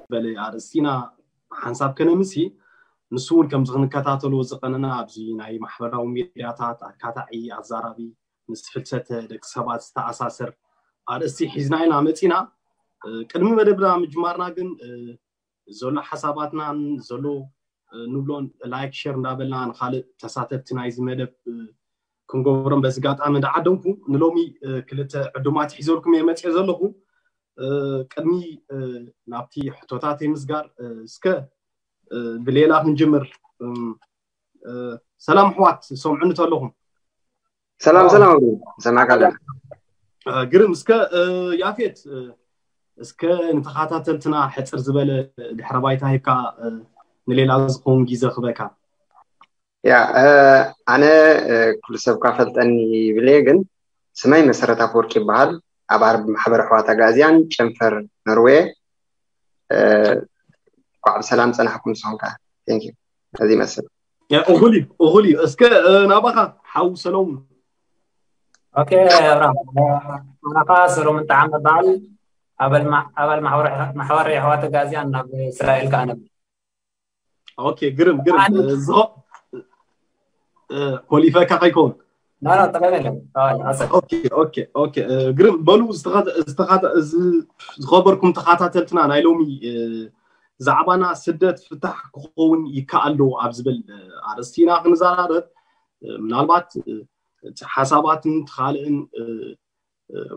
ዝበለ ኣርእስቲ ኢና ሓንሳብ ከነምሲ። ንሱ እውን ከምዚ ክንከታተሎ ዝቐነና ኣብዚ ናይ ማሕበራዊ ሚድያታት ኣካታዒ ኣዛራቢ ምስ ፍልሰተ ደቂ ሰባት ዝተኣሳሰር ኣርእስቲ ሒዝና ኢና መፂና። ቅድሚ መደብና ምጅማርና ግን ዘሎ ሓሳባትናን ዘሎ ንብሎን ላይክ ሸር እንዳበልና ንካልእ ተሳተፍቲ ናይዚ መደብ ክንገብሮም በዚ ኣጋጣሚ እንዳዓደምኩ ንሎሚ ክልተ ዕዱማት ሒዘልኩም እየ መፅየ ዘለኹ። ቅድሚ ናብቲ ሕቶታት ምስጋር እስከ ብሌላ ክንጅምር። ሰላም ኣሕዋት፣ ሰምዑኒ ተለኹም? ሰላም ሰላም፣ ሰማዕካ ኣለና። ግርም። እስከ ያፌት፣ እስከ ንተኸታተልትና ሕፅር ዝበለ ድሕረ ባይታ ሂብካ ንሌላ ዝኸውን ግዜ ክበካ። ያ፣ ኣነ ኩሉ ሰብ ካ ፈልጠኒ ይብለ፣ ግን ስመይ መሰረት ኣፈወርቂ ይበሃል። ኣብ ኣርብ ማሕበር ኣሕዋት ኣጋዝያን ጨንፈር ኖርዌ። እንኳዕ ብሰላም ፀናሕኩም። ንስኹም ከ? Thank you። እዚ ይመስል። እኹል እዩ፣ እኹል እዩ። እስከ ናባኻ ሓው ሰለሙን። ኦኬ ኣብርሃም፣ ኣናኻ ሰሎሙን ጣዕመ በዓል፣ ኣባል ማሕበር ኣሕዋት ኣጋዝያን ናብ እስራኤል ከኣ ነብር። ኦኬ፣ ግርም ግርም። ኮሊፈካ ከይከውን። ግርም። በሉ ዝኸበርኩም ተኸታተልትና፣ ናይ ሎሚ ዛዕባና ስደት ፍታሕ ክኸውን ይከኣል ዶ ኣብ ዝብል ኣርእስቲ ኢና ክንዘራረብ። ምናልባት እቲ ሓሳባትን ካልእን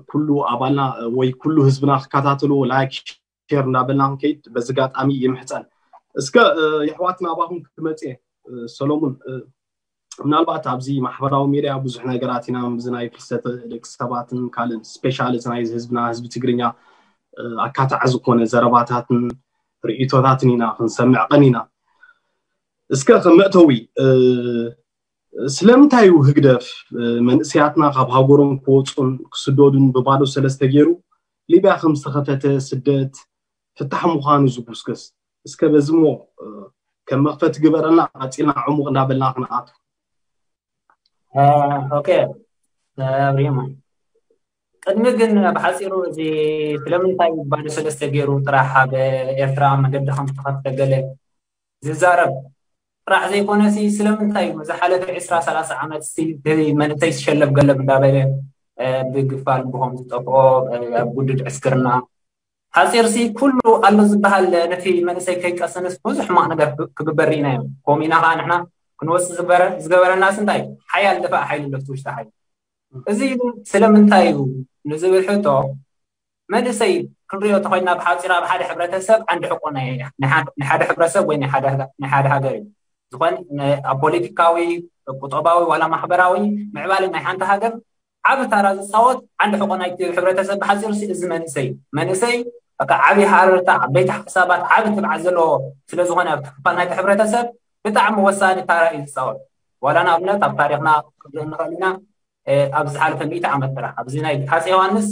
ኩሉ ኣባልና ወይ ኩሉ ህዝብና ክከታተሉ ላይክ ሸር እንዳበልና ክንከይድ በዚ ኣጋጣሚ ይምሕፀን። እስከ የሕዋትና ኣባኹም ክመፅእ ሰሎሙን፣ ምናልባት ኣብዚ ማሕበራዊ ሜድያ ብዙሕ ነገራት ኢና፣ እዚ ናይ ፍልሰት ደቂ ሰባትን ካልእን፣ ስፔሻሊ እዚ ናይ ህዝብና ህዝቢ ትግርኛ ኣካታዕ ዝኾነ ዘረባታትን ርእይቶታትን ኢና ክንሰምዕ ቀኒና። እስከ ከም መእተዊ ስለምንታይ እዩ ህግደፍ መንእሰያትና ካብ ሃገሮም ክወፁን ክስደዱን ብባዶ ሰለስተ ገይሩ ሊብያ ከም ዝተኸፈተ ስደት ፍታሕ ምዃኑ ዝጉስገስ? እስከ በዚ እሞ ከም መኽፈቲ ግበረልና፣ ቀፂልና ዕሙቕ እንዳበልና ክንኣቱ። ኦኬ ኣብሪሞ፣ ቅድሚ ግን ብሓፂሩ እዚ ስለምንታይ ባዶ ሰለስተ ገይሩ ጥራሕ ኣብ ኤርትራ መገዲ ከም ዝተኸፍተ ገለ ዝዛረብ ጥራሕ ዘይኮነሲ፣ ስለምንታይ እዩ ዝሓለፈ ዕስራ ሰላሳ ዓመት መንእሰይ ዝሸለብ ገለብ እንዳበለ ብግፋ ልብኾም ዝጠፍኦ ኣብ ጉድድ ዕስክርና ሓፂርሲ ኩሉ ኣሎ ዝበሃል ነቲ መንእሰይ ከይቀሰንስ ብዙሕ ሕማቕ ነገር ክግበር ርኢና እዮም። ከምኡ ኢና ከዓ ንሕና ክንወፅእ ዝበረ ዝገበረናስ እንታይ ሓያል ደፋእ ሓይሊ ኣሎ እቲ ውሽጢ ሓይሊ። እዚ ስለምንታይ እዩ ንዝብል ሕቶ መንእሰይ ክንሪኦ ተኮይና ብሓፂር ኣብ ሓደ ሕብረተሰብ ዓንዲ ሕቆ ናይ ሓደ ሕብረተሰብ ወይ ናይ ሓደ ሃገር እዩ። ዝኾን ኣብ ፖለቲካዊ፣ ቁጠባዊ ዋላ ማሕበራዊ ምዕባለ ናይ ሓንቲ ሃገር ዓቢ ታራ ዝፃወት ዓንዲ ሕቆ ናይቲ ሕብረተሰብ ብሓፂር እዚ መንእሰይ መንእሰይ በቃ ዓቢ ሃረርታ ዓበይቲ ሓሳባት ዓቢ ትብዓት ዘለዎ ስለዝኾነ ኣብቲ ክፋል ናይቲ ሕብረተሰብ ብጣዕሚ ወሳኒ ታራ እዩ ዝፃወት። ዋላ ንኣብነት ኣብ ታሪክና ክንርኢ ንኽእል ኢና። ኣብዚ ዝሓለፈ ሚእቲ ዓመት ጥራሕ ኣብዚ ናይ ሃፀ ዮሃንስ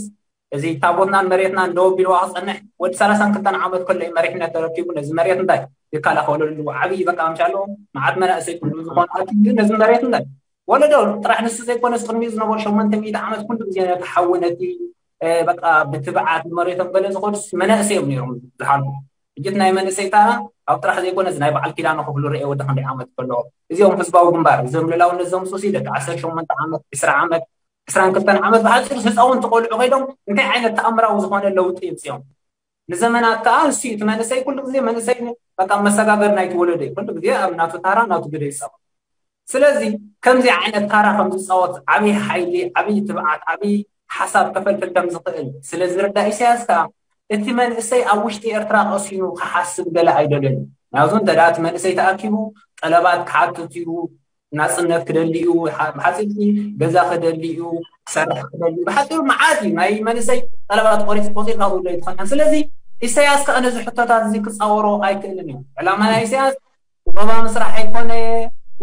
እዚ ታቦትናን መሬትናን ደው ኣቢልዋ ክፀንሕ ወዲ ሰላሳን ክልተን ዓመት ከሎ እዩ መሪሕነት ተረኪቡ ነዚ መሬት እንታይ ይከላኸለሉ ዓብዪ በቃ ምሻ ኣለዎ መዓት መናእሰይ ኩሉ ዝኾነ ኣኪቡ ነዚ መሬት እንታይ ወለዶ ጥራሕ ንሱ ዘይኮነስ ቅድሚኡ ዝነበሩ ሸሞንተ ሚእቲ ዓመት ኩሉ ግዜ ነቲ ሓዊ ነቲ በቃ ብትብዓት ንመሬቶም ገለ ዝኸዱ መናእሰይ እዮም ነይሮም ዝሓልፉ። ሕጂ ናይ መንእሰይ ተራ ኣብ ጥራሕ ዘይኮነስ ናይ በዓል ኪዳነ ክፍሉ ርኤ ወዲ ክንደይ ዓመት ከሎ እዚኦም ህዝባዊ ግንባር እዞም ልላውነት ዘምፅኡ ሲ ደቂ ዓሰርተ ሸሞንተ ዓመት ዕስራ ዓመት ዕስራን ክልተን ዓመት ብሓፂሩ ህፃውንቲ ቆልዑ ከይዶም እንታይ ዓይነት ተኣምራዊ ዝኾነ ለውጢ ይምፅኦም? ንዘመናት ከዓ እሱ እቲ መንእሰይ ኩሉ ግዜ መንእሰይ በቃ መሰጋገር ናይቲ ወለዶ እዩ። ኩሉ ግዜ ኣብ ናቱ ታራ ናቱ ግደ ይፃወት። ስለዚ ከምዚ ዓይነት ታራ ከም ዝፃወት ዓብዪ ሓይሊ ዓብዪ ትብዓት ዓብዪ ሓሳብ ከፈልፍል ከም ዝኽእል ስለ ዝርዳእ ኢሳያስ ከዓ እቲ መንእሰይ ኣብ ውሽጢ ኤርትራ ቀሲኑ ክሓስብ ገለ ኣይደልን እዩ። ምክንያቱ እንተ እቲ መንእሰይ ተኣኪቡ ጠለባት ክሓትት እዩ፣ ናፅነት ክደሊ እዩ፣ ብሓፂርቲ ገዛ ክደሊ እዩ፣ ክሰርሕ ክደሊ እዩ። ብሓፂሩ መዓት እዩ ናይ መንእሰይ ጠለባት ቆሪፅ ቆፂርካ ዝብሎ ይትኸን። ስለዚ ኢሳያስ ከዓ ነዚ ሕቶታት እዚ ክፃወሮ ኣይክእልን እዩ። ዕላማ ናይ ኢሳያስ ቁጠባ ምስራሕ ኣይኮነ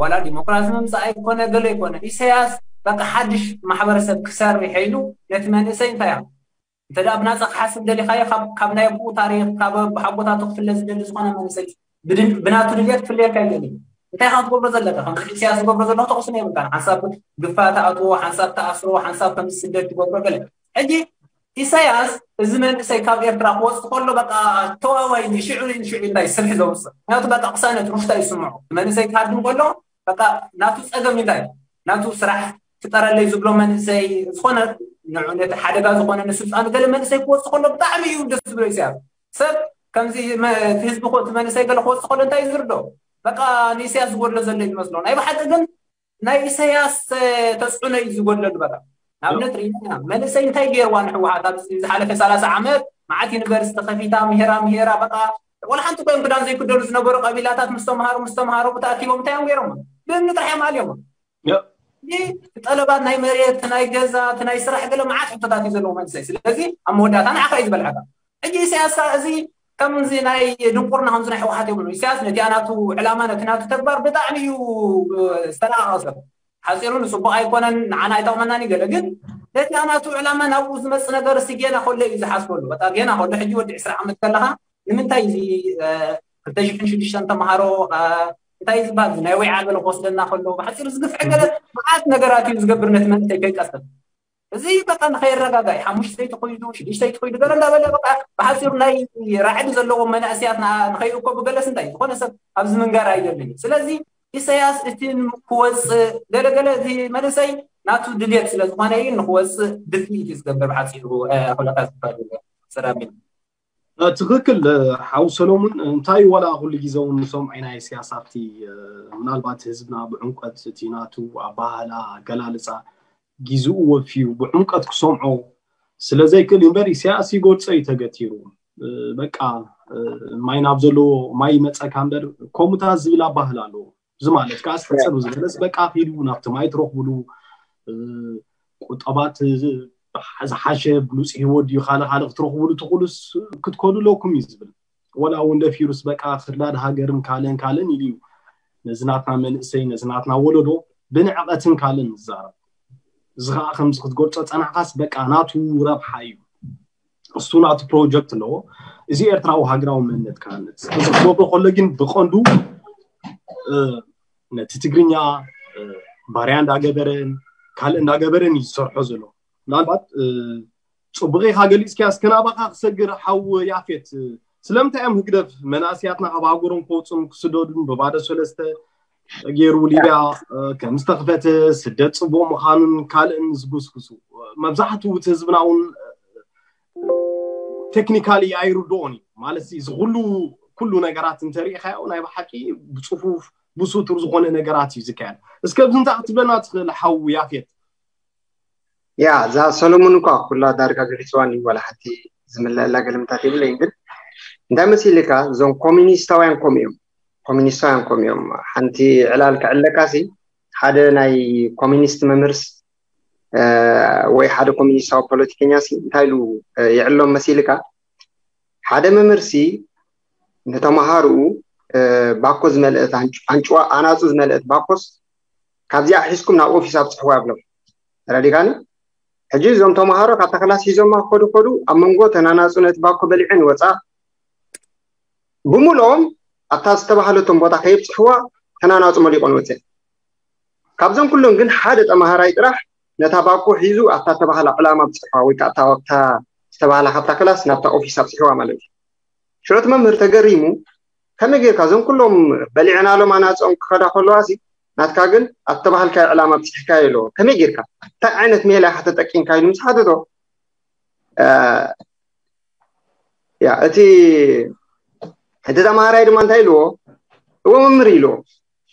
ዋላ ዲሞክራሲ ምምፃእ ኣይኮነ ገለ ኣይኮነ። ኢሳያስ በቃ ሓድሽ ማሕበረሰብ ክሰርሕ ኢሉ ነቲ መንእሰይ እንታይ እንተ ብናፃ ክሓስብ ደሊኻዮ ካብ ናይ ኣቦኡ ታሪክ ካብ ኣቦሓጎታቱ ክፍለ ዝደሊ ዝኾነ መንእሰይ ብናቱ ድልየት ክፍለየካ ይደሊ። እንታይ ካ ትገብሮ ዘለካ ከም ኢሳያስ ዝገብሮ ዘለኹ ተቕስኖ የብልካን። ሓንሳብ ግፋ ተኣትዎ፣ ሓንሳብ ተኣስሮ፣ ሓንሳብ ከምዚ ስደት ትገብሮ ገለ። ሕጂ ኢሳያስ እዚ መንእሰይ ካብ ኤርትራ ክወፅእ ከሎ በቃ ተዋዋይ ሽዑ ሽዑ እንታይ ስርሒ ዘውፅእ ምክንያቱ በቃ ቅሳነት ሩፍታ ይስምዖ። መንእሰይ ክሃድም ከሎ በቃ ናቱ ፀገም እንታይ ናቱ ስራሕ ፍጠረለይ ዝብሎ መንእሰይ ዝኾነ ንዑ ነቲ ሓደጋ ዝኾነ ንስልጣኑ ገለ መንእሰይ ክወፅእ ከሎ ብጣዕሚ እዩ ደስ ዝብሎ ኢሳያስ። ሰብ ከምዚ ህዝቢ እቲ መንእሰይ ገለ ክወፅእ ከሎ እንታይ ዝርዶ በቃ ንኢሳያስ ዝጎድሎ ዘሎ ዝመስሎ ናይ ብሓቂ ግን ናይ ኢሳያስ ተፅዕኖ እዩ ዝጎድለሉ። በቃ ንኣብነት ርኢና መንእሰይ እንታይ ገይርዋ ንሕወሓት ኣብ ዝሓለፈ ሰላሳ ዓመት መዓት ዩኒቨርሲቲ ከፊታ ምሄራ ምሄራ በቃ ወላ ሓንቲ ኮይም ክዳን ዘይክደሉ ዝነበሩ ቀቢላታት ምስ ተምሃሩ ምስ ተምሃሩ ተኣኪቦም እንታይ እዮም ገይሮም? ብእምኒ ጥራሕ እዮም ኣልዮም። ጠለባት ናይ መሬት ናይ ገዛ ናይ ስራሕ ገለ መዓት ሕቶታት እዩ ዘለዎ መንእሰይ። ስለዚ ኣብ መወዳእታ ንዓኻ እዩ ዝበልዐካ። ሕጂ ኢሳያስ እዚ ከምዚ ናይ ድንቁርና ከምዚ ናይ ህወሓት የብሉ። ኢሳያስ ነቲ ናቱ ዕላማ ነቲ ናቱ ተግባር ብጣዕሚ እዩ ዝተረቃቀሰ። ሓፂሩ ንፅቡቅ ኣይኮነን ንዓና ኣይጠቅመናን ይገለ ግን ነቲ ናቱ ዕላማ ናብኡ ዝመፅ ነገር ሲ ጌና ከሎ እዩ ዝሓስበሉ። በቃ ጌና ከሎ ሕጂ ወዲ ዕስራ ዓመት ከለካ ንምንታይ እዚ ክልተ ሽሕን ሽዱሽተን ተምሃሮ እንታይ ዝበሃል ናይ ወይ ዓበለ ክወስደና ከሎ ብሓፂሩ ዝግፍዐ ገለ መዓት ነገራት እዩ ዝገብር ነቲ መንእሰይ ከይቀስን እዚ በቃ ንኸይረጋጋእ ሓሙሽተይ ተኮይዱ ሽዱሽተይ ተኮይዱ ገለ እንዳበለ በቃ ብሓፂሩ ናይ ራዕዲ ዘለዎም መናእስያት ንኸይእኮቡ ገለስ እንታይ ዝኾነ ሰብ ኣብዚ ምንጋር ኣይደልን እዩ። ስለዚ ኢሳያስ እቲ ክወፅእ ገለገለ እቲ መንእሰይ ናቱ ድልየት ስለ ዝኾነ እዩ ንክወፅእ ድፍኢት እዩ ዝገብር ብሓፂሩ። ኩለካ ዝበሉ ሰራሚ ትክክል ሓው ሰሎሙን እንታይ ዋላ ኩሉ ግዜ እውን ንሰምዖ ኢና ኢሳያስ ኣብቲ ምናልባት ህዝብና ብዕምቀት እቲ ናቱ ኣባህላ ኣገላልፃ ግዜኡ ወፊዩ ብዕምቀት ክሰምዖ ስለዘይክእል እምበር ኢሳያስ ይጎድፀ እዩ ተገቲሩ በቃ ማይ ናብ ዘለዎ ማይ ይመፀካ እምበር ከምኡታት ዝብል ኣባህላ ኣለዎ እዚ ማለት ከዓ ዝተፀሩ ዝበለስ በቃ ኪዱ ናብቲ ማይ ትረኽብሉ ቁጠባት ዝሓሸ ብሉፅ ህይወት ድዩ ካልእ ካልእ ክትረኽብሉ ትኽእሉስ ክትከዱ ኣለኩም እዩ ዝብል ወላ እውን ደፊሩስ በቃ ክርዳድ ሃገርን ካልእን ካልእን ኢሉ እዩ ነዚ ናትና መንእሰይ ነዚ ናትና ወለዶ ብንዕቐትን ካልእን ዝዛረብ እዚ ከዓ ከምዚ ክትገልፆ ፀናሕካስ በቃ ናቱ ረብሓ እዩ እሱ ናቱ ፕሮጀክት ኣለዎ እዚ ኤርትራዊ ሃገራዊ መንነት ክሃንፅ እዚ ክገብሮ ከሎ ግን ብቐንዱ ነቲ ትግርኛ ባርያ እንዳገበረን ካልእ እንዳገበረን እዩ ዝሰርሖ ዘሎ ምናልባት ፅቡቅ ኢካ ገሊፅካዮ እስከ ናባካ ክሰግር ሓው ያፌት ስለምንታይ እዮም ህግደፍ መናእስያትና ካብ ሃገሮም ክወፁን ክስደዱን ብባዶ ሰለስተ ገይሩ ሊብያ ከም ዝተኽፈተ ስደት ፅቡቅ ምዃኑን ካልእን ዝጉስጉሱ መብዛሕትኡ እቲ ህዝብና እውን ቴክኒካሊ ኣይርድኦን እዩ ማለት እዚ ኩሉ ኩሉ ነገራት እንተሪኢካዮ ናይ ብሓቂ ብፅፉፍ ብሱቱር ዝኾነ ነገራት እዩ ዝካየድ እስከ ብዚ እንታይ ክትብለና ትኽእል ሓው ያፌት ያ እዛ ሰሎሞን እኳ ኩላ ዳርጋ ገሊፅዋን እዩ ዋላ ሓንቲ ዝምለአላ ገልምታት የብለይን ግን እንታይ መሲልካ እዞም ኮሚኒስታውያን ከምኡ እዮም ኮሚኒስታውያን ከምኡ እዮም ሓንቲ ዕላል ክዕለካ ሲ ሓደ ናይ ኮሚኒስት መምህርስ ወይ ሓደ ኮሚኒስታዊ ፖለቲከኛ ሲ እንታይ ኢሉ ይዕሎም መሲልካ ሓደ መምህርሲ ንተምሃርኡ ባኮ ዝመልአት ኣንጭዋ ኣናፁ ዝመልአት ባኮስ ካብዚኣ ሒዝኩም ናብ ኦፊስ ኣብፅሕዋ ይብሎም ተረዲካኒ ሕጂ እዞም ተምሃሮ ካብታ ክላስ ሒዞማ ከዱ ከዱ ኣብ መንጎ ተናናፁ ነቲ ባኮ በሊዐን ይወፃ ብምልኦም ኣብታ ዝተባሃለቶም ቦታ ከየብፅሕዋ ተናናፁ መሊቆን ወፅን ካብዞም ኩሎም ግን ሓደ ተምሃራይ ጥራሕ ነታ ባኮ ሒዙ ኣብታ ተባሃላ ዕላማ ኣብፅሕዋ ወይ ከዓ ኣብታ ዝተባሃላ ካብታ ክላስ ናብታ ኦፊስ ኣብፅሕዋ ማለት እዩ ሽዑ እቲ መምህር ተገሪሙ ከመይ ጌርካ እዞም ኩሎም በሊዕናሎም ኣናፅኦም ክኸዳ ከለዋ ሲ ናትካ ግን ኣብ ተባሃልካዮ ዕላማ ኣብፅሕካዮ ኣለዎ ከመይ ጌርካ እንታይ ዓይነት ሜላ ኢካ ተጠቂምካ ኢሉ ምስ ሓተቶ ያ እቲ እቲ ተምሃራይ ድማ እንታይ ኢልዎ እዎ መምህር ኢልዎ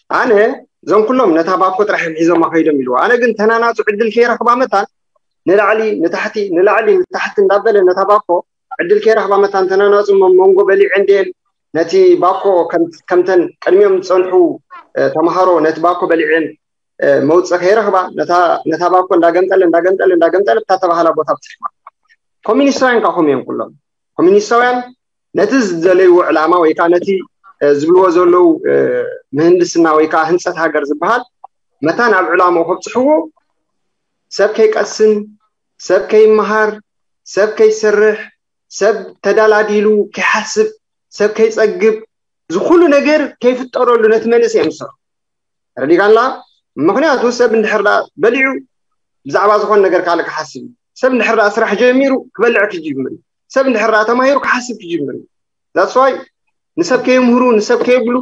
ኣነ እዞም ኩሎም ነታ ባኮ ጥራሕ እዮም ሒዞማ ከይዶም ኢልዎ ኣነ ግን ተናናፁ ዕድል ከይረክባ መታን ንላዕሊ ንታሕቲ ንላዕሊ ንታሕቲ እንዳበለ ነታ ባኮ ዕድል ከይረክባ መታን ተናናፁ መንጎ በሊዐ እንድየን ነቲ ባኮ ከምተን ቅድሚኦም ዝፀንሑ ተምሃሮ ነቲ ባኮ በሊዐን መውፅእ ከይረክባ ነታ ባኮ እንዳገምጠለ እንዳገምጠለ እንዳገምጠለ ብታ ተባሃላ ቦታ ብፅሕዋ ኮሚኒስታውያን ከዓ ከምኡ እዮም ኩሎም ኮሚኒስታውያን ነቲ ዝደለይዎ ዕላማ ወይ ከዓ ነቲ ዝብልዎ ዘለዉ ምህንድስና ወይ ከዓ ህንፀት ሃገር ዝበሃል መታን ኣብ ዕላምኡ ከብፅሕዎ ሰብ ከይቀስን ሰብ ከይመሃር ሰብ ከይሰርሕ ሰብ ተዳላዲሉ ከይሓስብ ሰብ ከይፀግብ ዝኩሉ ነገር ከይፍጠረሉ ነቲ መንእሰይ እዮም ዝሰርሑ ረዲጋላ ምክንያቱ ሰብ እንድሕር በሊዑ ብዛዕባ ዝኾን ነገር ካልእ ክሓስብ እዩ ሰብ እንድሕር ደኣ ስራሕ ጀሚሩ ክበልዕ ክጅምር እዩ። ሰብ እንድሕር ደኣ ተማሂሩ ክሓስብ ክጅምር እዩ። That's why ንሰብ ከየምህሩ፣ ንሰብ ከየብሉ፣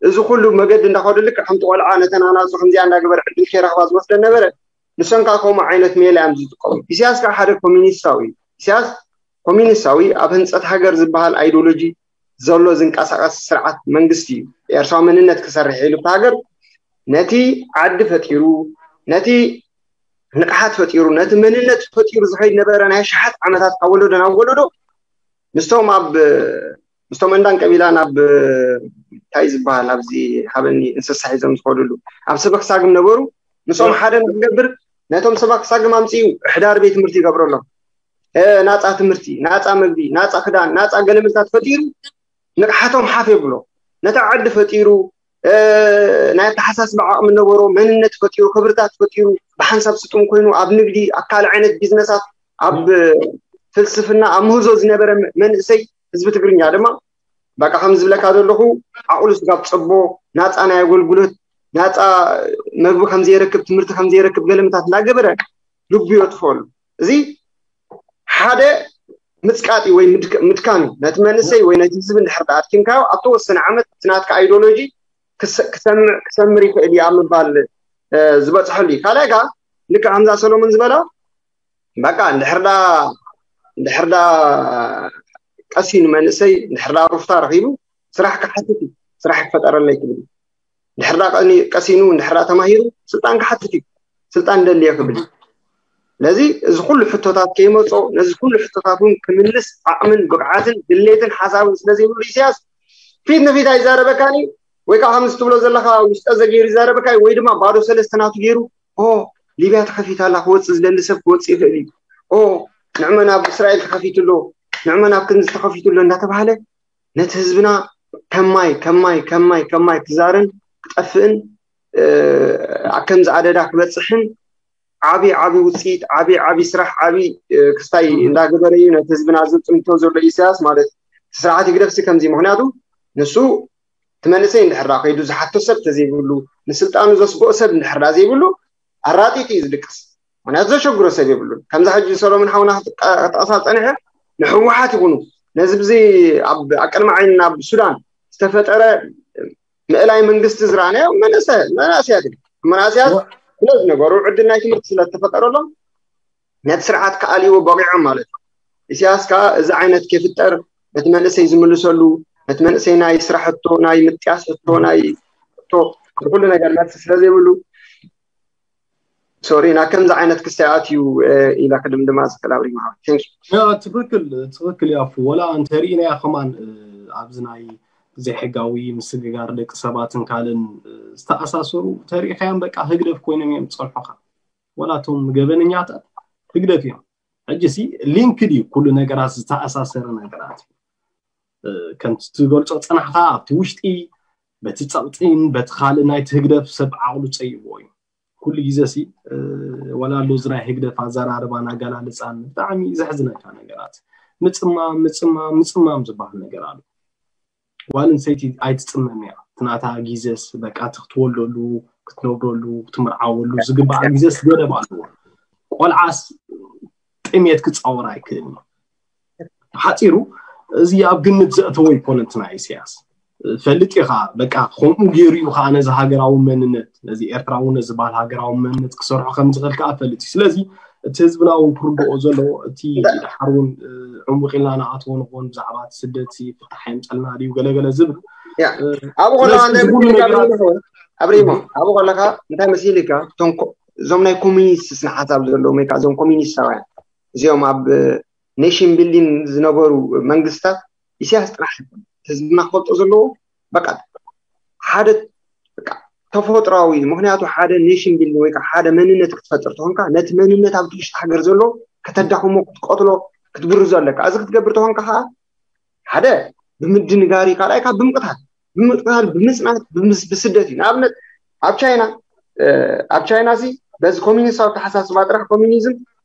እዚ ኩሉ መገዲ እንዳኸዱ፣ ልክዕ ከምቲ ቆልዓ ነተን ኣናጹ ከምዚኣ እንዳገበረ ዕድል ከይረኽባ ዝወስደን ነበረ፣ ንሶም ከዓ ከምኡ ዓይነት ሜላ እዮም ዝጥቀሙ። ኢሳያስ ከዓ ሓደ ኮሚኒስታዊ እዩ። ኢሳያስ ኮሚኒስታዊ ኣብ ህንጸት ሃገር ዝበሃል ኣይዲዮሎጂ ዘሎ ዝንቀሳቐስ ስርዓት መንግስቲ እዩ። ኤርትራዊ መንነት ክሰርሕ ኢሉ ኣብቲ ሃገር ነቲ ዓዲ ፈጢሩ፣ ነቲ ንቕሓት ፈጢሩ፣ ነቲ መንነት ፈጢሩ ዝኸይድ ነበረ። ናይ ኣሽሓት ዓመታት ካብ ወለዶ ናብ ወለዶ ምስቶም ኣብ ምስቶም እንዳን ቀቢላን ኣብ እንታይ ዝበሃል ኣብዚ ሃበኒ እንስሳ ሒዞም ዝኸዱሉ ኣብ ሰበክ ሳግም ነበሩ። ምስኦም ሓደ ንክገብር ነቶም ሰበክ ሳግም ኣምፅኡ ሕዳር ቤት ትምህርቲ ይገብረሎም። እ፣ ናፃ ትምህርቲ፣ ናፃ መግቢ፣ ናፃ ክዳን፣ ናፃ ገለመልታት ፈጢሩ ንቕሓቶም ሓፍ የብሎ። ነታ ዓዲ ፈጢሩ፣ እ፣ ናይ ኣተሓሳስባ ዓቕሚ ነበሮ፣ መንነት ፈጢሩ፣ ክብርታት ፈጢሩ፣ ብሓንሳብ ስጡም ኮይኑ ኣብ ንግዲ፣ ኣብ ካልእ ዓይነት ቢዝነሳት፣ ኣብ ፍልስፍና፣ ኣብ ምህዞ ዝነበረ መንእሰይ ህዝቢ ትግርኛ ድማ በቃ ከም ዝብለካ ዘለኹ ዓቕሉ ስጋብ ፀቦ፣ ናፃ ናይ ኣገልግሎት፣ ናፃ መግቢ ከም ዘይረክብ፣ ትምህርቲ ከም ዘይረክብ ገለመታት እንዳገበረ ልቡ የጥፈሉ። እዚ ሓደ ምጽቃጥ እዩ ወይ ምድክ-፣ ምድካም እዩ። ነቲ መንእሰይ ወይ ነቲ ህዝቢ እንድሕር ተኣድኪምካዮ፣ ኣብ ተወሰነ ዓመት እቲ ናትካ ኣይዲዮሎጂ ክሰ-፣ ክሰምዕ፣ ክሰምር ይኽእል እዩ ኣብ ምባል፣ እ፣ ዝበጽሐሉ እዩ። ካልኣይ ከኣ ልክዕ ከምዛ ሰሎሞን ዝበላ፣ በቃ እንድሕር ዳ፣ እንድሕር ዳ ቀሲኑ መንእሰይ፣ እንድሕር ዳ ሩፍታ ረኺቡ፣ ስራሕ ክሓትት እዩ፣ ስራሕ ክፈጠረለይ ክብል እዩ። ድሕር ዳ ቀኒ-፣ ቀሲኑ፣ ድሕር ዳ ተማሂሩ፣ ስልጣን ክሓትት እዩ፣ ስልጣን ደልየ ክብል እዩ። ስለዚ እዚ ኩሉ ሕቶታት ከይመጾ፣ ነዚ ኩሉ ሕቶታት እውን ክምልስ ዓቕምን ብቕዓትን ድሌትን ሓሳብን ስለ ዘይብሉ ኢሳያስ ፊት ንፊት ኣይዛረበካን እዩ። ወይ ከዓ ከምዚ ትብሎ ዘለኻ ውሽጠ ዘገይሩ ይዛረበካ እዩ፣ ወይ ድማ ባዶ ሰለስተ ናቱ ገይሩ፣ ኦ፣ ሊብያ ተኸፊታ ኣላ፣ ክወፅእ ዝደሊ ሰብ ክወፅእ ይኽእል እዩ። ኦ፣ ንዕመን ኣብ እስራኤል ተኸፊቱ ኣሎ፣ ንዕመን ኣብ ክንዚ ተኸፊቱ ኣሎ እናተባህለ ነቲ ህዝብና ከማይ፣ ከማይ፣ ከማይ፣ ከማይ ክዛርን ክጠፍእን፣ እ፣ ኣብ ከምዚ ኣደዳ ክበጽሕን ዓቢ፣ ዓቢ ውጽኢት፣ ዓቢ፣ ዓቢ ስራሕ፣ ዓቢ፣ እ፣ ክስታይ እንዳገበረ እዩ ነቲ ህዝብና ዘጽንቶ ዘሎ ኢሳያስ ማለት። ስርዓት ህግደፍሲ ከምዚ፣ ምኽንያቱ ንሱ እቲ መንእሰይ እንድሕር ደኣ ከይዱ ዝሓቶ ሰብ ተዘይብሉ፣ ንስልጣኑ ዘስግኦ ሰብ እንድሕር ደኣ ዘይብሉ፣ ኣራጢጥ እዩ ዝድቅስ። ምኽንያቱ ዘሸግሮ ሰብ የብሉን። ከምዛ ሕጂ ሰሎሞን ሓውና ክትቀ-፣ ክትጠቕሳ ዝጸንሐ ንህወሓት ይኹኑ፣ ነዚ ብዚ ኣብ፣ ኣብ ቅድሚ ዓይንና ኣብ ሱዳን ዝተፈጠረ ምእላይ መንግስቲ ዝረኣናዮ መናእሰ-፣ መናእሰያት እዮም። መናእሰያት ስለ ዝነበሩ ዕድል ናይ ትምህርቲ ስለ ዝተፈጠረሎም ነቲ ስርዓት ክኣልይዎ በቂዖም ማለት እዩ። ኢሳያስ ከኣ እዚ ዓይነት ከይፍጠር ነቲ መንእሰይ ዝምልሰሉ፣ ነቲ መንእሰይ ናይ ስራሕ ሕቶ፣ ናይ ምጥያስ ሕቶ፣ ናይ ሕቶ፣ ንኩሉ ነገር መልሲ ስለ ዘይብሉ፣ ሶሪ፣ ናብ ከምዚ ዓይነት ክስታይ ኣትዩ፣ እ፣ ኢላ ክድምድማ ዝኽእል ኣብሪማ። Thank you። ያ፣ ትኽክል፣ ትኽክል ያፉ። ወላ እንተሪእናያ ከማን፣ እ፣ ኣብዚ ናይ ዘይሕጋዊ ምስግጋር ደቂ ሰባትን ካልእን፣ እ፣ ዝተኣሳሰሩ ተሪእኻዮም በቃ ህግደፍ ኮይኖም እዮም ዝጸንሑኻ። ወላ እቶም ገበነኛታት ህግደፍ እዮም። ሕጂ ሲ ሊንክድ እዩ ኩሉ ነገራት፣ ዝተኣሳሰረ ነገራት እዩ። እ፣ ከምቲ ትገልጾ ጽናሕካ ኣብቲ ውሽጢ በቲ ጸቕጢን በቲ ካልእ ናይቲ ህግደፍ ሰብ ዓቕሉ ጸይዎ እዩ። ኩሉ ግዜ ሲ፣ እ፣ ወላ ኣሎ እዚ ናይ ህግደፍ ኣዘራርባን ኣገላልጻን ብጣዕሚ ዘሕዝነካ ነገራት። ምጽማም፣ ምጽማም፣ ምጽማም ዝበሃል ነገር ኣሎ። ጓል ኣንስተይቲ ኣይትጽመም እያ። እቲ ናታ ግዜስ በቃ እቲ ክትወልደሉ፣ ክትነብረሉ፣ ክትምርዓወሉ ዝግባኣ ግዜስ ገደብ ኣለዎ። ቆልዓስ ጥሜት ክጻወር ኣይክእልን እዩ። ሓጺሩ እዚ ኣብ ግምት ዘእተወ ኣይኮነን እቲ ናይ ኢሳያስ። ፈልጥ ኢኻ፣ በቃ ከምኡ ገይሩ እዩ ከዓ ነዚ ሃገራዊ መንነት፣ ነዚ ኤርትራውነት ዝበሃል ሃገራዊ መንነት ክሰርሖ ከም ዝኽእል ከዓ ፈልጥ እዩ። ስለዚ እቲ ህዝብና እውን ክርድኦ ዘለዎ፣ እቲ ደሓር እውን፣ እ፣ ዕሙቕ ኢልና ንኣትዎ ንኾን ብዛዕባ እቲ ስደት ሲ ፍታሕ የምፀልና ድዩ ገለገለ ዝብል፣ ያ፣ እ፣ ኣብኡ ከለኻ ስለዚ እንታይ እዚ ኩሉ መሲልካ ነገራት ኣብሪሞ፣ ኣብኡ ከለኻ እንታይ መሲልካ፣ እቶም ኮ-፣ እዞም ናይ ኮሚኒስት ስነ ሓሳብ ዘለዎም ወይ ከዓ እዞም ኮሚኒስታውያን እዚኦም ኣብ ኔሽን ቢልዲንግ ዝነበሩ መንግስታት ኢሳያስ ጥራሕ ኣይኮነን። ህዝብና ክፈልጦ ዘለዎ በቃ ሓደ በቃ ተፈጥሯዊ፣ ምኽንያቱ ሓደ ኔሽን ቢልዲንግ ወይ ከዓ ሓደ መንነት ክትፈጥር ተኾንካ ነቲ መንነት ኣብቲ ውሽጢ ሃገር ዘሎ ከተዳኽሞ፣ ክትቀትሎ፣ ክትብርዞ ኣለካ። እዚ ክትገብር ተኾንካ ከዓ ሓደ ብምድንጋር እዩ፣ ካልኣይ ካብ ብምቕታል፣ ብምቕታል፣ ብምጽናት፣ ብምስ-፣ ብስደት እዩ። ንኣብነት ኣብ ቻይና፣ እ፣ ኣብ ቻይና ሲ በዚ ኮሚኒስታዊ ኣተሓሳስባ ጥራሕ ኮሚኒዝም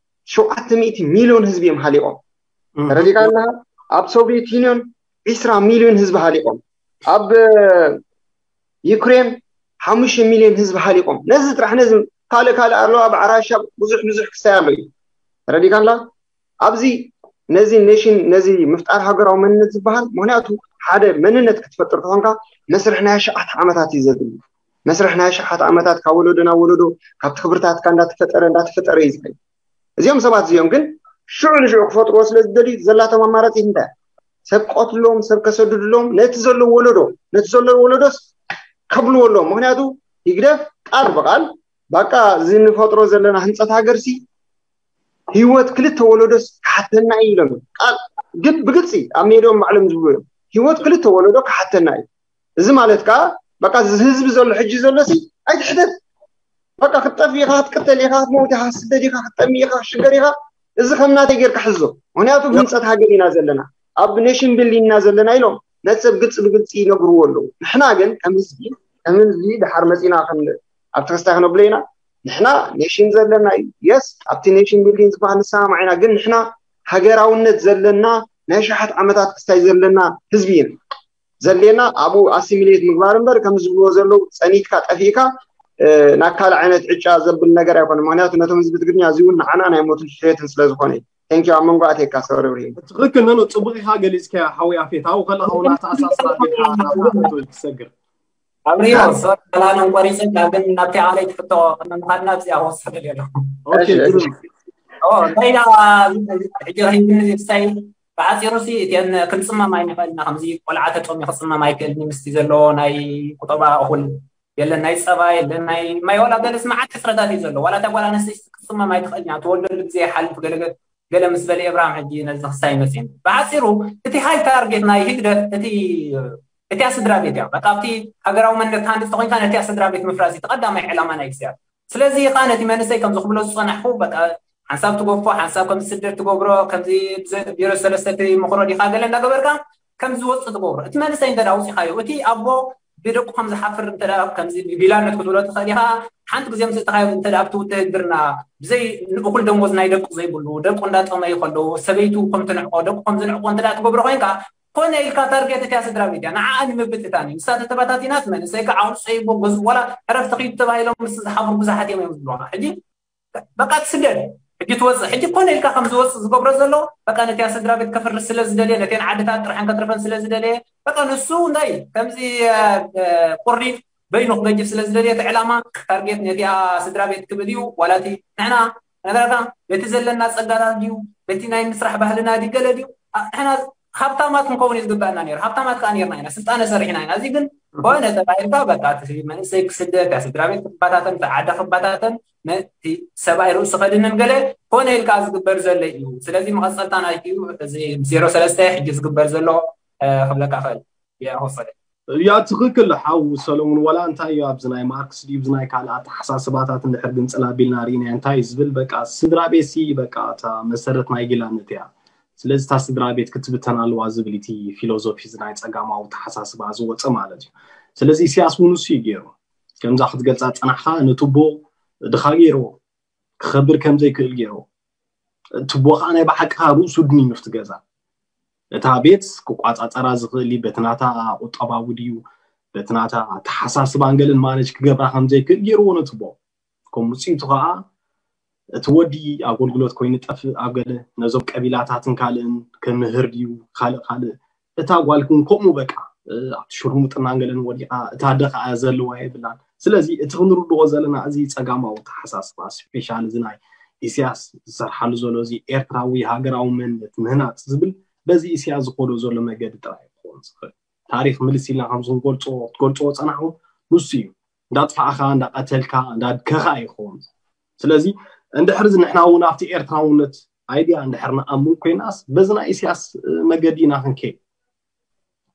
ሸውዓተ ሚእቲ ሚልዮን ህዝቢ እዮም ሃሊቖም። እም። ተረዲእካ ኣለኻ? ኣብ ሶቪየት ዩኒዮን ዒስራ ሚልዮን ህዝቢ ሃሊቖም። ኣብ፣ እ፣ ዩክሬን ሓሙሽተ ሚልዮን ህዝቢ ሃሊቖም። ነዚ ጥራሕ ነዚ ካልእ ካልእ ኣሎ፣ ኣብ ዓራሻ ብዙሕ ብዙሕ ክስታይ ኣሎ እዩ። ተረዲካላ? ኣብዚ ነዚ ኔሽን ነዚ ምፍጣር ሃገራዊ መንነት ዝበሃል ምክንያቱ ሓደ መንነት ክትፈጥር ተኾንካ መስርሕ ናይ ኣሽዓት ዓመታት እዩ ዘድሊ። መስርሕ ናይ ኣሽዓት ዓመታት ካብ ወለዶ ናብ ወለዶ ካብቲ ክብርታትካ እንዳተፈጠረ እንዳተፈጠረ እዩ ዝኸይድ። እዚኦም ሰባት እዚኦም ግን ሽዑ ንሽዑ ክፈጥርዎ ስለ ዝደልዩ ዘላቶም ኣማራፂ እንታይ? ሰብ ክቐትልሎም፣ ሰብ ከሰድድሎም፣ ነቲ ዘሎ ወለዶ ነቲ ዘሎ ወለዶስ ከብልዎ ኣለዎም። ምክንያቱ ህግደፍ ቃል ብቃል ባቃ እዚ ንፈጥሮ ዘለና ህንፀት ሃገርሲ ህይወት ክልተ ወለዶስ ክሓተና እዩ ኢሎም ቃል ግን ብግልፂ ኣብ ሜድኦም ባዕሎም ዝብሉ እዮም። ህይወት ክልተ ወለዶ ክሓተና እዩ። እዚ ማለት ከዓ በቃ እዚ ህዝቢ ዘሎ ሕጂ ዘሎ ሲ ኣይትሕተት። በቃ ክትጠፍ ኢኻ፣ ክትቅተል ኢኻ፣ ክትመውት ኢኻ፣ ክትስደድ ኢኻ፣ ክትጠሚ ኢኻ፣ ክትሽገር ኢኻ። እዚ ከም ናተይ ጌርካ ሕዞ። ምክንያቱ ብህንፀት ሃገር ኢና ዘለና፣ ኣብ ኔሽን ቢልዲንግ ኢና ዘለና ኢሎም ነቲ ሰብ ግልፂ ብግልፂ ይነግርዎ ኣለዉ። ንሕና ግን ከም ህዝቢ ከም ህዝቢ ድሓር መፂና ከም ኣብቲ ክስታይ ክነብሎ ኢና። ንሕና ኔሽን ዘለና እዩ። የስ ኣብቲ ኔሽን ቢልዲንግ ዝበሃል ንሰማማዕ ኢና፣ ግን ንሕና ሃገራውነት ዘለና ናይ ሸሓት ዓመታት ክስታይ ዘለና ህዝቢ ኢና። ዘድልየና ኣብኡ ኣሲሚሌት ምግባር እምበር ከም ዝብልዎ ዘለዉ ፀኒትካ ጠፊእካ ናብ ካልእ ዓይነት ዕጫ ዘብል ነገር ኣይኮነ። ምክንያቱ ነቶም ህዝቢ ትግርኛ እዚ እውን ንዓና ናይ ሞትን ሕየትን ስለ ዝኾነ እዩ። ቴንኪዩ ኣብ መንጎ ኣቴካ ሰበረብሪ። ትኽክል ነኖ ፅቡቅ ኢኻ ገሊፅካ ሓዊ ኣፌት ኣብኡ ከለካ እውን ኣተኣሳስራ ጌርካ ናብታ ክትሰግር ኣብሪዮ ሶሪ ሰላምን ቆሪፅን ግን ናብቲ ዓለይ ትፍቶ ቅድሚ ምኻድና ኣብዚኣ ክወስድ ደልየ ኣለኹ እንታይ ዳ ሕጂ ረሂብኒ ዝብሳይ ብሓፂሩ ሲ እቲአን ክንፅመም ኣይንኽእል ኢና ከምዚ ቆልዓ ተጠምዩ ክፅመም ኣይክእል ኒ ምስቲ ዘለዎ ናይ ቁጠባ እኹል የለን ናይ ፀባ የለን ናይ ማይ ዋላ ገለስ መዓት ሕፅረታት እዩ ዘሎ ዋላ እታ ጓል ኣነስተይቲ ክትፅመም ኣይትኽእል እያ ትወልደሉ ግዜ ይሓልፍ ገለገለ ገለ ምስ በለ ኤብርሃም ሕጂ ነዚ ክሳይ መፅእኒ ብሓፂሩ እቲ ሃይ ታርጌት ናይ ህግደፍ እቲ እቲያ ስድራ ቤት እያ በቃ ኣብቲ ሃገራዊ መንነት ትሃንፅ ተኮይንካ ነቲያ ስድራ ቤት ምፍራስ እቲ ቀዳማይ ዕላማ ናይ እግዚኣብሔር ስለዚ ከዓ ነቲ መንእሰይ ከምዚ ክብሎ ዝፀናሕኩ በቃ ሓንሳብ ትገፎ ሓንሳብ ከም ስደት ትገብሮ ከምዚ ቢሮ ሰለስተ ትምክሮ ዲካ ገለ እንዳገበርካ ከም ዝወፅእ ትገብሮ እቲ መንእሰይ እንተ ኣውፂኻዮ እቲ ኣቦ ብደቁ ከም ዝሓፍር እንተ ከምዚ ብቢላነት ክትብሎ ትኽእል ኢኻ ሓንቲ ግዜ ምስ እተኻዮ እንተ ኣብቲ ውትህድርና ብዘይ ንእኹል ደሞዝ ናይ ደቁ ዘይብሉ ደቁ እንዳጠመዩ ከለዉ ሰበይቱ ከም ትንዕቆ ደቁ ከም ዝንዕቆ እንተ ትገብሮ ኮይንካ ኮነ ኢልካ ታርጌት እቲያ ስድራ ቤት እያ ንዓኣ ንምብትታን እዩ ንሳ ተተባታቲናት መንእሰይ ከዓ ኣውፅእዎ ገዝኡ ዋላ ዕረፍቲ ኪዱ ተባሂሎም ምስ ዝሓፍሩ ብዙሓት እዮም እዮም ዝብሉና ሕጂ በቃ ትስደድ ሕጂ ትወፅእ ሕጂ ኮነ ኢልካ ከም ዝወፅእ ዝገብሮ ዘሎ በቃ ነቲያ ስድራ ቤት ከፍርስ ስለ ዝደልየ ነተን ዓድታት ጥርሐን ከትርፈን ስለ ዝደልየ በቃ ንሱ እንታይ ከምዚ ቁሪ በይኑ ክገጅፍ ስለ ዝደልየ እቲ ዕላማ ታርጌት ነቲያ ስድራ ቤት ክብል እዩ ዋላ እቲ ንሕና ነገራታ በቲ ዘለና ፀጋታት ድዩ በቲ ናይ ምስራሕ ባህልና ድዩ ገለ ድዩ ንሕና ሃብታማት ክንከውን እዩ ዝግበኣና ነይሩ ሃብታማት ከዓ ነርና ኢና ስልጣነ ሰሪሕና ኢና እዚ ግን ኮነ ተባሂልካ በቃ እቲ መንእሰይ ክስደድ እታ ስድራ ቤት ክባታተን እታ ዓዳ ክባታተን ነቲ ሰብኣይ ርእሱ ከድንን ገለ ኮነ ኢልካ ዝግበር ዘሎ እዩ ስለዚ መቐፀልታ ናይትዩ እዚ ዜሮ ሰለስተ ሕጂ ዝግበር ዘሎ ክብለካ ክእል የወሰደ ያ ትኽክል ሓው ሰለሙን ወላ እንታይ እዩ ኣብዚ ናይ ማርክስ ድዩ ናይ ካልእ ኣተሓሳስባታት እንድሕር ግንፅል ኣቢልና ርኢና እንታይ ዝብል በቃ ስድራ ቤት ሲ በቃ እታ መሰረት ናይ ጊላነት እያ ስለዚ እታ ስድራ ቤት ክትብተን ኣለዋ ዝብል እቲ ፊሎዞፊ እዚ ናይ ፀጋማዊ ተሓሳስባ ዝወፀ ማለት እዩ ስለዚ ኢሳያስ እውን እሱ እዩ ገይሩ ከምዛ ክትገልፃ ፀናሕካ ነትቦ ድኻ ገይርዎ ክኸብር ከም ዘይክእል ገይርዎ ትቦ ከዓ ናይ ብሓቂ ከዓ ርእሱ ድንዩ ኣብቲ ገዛ እታ ቤት ክቋፃፀራ ዝኽእል በቲ ናታ ቁጠባዊ ድዩ በቲ ናታ ኣተሓሳስባን ገለን ማነጅ ክገብራ ከም ዘይክእል ገይርዎ ነትቦ ከም ውፅኢቱ ከዓ እቲ ወዲ ኣገልግሎት ኮይኑ ጠፍእ ኣብ ገለ ነዞም ቀቢላታትን ካልእን ክምህር ድዩ ካልእ ካልእ እታ ጓል እውን ከምኡ በቃ ኣብቲ ሽርሙጥናን ገለን ወዲቃ እታ ኣደ ከዓ ዘለዋ የብላን ስለዚ እቲ ክንርድኦ ዘለና እዚ ፀጋማዊ ተሓሳስባ ስፔሻል እዚ ናይ ኢሳያስ ዝሰርሓሉ ዘሎ እዚ ኤርትራዊ ሃገራዊ መንነት ምህናፅ ዝብል በዚ ኢሳያስ ዝኮዶ ዘሎ መገዲ ጥራይ ክኸውን ዝኽእል ታሪክ ምልስ ኢልና ከምዚ ክንገልፆ ክትገልፅዎ ፀናሕኩም ንሱ እዩ እንዳጥፋእኻ እንዳቀተልካ እንዳድከኻ ይኸውን ስለዚ እንድሕር እዚ ንሕና እውን ኣብቲ ኤርትራውነት ኣይድያ እንድሕር ንኣምን ኮይናስ በዚ ናይ ኢሳያስ መገዲ ኢና ክንከይድ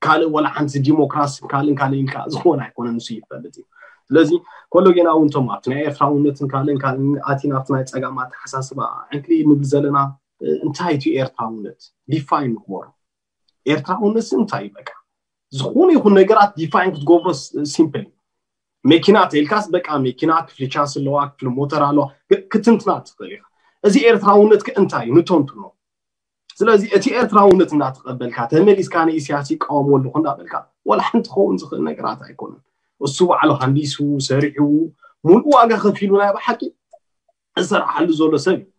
ካልእ ወላ ሓንቲ ዲሞክራሲ ካልእን ካልእ ኢልካ ዝኾነ ኣይኮነ ንሱ ይፈልጥ እዩ ስለዚ ኮሎ ጌና እውን ቶም ኣብቲ ናይ ኤርትራውነትን ካልእን ካልእን ኣቲ ናብቲ ናይ ፀጋም ኣተሓሳስባ ዕንክሊ ንብል ዘለና እንታይ እቲ ኤርትራውነት ዲፋይን ንግበሩ ኤርትራውነት እንታይ እዩ በቃ ዝኾነ ይኹን ነገራት ዲፋይን ክትገብሮ ሲምፕል መኪና ተልካስ በቃ መኪና ክፍሊ ቻስ ኣለዋ ክፍሊ ሞተር ኣለዋ ክትንትና ትኽእል ኢኻ እዚ ኤርትራውነት ከ እንታይ እዩ ንተንትኖ ስለዚ እቲ ኤርትራውነት እናተቐበልካ ተመሊስካ ንኢሳያስ ይቃወሞ ኣለኹ እንዳበልካ ወላ ሓንቲ ክኸውን ዝኽእል ነገራት ኣይኮነን እሱ ባዕሉ ሃንዲሱ ሰሪሑ ሙሉእ ዋጋ ከፊሉ ናይ ብሓቂ ዝሰርሓሉ ዘሎ ሰብ እዩ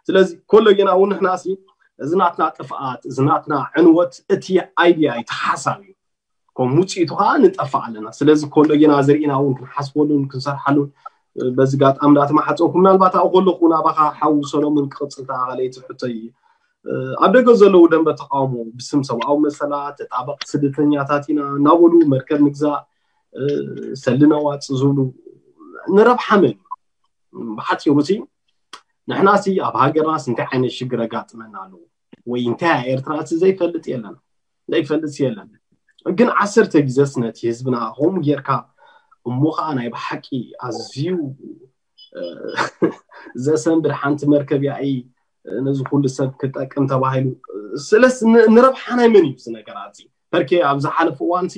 ስለዚ ኮሎጌና እውን ንሕና ሲ እዚ ናትና ጥፍኣት፣ እዚ ናትና ዕንወት፣ እቲ ኣይድያ እዩ፣ እቲ ሓሳብ እዩ። ከም ውፅኢቱ ከዓ ንጠፍእ ኣለና። ስለዚ ኮሎጌና ዘርእና እውን ክንሓስበሉን ክንሰርሓሉን በዚ ጋጣሚ እንዳተማሓፀንኩ፣ ምናልባት ኣብኡ ከለኹ እውን ኣባኻ ሓው ሰሎሞን ክቕፅል ተኣኻለይቲ ሕቶ እዩ። ኣብ ደገ ዘለዉ ደንበ ተቃውሞ ብስም ሰብኣዊ መሰላት፣ ተጣበቕ ስደተኛታት ኢና እናበሉ መርከብ ንግዛእ፣ ሰሊ ነዋፅ ዝብሉ ንረብሓ መን እዩ? ብሓፂሩ ሲ ንሕና ሲ ኣብ ሃገርናስ እንታይ ዓይነት ሽግር ኣጋጥመና ኣለዎ? ወይ እንታይ እያ ኤርትራ እቲ ዘይፈልጥ የለን፣ ዘይፈልጥ የለን። ግን ዓሰርተ ግዜስ ነቲ ህዝብና ከምኡ ጌርካ እሞ ከዓ ናይ ብሓቂ ኣዝዩ ዘሰንብድ ሓንቲ መርከብ ያኢ ነዚ ኩሉ ሰብ ክጠቅም ተባሂሉ ስለስ ንረብሓ ናይ መን እዩ እዚ ነገር ኣዚ ፐርኬ ኣብ ዝሓለፈ እዋን ሲ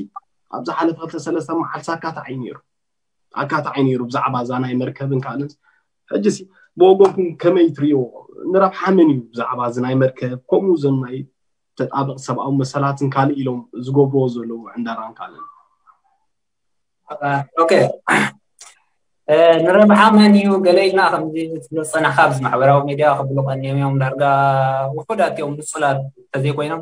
ኣብ ዝሓለፈ ክልተ ሰለስተ መዓልቲ ኣካታዒ ነይሩ ኣካታዒ ነይሩ ብዛዕባ እዛ ናይ መርከብን ካልእን ሕጂ ሲ ብወገንኩም ከመይ ትሪኦ ንረብሓ መን እዩ ብዛዕባ እዚ ናይ መርከብ ከምኡ ዘን ናይ ተጣበቕ ሰብኣዊ መሰላትን ካልእ ኢሎም ዝገብርዎ ዘለዉ ዕንደራን ካልእን ኦኬ ንረብሓ መን እዩ ገለ ኢልና ከምዚ ዝፀናሕካ ኣብዚ ማሕበራዊ ሚድያ ክብሉ ቀኒዮም እዮም ዳርጋ ውሑዳት እዮም ንፁላት እንተዘይኮይኖም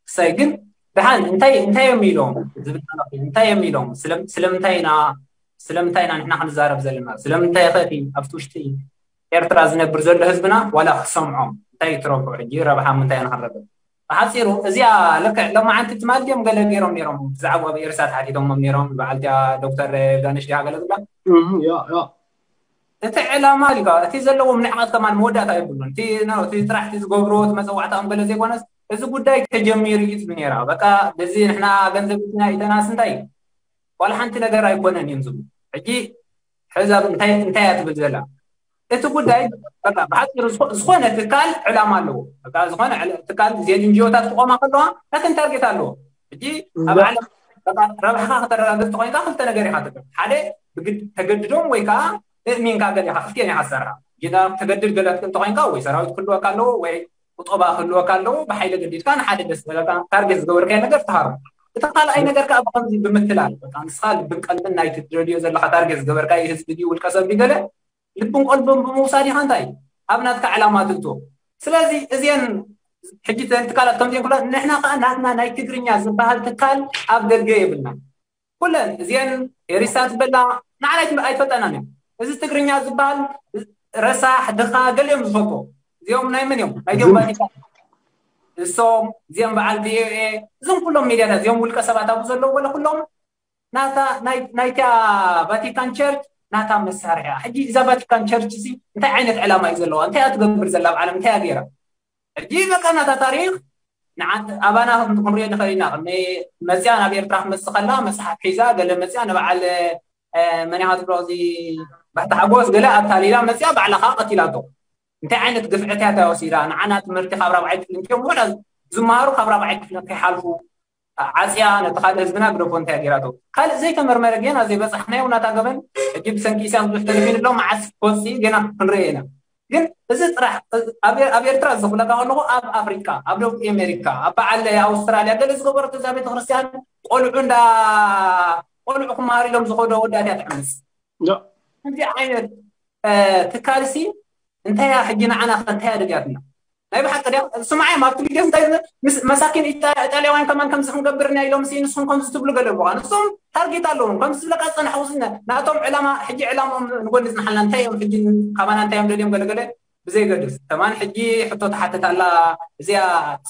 ክሳይ ግን ድሓን እንታይ እንታይ እዮም ኢሎም ዝብል እንታይ እዮም ኢሎም ስለምንታይ ኢና ስለምንታይ ኢና ንሕና ክንዛረብ ዘለና ስለምንታይ ኸቲ ኣብቲ ውሽጢ ኤርትራ ዝነብር ዘሎ ህዝብና ዋላ ክሰምዖም እንታይ ትረብሑ ሕጂ ረብሓ ምንታይ ኢና ክንረብሕ ብሓፂሩ እዚኣ ልክዕ ሎማዓንቲ ትማል ድዮም ገለ ገይሮም ነይሮም ብዛዕባ ኣብ ኤርሳ ተሓቲቶሞም ነይሮም በዓልቲያ ዶክተር ዮርዳኖስ ድያ ገለ ዝብላ እቲ ዕላማ ሊካ እቲ ዘለዎም ንዕቀት ከማን መወዳእታ የብሉን እቲ ጥራሕ እቲ ዝገብርዎ እቲ መፀዋዕታኦም ገለ ዘይኮነስ እዚ ጉዳይ ተጀሚሩ እዩ ትብል ነይራ በቃ በዚ ንሕና ገንዘብ ኢትና ኢተናስ እንታይ ዋላ ሓንቲ ነገር ኣይኮነን እዮም ዝብሉ ሕጂ ሕዛብ እንታይ እንታይ እያ ትብል ዘላ እቲ ጉዳይ በቃ ብሓፂሩ ዝኾነ ትካል ዕላማ ኣለዎ በቃ ዝኾነ ትካል ዜን እንጂኦታት ክቆማ ከለዋ ናተን ታርጌት ኣለዎ ሕጂ ኣብ ዓለም ረብሓኻ ከተረጋግፅ ተኮይንካ ክልተ ነገር ኢኻ ትገብር ሓደ ተገድዶም ወይ ከዓ እእሚንካ ገሊኻ ክልቲኤን ኢኻ ትሰርሓ ጌና ተገድድ ገለ እንተኮይንካ ወይ ሰራዊት ክህልወካ ኣለዎ ወይ ቁጠባ ክህልወካ ኣለዎ ብሓይሊ ገዲድካ ንሓደ ደስ ዘለካ ታርጌት ዝገበርካዮ ነገር ትሃሮ እቲ ካልኣይ ነገር ከዓ ብከምዚ ብምትላል በቃ ንስኻ ልብን ቀልብን ናይቲ ትደልዮ ዘለካ ታርጌት ዝገበርካዮ ህዝቢ ድዩ ውልቀ ሰብ ድዩ ገለ ልብን ቀልብን ብምውሳድ ኢኻ እንታይ ኣብ ናትካ ዕላማ ትእትዎ ስለዚ እዚአን ሕጂ ትካላት ከምዚአን ኩላ ንሕና ከዓ ናትና ናይ ትግርኛ ዝበሃል ትካል ኣብ ደገ የብልና ኩለን እዚአን ኤሪሳ ትበላ ንዓና ኣይትፈጠናን እዮም እዚ ትግርኛ ዝበሃል ረሳሕ ድኻ ገሊኦም ዝፈጥዎ እዚኦም ናይ መን እዮም ናይ ዲኦም ቫቲካን እሶም እዚኦም በዓል ቪኦኤ እዞም ኩሎም ሚድያታት እዚኦም ውልቀ ሰባት ኣብኡ ዘለዉ ወለ ኩሎም ናታ ናይታ ቫቲካን ቸርች ናታ መሳርሒ ሕጂ እዛ ቫቲካን ቸርች እዚ እንታይ ዓይነት ዕላማ እዩ ዘለዋ እንታይ እያ ትገብር ዘላ ኣብ ዓለም እንታይ እያ ገይራ ሕጂ በቃ ናታ ታሪክ ንዓት ኣባና ክንሪኦ ንኽእል ኢና ቅድሚ መፅያ ናብ ኤርትራ ክመፅእ ከላ መፅሓፍ ሒዛ ገለ መፅያ ንበዓል መን ኢኻ ትብሎ እዚ ባሕቲ ሓጎስ ገለ ኣታሊላ መፅያ ባዕላ ከዓ ቀቲላቶ እንታይ ዓይነት ግፍዕታት እያ ወሲዳ ንዓና ትምህርቲ ካብ ራብዓይ ክፍሊ እንቲኦም ውሕዳ ዝመሃሩ ካብ ራብዓይ ክፍሊ ከይሓልፉ ዓፅያ ነቲ ካልእ ህዝብና ግደፎ እንታይ ገይራቶ ካልእ ዘይተመርመረ ጌና ዘይበፃሕናዮ ናታ ገበን ሕጂ ብሰንኪ ኢሳያስ ብዙሕ ተደፊኑ ኣሎ መዓስ ክወፅእ ጌና ክንርኢ ኢና ግን እዚ ጥራሕ ኣብ ኤርትራ ዝኽብለካ ከለኹ ኣብ ኣፍሪካ ኣብ ደቡብ ኣሜሪካ ኣብ በዓል ኣውስትራልያ ገለ ዝገበረቶ እዛ ቤተክርስትያን ቆልዑ እንዳ ቆልዑ ክመሃሩ ኢሎም ዝኸዶ ወዳት እያ ትዕምፅ ከምዚ ዓይነት ትካልሲ እንታይ እያ ሕጂ ንዓና ከ እንታይ እያ ደልያትና ናይ ብሓቂ ድያ ስምዓዮም ኣብቲ ግዜ እንታይ ምስ መሳኪን ኢጣ- ኢጣልያውያን ከማን ከምዚ ክንገብር ኢና ኢሎም ሲ ንስኹም ከምዚ ትብሉ ገለ እሞ ንሶም ታርጌት ኣለዎም ከምዚ ዝብለካ ዝፀናሕኩ ሲ ናቶም ዕላማ ሕጂ ዕላማኦም ንጎኒ ዝንሓልና እንታይ እዮም ሕጂ ካባና እንታይ እዮም ደልዮም ገለገለ ብዘይገድስ ከማን ሕጂ ሕቶ ትሓትት ኣላ እዚኣ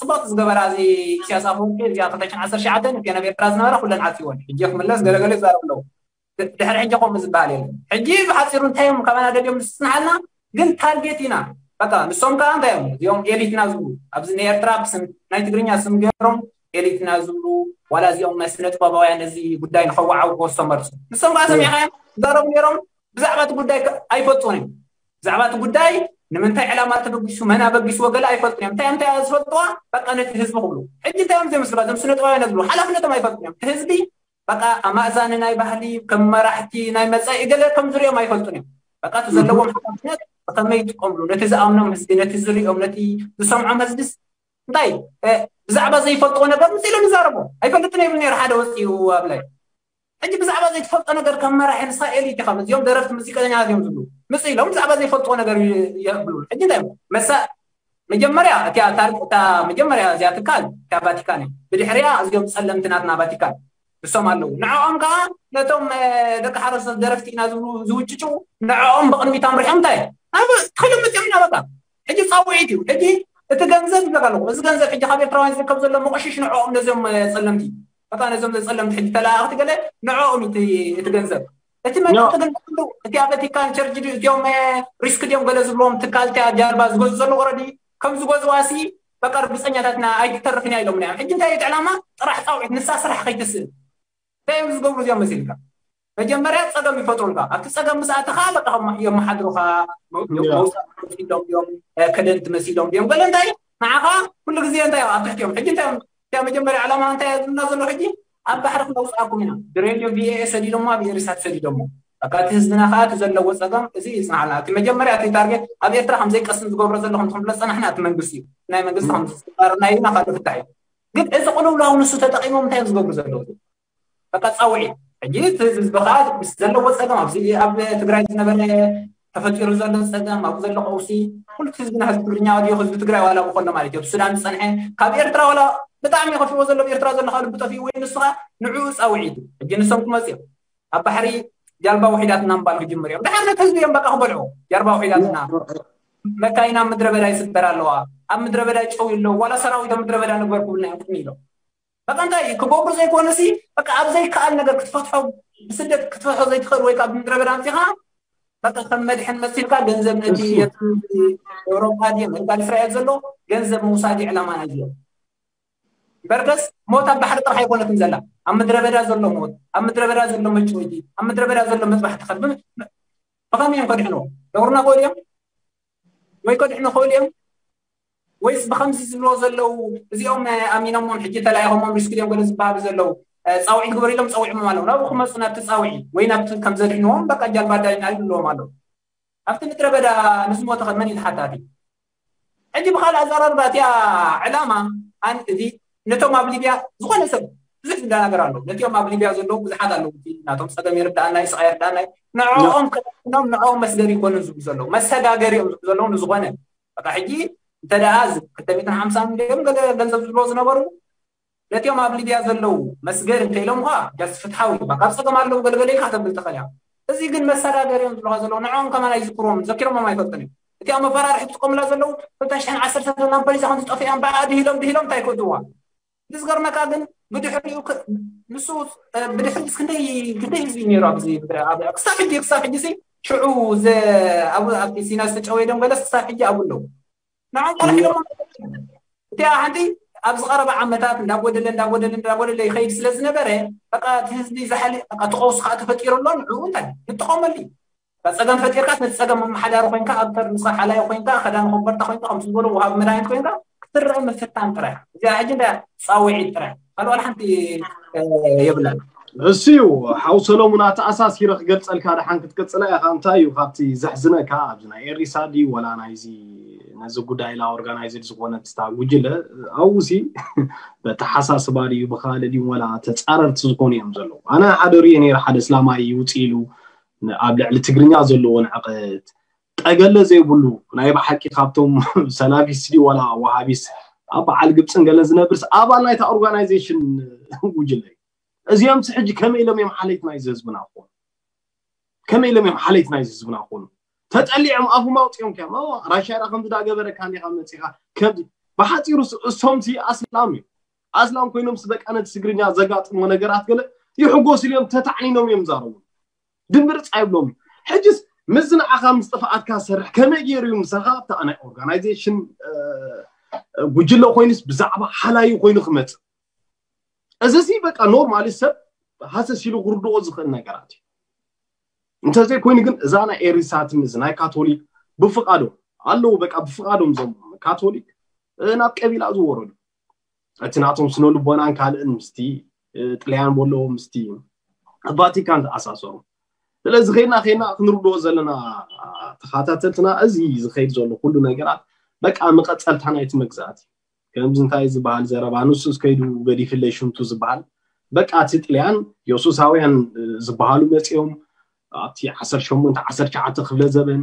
ፅቡቅ ዝገበራ እዚ ኢሳያስ ኣፈወርቂ እዚኣ ክልተ ሽሕን ዓሰርተ ትሽዓተን እቲአን ኣብ ኤርትራ ዝነበራ ኩለን ዓፅይወን ሕጂ ክምለስ ገለገለ ይዛረቡ ኣለዉ ድሕሪ ሕጂ ከምኡ ዝበሃል የለን ሕጂ ብሓፂሩ እንታይ እዮም ካባና ደልዮም ዝፅንሓልና ግን ታርጌት ኢና በቃ ንሶም ከዓ እንታይ እዮም እዚኦም ኤሊትና ዝብሉ ኣብዚ ናይ ኤርትራ ብስም ናይ ትግርኛ ስም ገይሮም ኤሊትና ዝብሉ ዋላ እዚኦም ናይ ስነ ጥበባውያን እዚ ጉዳይ ንከወዓውዎ ዝተመርፁ ንሶም ከዓ ሰሚዕካዮም ይዛረቡ ነይሮም ብዛዕባ እቲ ጉዳይ ኣይፈልጡን እዮም ብዛዕባ እቲ ጉዳይ ንምንታይ ዕላማ ተበጊሱ መን ኣበጊስዎ ገለ ኣይፈልጡን እዮም እንታይ እንታይ ዝፈልጥዋ በቃ ነቲ ህዝቢ ክብሉ ሕጂ እንታይ እዮም ዘይመስልካ እዞም ስነ ጥበባውያን ዝብሉ ሓላፍነቶም ኣይፈልጡን እዮም እቲ ህዝቢ በቃ ኣማእዛኒ ናይ ባህሊ ከም መራሕቲ ናይ መጻኢ ገለ ከም ዝሪኦም ኣይፈልጡን እዮም በቃ እቲ ዘለዎም ሓላፍነት ብከመይ ይጥቀምሉ ነቲ ዝኣምኖም ህዝቢ ነቲ ዝሪኦም ነቲ ዝሰምዖም ህዝብስ እንታይ ብዛዕባ ዘይፈልጥዎ ነገር ምስ ኢሎም ይዛረቦ ኣይፈልጥን ይብል ነይሩ ሓደ ወፂኡ ኣብ ላይ ሕጂ ብዛዕባ ዘይትፈልጦ ነገር ከም መራሒ ንስኻ ኤሊት ኢኻ እዚኦም ደረፍቲ ሙዚቀኛታት እዮም ዝብሉ ምስ ኢሎም ብዛዕባ ዘይፈልጥዎ ነገር የብሉ ሕጂ እንታይ መሳ መጀመርያ እቲኣ ታር- እታ መጀመርያ እዚኣ ትካል እታ ቫቲካን እዩ። ብድሕሪያ እዚኦም ጸለምቲ ናትና ቫቲካን እሶም ኣለዉ። ንዕኦም ከዓ ነቶም ደቂ ሓረስቶት ደረፍቲ ኢና ዝብሉ ዝውጭጭው ንዕኦም ብቕድሚት ኣምሪሖም እንታይ ናብ ተኸሎም መፅኦም ኢና። በቃ ሕጂ ፃውዒት እዩ። ሕጂ እቲ ገንዘብ ይብለካ ኣለኹ፣ እዚ ገንዘብ ሕጂ ካብ ኤርትራውያን ዝርከብ ዘሎ መቆሽሽ ንዕኦም ነዚኦም ጸለምቲ በቃ ነዞም ዘጸለምቲ ሕጂ ተለኣእኽቲ ገለ ንዕኦም እቲ ገንዘብ እቲ መጥቕቲ ግን እቲ ቫቲካን ቸርች እቲኦም ሪስክ ድዮም ገለ ዝብሎም ትካል እቲያ ጃልባ ዝገዙ ዘሎ ወረዲ ከም ዝገዝዋ ሲ በቃ ርግፀኛታትና ኣይትተርፍን እያ ኢሎም እዮም። ሕጂ እንታይ እቲ ዕላማ ጥራሕ ፃውዒት ንሳ ስራሕ ከይትስእል እንታይ እዮም ዝገብሩ እዚኦም መሲልካ መጀመርያ ፀገም ይፈጥሩልካ። ኣብቲ ፀገም ምስ ኣተኻ በቃ የመሓድሩኻ። መውፃእ መሲሎም እዮም፣ ከደንቲ መሲሎም እዮም። ገለ እንታይ ንዓኻ ኩሉ ግዜ እንታይ ኣብ ትሕቲ እዮም። ሕጂ እንታይ እዮም እቲያ መጀመርያ ዕላማ እንታይ ዝብልና ዘሎ ሕጂ ኣብ ባሕሪ ክነውፅኣኩም ኢና። ብሬድዮ ቪኤኤ ሰዲዶሞ ኣብ ኤሪሳት ሰዲዶሞ በቃ እቲ ህዝብና ከዓ እቲ ዘለዎ ፀገም እዚ ይፅናሓልና። እቲ መጀመርያ እቲ ታርጌት ኣብ ኤርትራ ከም ዘይቀስም ዝገብሮ ዘሎ ከም ዝፍለጥ ፀናሕና እቲ መንግስቲ እዩ። ናይ መንግስቲ ከም ዝፅባርና ኢልና ካልእ ፍታሕ እዩ። ግን እዚ ቅልውላው ንሱ ተጠቂሞም እንታይ እዮም ዝገብሩ ዘለዉ? በቃ ፃውዒት ሕጂ እቲ ህዝቢ ከዓ ምስ ዘለዎ ፀገም ኣብዚ ኣብ ትግራይ ዝነበረ ተፈጢሩ ዘሎ ፀገም ኣብ ዘሎ ቀውሲ ኩሉ ህዝብና ህዝቢ ትግርኛ ድዮ ህዝቢ ትግራይ ዋላ ብኮሎ ማለት እዩ ኣብ ሱዳን ዝፀንሐ ካብ ኤርትራ ዋላ ብጣዕሚ ከፊዎ ዘሎ ኤርትራ ዘሎ ካብ ልቢ ጠፊኡ ወይ ንሱ ከዓ ንዕኡ ፃውዒቱ ሕጂ ንሶም ክመፅኡ ኣብ ባሕሪ ጃልባ ውሒዳትና ምባል ክጅምር እዮም። ድሓር ነቲ ህዝቢ እዮም በቃ ክበልዑ ጃልባ ውሒዳትና መካይና ምድረ በዳ ይስበር ኣለዋ ኣብ ምድረ በዳ ጨው ኣለዉ ዋላ ሰራዊት ኣብ ምድረ በዳ ንግበር ክብልና እዮም ቅድሚ ኢሎም በቃ እንታይ ክገብሩ ዘይኮነ ሲ በቃ ኣብ ዘይከኣል ነገር ክትፈትሖ ብስደት ክትፈትሖ ዘይትኽእል ወይ ካብ ምድረ በዳ ኣምፂኻ በቃ ከም መድሕን መሲልካ ገንዘብ ነቲ የቲ ኤውሮጳ ድየ ምእንታን እስራኤል ዘሎ ገንዘብ ምውሳድ እዩ ዕላማ ናይ እዚኦም። በርከስ ሞት ኣብ ባሕሪ ጥራሕ ኣይኮነትን ዘላ ኣብ ምድረ በዳ ዘሎ ሞት ኣብ ምድረ በዳ ዘሎ መጭወይቲ ኣብ ምድረ በዳ ዘሎ መጥባሕቲ ከ ብኸመይ እዮም ከድሕንዎ? ደብርና ክእሉ እዮም ወይ ከድሕኑ ክእሉ እዮም ወይስ ብከምዚ ዝብልዎ ዘለዉ እዚኦም ኣሚኖሞም ሕጂ ተላኢኾሞም ሪስክ ድዮም ገለ ዝበሃሉ ዘለዉ ፃውዒት ግበር ኢሎም ፀዊዖሞም ኣለዉ ናብኡ ክመፁ ናብቲ ፃውዒት ወይ ናብቲ ከም ዘድሕንዎም በቃ ጃልባ ዳይና ይብልዎም ኣለዉ ኣብቲ ምድረ በዳ ንዝሞተ ከ መን እዩ ተሓታቲ ሕጂ ብካልእ ኣዘራርባ እቲኣ ዕላማ ኣን እዚ ነቶም ኣብ ሊብያ ዝኾነ ሰብ ብዙሕ ዝደናገር ኣለዉ ነቲኦም ኣብ ሊብያ ዘለዉ ብዙሓት ኣለዉ ናቶም ፀገም ይርዳኣና ይስቃ ይርዳኣና ንዕኦም ከኖም ንዕኦም መስገሪ ይኮኑን ዝብሉ ዘለዉ መሰጋገሪ እዮም ዝብሉ ዘለዉ ንዝኾነ በቃ ሕጂ እንተ ደኣ ክልተ ሚእትን ሓምሳን ሚልዮን ገለ ገንዘብ ዝብሎ ዝነበሩ ነቲኦም ኣብ ሊብያ ዘለዉ መስገር እንተ ኢሎም ኳ ጃስ ፍትሓዊ እዩ ካብ ፀገም ኣለዉ ገለገለ ኢልካ ተብል ትኽእል እያ እዚ ግን መሰጋገር እዮም ዝብልካ ዘለዉ ንዕኦም ከማን ኣይዝክርዎም ዘኪሮሞም ኣይፈልጥን እዩ እቲኣ መፈራርሒ ትጥቀሙላ ዘለዉ ክልተ ሽሕን ዓሰርተ ዘላ ፖሊሳ ከም ዝጠፍእያ እምበኣ ድሂሎም ድሂሎም እንታይ ክእትዋ ዝገርመካ ግን ብድሕሪኡ ንሱ ብድሕሪ ክንደይ ክንደይ ህዝቢ ነይሩ ኣብዚ ክሳብ ሕጂ ክሳብ ሕጂ ሽዑ ኣብቲ ሲና ዝተጨወየ ደም ገለስ ክሳብ ሕጂ ኣብኡ ኣለዉ ንዖም ቆልሕ ኢሎም እቲኣ ሓንቲ ኣብ ዝቐረበ ዓመታት እንዳጎደለ እንዳጎደለ እንዳጎደለ ይኸይድ ስለ ዝነበረ በቃ እቲ ህዝቢ ዝሓሊ እቲ ቀውሲ ከዓ ተፈጢሩ ኣሎ ንዕኡ እንታይ ንጥቀመሉ እዩ ጸገም ፈጢርካ ነቲ ጸገም መመሓዳሪ ኮይንካ ኣብ ተር ንስኻ ሓላዮ ኮይንካ ከዳን ኮበርታ ኮይንካ ከምቲ ዝበሎ ውሃቢ መድሃኒት ኮይንካ ክትረአ ምፍታን ጥራሕ እዚኣ ሕጂ እንዳ ፃውዒት ጥራሕ ካልእ ዋላ ሓንቲ የብላን እሱ እዩ ሓው ሰሎሙን ኣተኣሳሲረ ክገልፀልካ ደሓን ክትቅፅላ ኢኻ እንታይ እዩ ካብቲ ዘሕዝነካ ኣብዚ ናይ ኤሪሳ ድዩ ወላ ናይዚ ነዚ ጉዳይ ላ ኦርጋናይዝድ ዝኾነት ስታ ጉጅለ ኣብኡ ሲ በተሓሳስባ ድዩ ብካልእ ድዩ ወላ ተፃረርቲ ዝኾኑ እዮም ዘለዉ ኣነ ሓደ ሪኦ ነይረ ሓደ እስላማይ ይውፅ ኢሉ ኣብ ልዕሊ ትግርኛ ዘለዎ ንዕቀት ጠገለ ዘይብሉ ናይ ብሓቂ ካብቶም ሰላፊስት ድዩ ወላ ዋሃቢስ ኣብ በዓል ግብፅን ገለን ዝነብርስ ኣባል ናይታ ኦርጋናይዜሽን ጉጅለ እዩ እዚኦም ሕጂ ከመይ ኢሎም እዮም ሓለይቲ ናይዚ ህዝብና ክኾኑ ከመይ ኢሎም እዮም ሓለይቲ ናይዚ ህዝብና ክኾኑ ተጠሊዖም ኣፉም ኣውፂኦም ከ ራሻ ዳ ከምዚ ዳገበረካ እንዲኻ መፂኻ ከምዚ ብሓፂሩ እሶምሲ ኣስላም እዩ ኣስላም ኮይኖም ስበቃ ነቲ ትግርኛ ዘጋጥሞ ነገራት ገለ ይሕጎስ ኢሎም ተታዕኒኖም እዮም ዛረቡ ድምርፅ ኣይብሎም ሕጅስ ምዚ ንዓኻ ምስ ጥፍኣትካ ዝሰርሕ ከመይ ገይሩ እዩ ምሳኻ ኣብታ ናይ ኦርጋናይዜሽን ጉጅለ ኮይኑስ ብዛዕባ ሓላዩ ኮይኑ ክመፅእ እዚ ሲ በቃ ኖርማሊ ሰብ ሃሰስ ኢሉ ክርድኦ ዝኽእል ነገራት እዩ እንተዘይኮይኑ ግን እዛ ናይ ኤሪሳትን እዚ ናይ ካቶሊክ ብፍቃዶም ኣለዉ በቃ ብፍቃዶም ዞም ካቶሊክ ናብ ቀቢላ ዝወረዱ እቲ ናቶም ስነ ልቦናን ካልእን ምስቲ ጥልያን በሎ ምስቲ ቫቲካን ተኣሳሰሩ ስለዚ ኸይና ኸይና ክንርድኦ ዘለና ተኻታተልትና እዚ ዝኸይድ ዘሎ ኩሉ ነገራት በቃ መቐፀልታ ናይቲ መግዛእቲ ከምዚ እንታይ ዝበሃል ዘረባ ንሱስ ከይዱ ገዲፍለይ ሽምቱ ዝበሃል በቃ እቲ ጥልያን የሱሳውያን ዝበሃሉ መፂኦም ኣብቲ ዓሰርተ ሸሞንተ ዓሰርተ ትሽዓተ ክፍለ ዘበን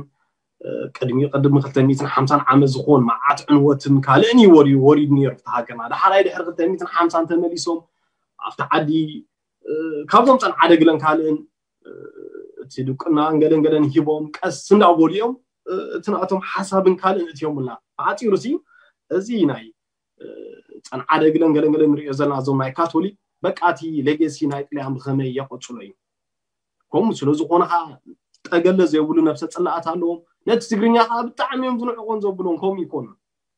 ቅድሚ ቅድሚ ክልተ ሚእትን ሓምሳን ዓመት ዝኮን መዓት ዕንወትን ካልእን እዩ ወሪዱ ወሪዱ ነይሩ ኣብቲ ሃገርና። ዳሓራይ ድሕሪ ክልተ ሚእትን ሓምሳን ተመሊሶም ኣብቲ ዓዲ ካብዞም ጸንዓደ ግለን ካልእን እቲ ድቁና ገለን ገለን ሂቦም ቀስ እንዳበሉ እዮም እቲ ናቶም ሓሳብን ካልእን እትዮምና። ብዓፂሩ ሲ እዚ ናይ ጸንዓደ ግለን ገለን ገለን ንሪኦ ዘለና እዞም ናይ ካቶሊክ በቃ እቲ ሌጌሲ ናይ ጥልያን ብኸመይ የቐፅሎ እዩ። ከምኡ ስለ ዝኾነ ከዓ ጠገለ ዘይብሉ ነብሰ ፅላኣት ኣለዎም። ነቲ ትግርኛ ከዓ ብጣዕሚ እዮም ዝንዕቆን ዘብሎም። ከምኡ ይኮኑ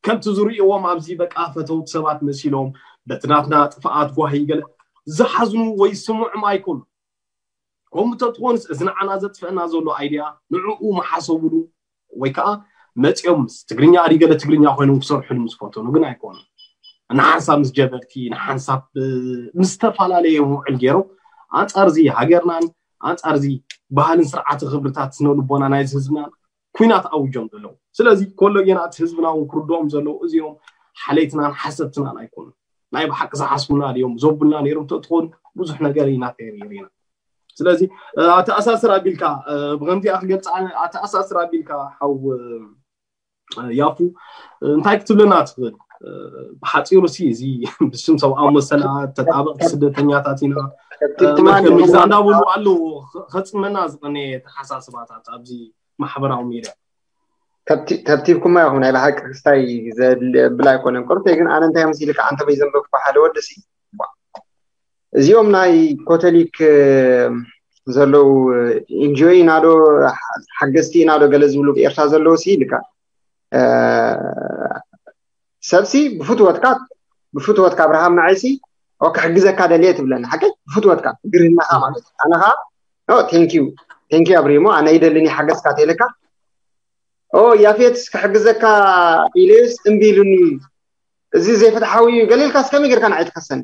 ከምቲ ዝርእዎም ኣብዚ በቃ ፈተውት ሰባት መሲሎም በቲ ናትና ጥፍኣት ጓሂ ገለ ዝሓዝኑ ወይ ስምዑም ኣይኮኑ። ከምኡ ተትኾንስ እዚ ንዓና ዘጥፍአና ዘሎ ኣይድያ ንዕኡ መሓሰብሉ ወይ ከዓ መፂኦም ምስ ትግርኛ ኣዲገለ ትግርኛ ኮይኖም ክሰርሕሉ ምስ ፈተኑ ግን ኣይኮኑ። ንሓንሳብ ምስ ጀበርቲ ንሓንሳብ ምስ ዝተፈላለየ ውዕል ገይሮም ኣንፃር እዚ ሃገርናን ኣንፃር እዚ ባህልን ስርዓተ ክብርታት ስነ ልቦና ናይዚ ህዝብናን ኩናት ኣውጆም ዘለዉ። ስለዚ ኮለጌና እቲ ህዝብና እውን ክርድኦም ዘለዉ እዚኦም ሓለይትናን ሓሰብትናን ኣይኮኑን። ናይ ብሓቂ ዝሓስቡና ድዮም ዘቡልና ነይሮም ተትኾኑ ብዙሕ ነገር ኢና ከይር ኢና። ስለዚ ኣተኣሳስር ኣቢልካ ብከምዚኣ ክገልፃ ኣተኣሳስር ኣቢልካ ሓው ያፉ እንታይ ክትብለና ትኽእል? ብሓፂሩ ሲ እዚ ብስም ሰብኣዊ መሰላት ተጣበቕቲ ስደተኛታት ኢና እንዳበሉ ኣለዉ። ከፅመና ዝቐነየ ተሓሳስባታት ኣብዚ ማሕበራዊ ሚድያ ተብቲብኩማ ኢኹም። ናይ ብሓቂ ክስታይ ዘብል ኣይኮነን። ቅርተይ ግን ኣነ እንታይ መሲልካ ኣንተ በይ ዘንበብኩ ሓደ ወዲ ሲ እዚኦም ናይ ኮተሊክ ዘለዉ ኢንጆይ ኢና ዶ ሓገዝቲ ኢና ዶ ገለ ዝብሉ ኤርትራ ዘለዉ ሲ ኢልካ ሰብሲ ብፍትወትካ ብፍትወትካ ኣብርሃም ንዓይሲ ክሕግዘካ ደልየ ትብለኒ ሓቀይ ብፍትወትካ ግርህናኻ ማለት እዩ ኣነ ኸዓ ቴንኪዩ ቴንኪዩ ኣብሪሞ ኣነ ይደልኒ ሓገዝካ ተይለካ ኦ ያፌትስ ክሕግዘካ ኢለዩስ እምቢ ኢሉኒ እዚ ዘይፍትሓዊ እዩ ገሊልካስ ከመይ ጌርካ ንዓይ ትኸሰኒ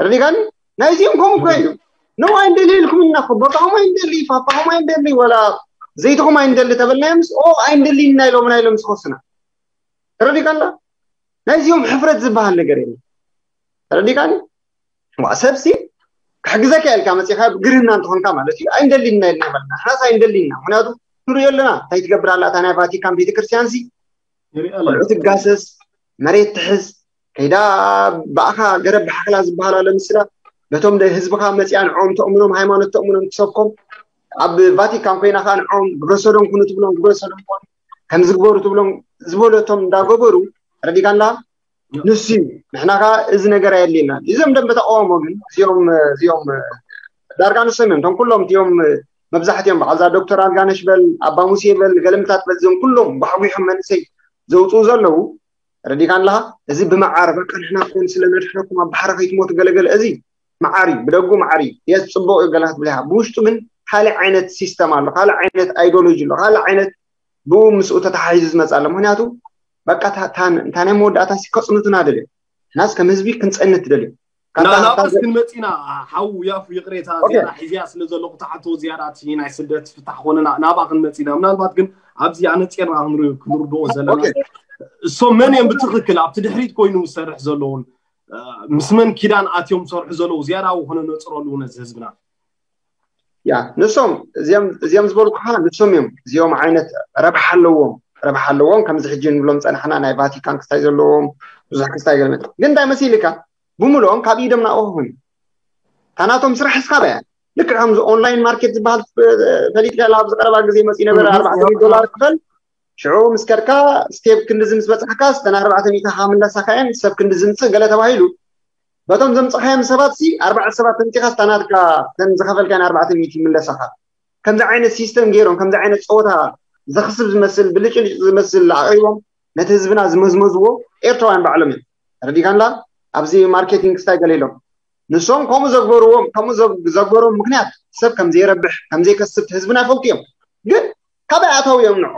ረዲጋኒ ናይዚኦም ከምኡ እኮ እዩ ነው ኣይንደሊ ኢልኩምና እኮ ቦታኹም ኣይንደሊ ፋፋኹም ኣይንደሊ ወላ ዘይትኹም ኣይንደሊ ተበልናዮምስ ኦ ኣይንደሊ እና ኢሎምና ኢሎም ዝኸሱና ተረዲካ ኣላ ናይዚኦም ሕፍረት ዝበሃል ነገር የለን ተረዲካኒ ዋ ሰብሲ ክሕግዘካ ኢልካ መፂኻ ግርህና እንተኾንካ ማለት እዩ ኣይንደሊና ኢልና በልና ንሕናስ ኣይንደሊና ምክንያቱ ንሪኦ ኣለና እንታይ ትገብር ኣላ እታ ናይ ቫቲካን ቤተክርስትያን ሲ ቆልዑ ትጋሰስ መሬት ትሕዝ ከይዳ ብኣኻ ገረብ ብሓኽላ ዝበሃል ኣሎ ምስላ በቶም ህዝብኻ መፅያ ንዕኦም ተእምኖም ሃይማኖት ተእምኖም ትሰብኮም ኣብ ቫቲካን ኮይና ከዓ ንዕኦም ግብረሰዶም ኩኑ ትብሎም ግብረሰዶም ኮኑ ከም ዝግበሩ ትብሎም ዝበለቶም እንዳገበሩ ረዲካንላ ንሱ እዩ ንሕና ከዓ እዚ ነገር ኣየድልየና እዞም ደንበ ተቃወሞ ግን እዚኦም እዚኦም ዳርጋ ንሶም እዮም እቶም ኩሎም እቲኦም መብዛሕትኦም በዓልዛ ዶክተር ኣልጋነሽ በል ኣባ ሙሴ በል ገለምታት በል እዚኦም ኩሎም ጓሕጒሖም መንእሰይ ዘውፅኡ ዘለዉ ረዲካ ኣለኻ እዚ ብመዓር በቃ ንሕና ኮን ስለ ነድሕነኩም ኣብ ባሕሪ ከይትሞቱ ገለገለ እዚ መዓር እዩ ብደጉ መዓር እዩ የስ ፅቡቅ እዩ ገለ ክትብል ኢኻ ብውሽጡ ግን ካልእ ዓይነት ሲስተም ኣሎ ካልእ ዓይነት ኣይዶሎጂ ኣሎ ካልእ ዓይነት ብኡ ምስኡ ተተሓሒዙ ዝመፅእ ኣሎ ምክንያቱ በቃ እታ ናይ መወዳእታ ሲ ከፅንቱና ደልዮም ሕናስ ከም ህዝቢ ክንፀንት ደልዮም ናባስ ክንመፂና ሓው ያፉ ይቅሬታ ዝያዳ ሒዝያ ስለ ዘለኹ ተሓቶ ዝያዳ እቲ ናይ ስደት ፍታሕ ኮነና ናባ ክንመፂና ምናልባት ግን ኣብዚ ኣነፂርና ክንርድኦ ዘለና እሶም መን እዮም ብትክክል ኣብቲ ድሕሪት ኮይኑ ዝሰርሕ ዘለውን ምስ መን ኪዳን ኣትዮም ዝሰርሑ ዘለዉ ዝያዳ ክነነፅረሉ ነዚ ህዝብና ያ ንሶም እዚኦም ዝበልኩኻ ንሶም እዮም እዚኦም ዓይነት ረብሓ ኣለዎም ረብሓ ኣለዎም ከምዚ ሕጂ ንብሎም ፀናሕና ናይ ቫቲካን ክስታይ ዘለዎም ብዙሕ ክስታይ ገለ ግን እንታይ መሲልካ ብምልኦም ካብ ኢዶም ናብኡ ኮይኑ ታናቶም ስራሕ እስካብ እያ ልክዕ ከምዚ ኦንላይን ማርኬት ዝበሃል ፈሊጥካ ኣብ ዝቀረባ ግዜ መፂ ነበረ ኣርባዕተ ዶላር ክፈል ሽዑ ምስ ከድካ ስቴፕ ክንድዚ ምስ በፃሕካ ስተን ኣርባዕተ ሚእታኻ ምለሳኻ እየን ሰብ ክንዲ ዝምፅእ ገለ ተባሂሉ በቶም ዘምፅኻዮም ሰባት ሲ ኣርባዕተ ሰባት ተምፂኻ ስታናትካ ተን ዝኸፈልካን ኣርባዕተ ሚእቲ ይምለሳኻ ከምዚ ዓይነት ሲስተም ገይሮም ከምዚ ዓይነት ፀወታ ዘኽስብ ዝመስል ብልጭልጭ ዝመስል ኣቕሪቦም ነቲ ህዝብና ዝመዝመዝዎ ኤርትራውያን ባዕሎም እዮም ረዲካንላ ኣብዚ ማርኬቲንግ ስታይ ገለ ኢሎም ንሶም ከምኡ ዘግበርዎም ከምኡ ዘግበሮም ምክንያት ሰብ ከም ዘይረብሕ ከም ዘይከስብ ህዝብና ይፈልጡ እዮም ግን ካበይ ኣታው እዮም ንዖ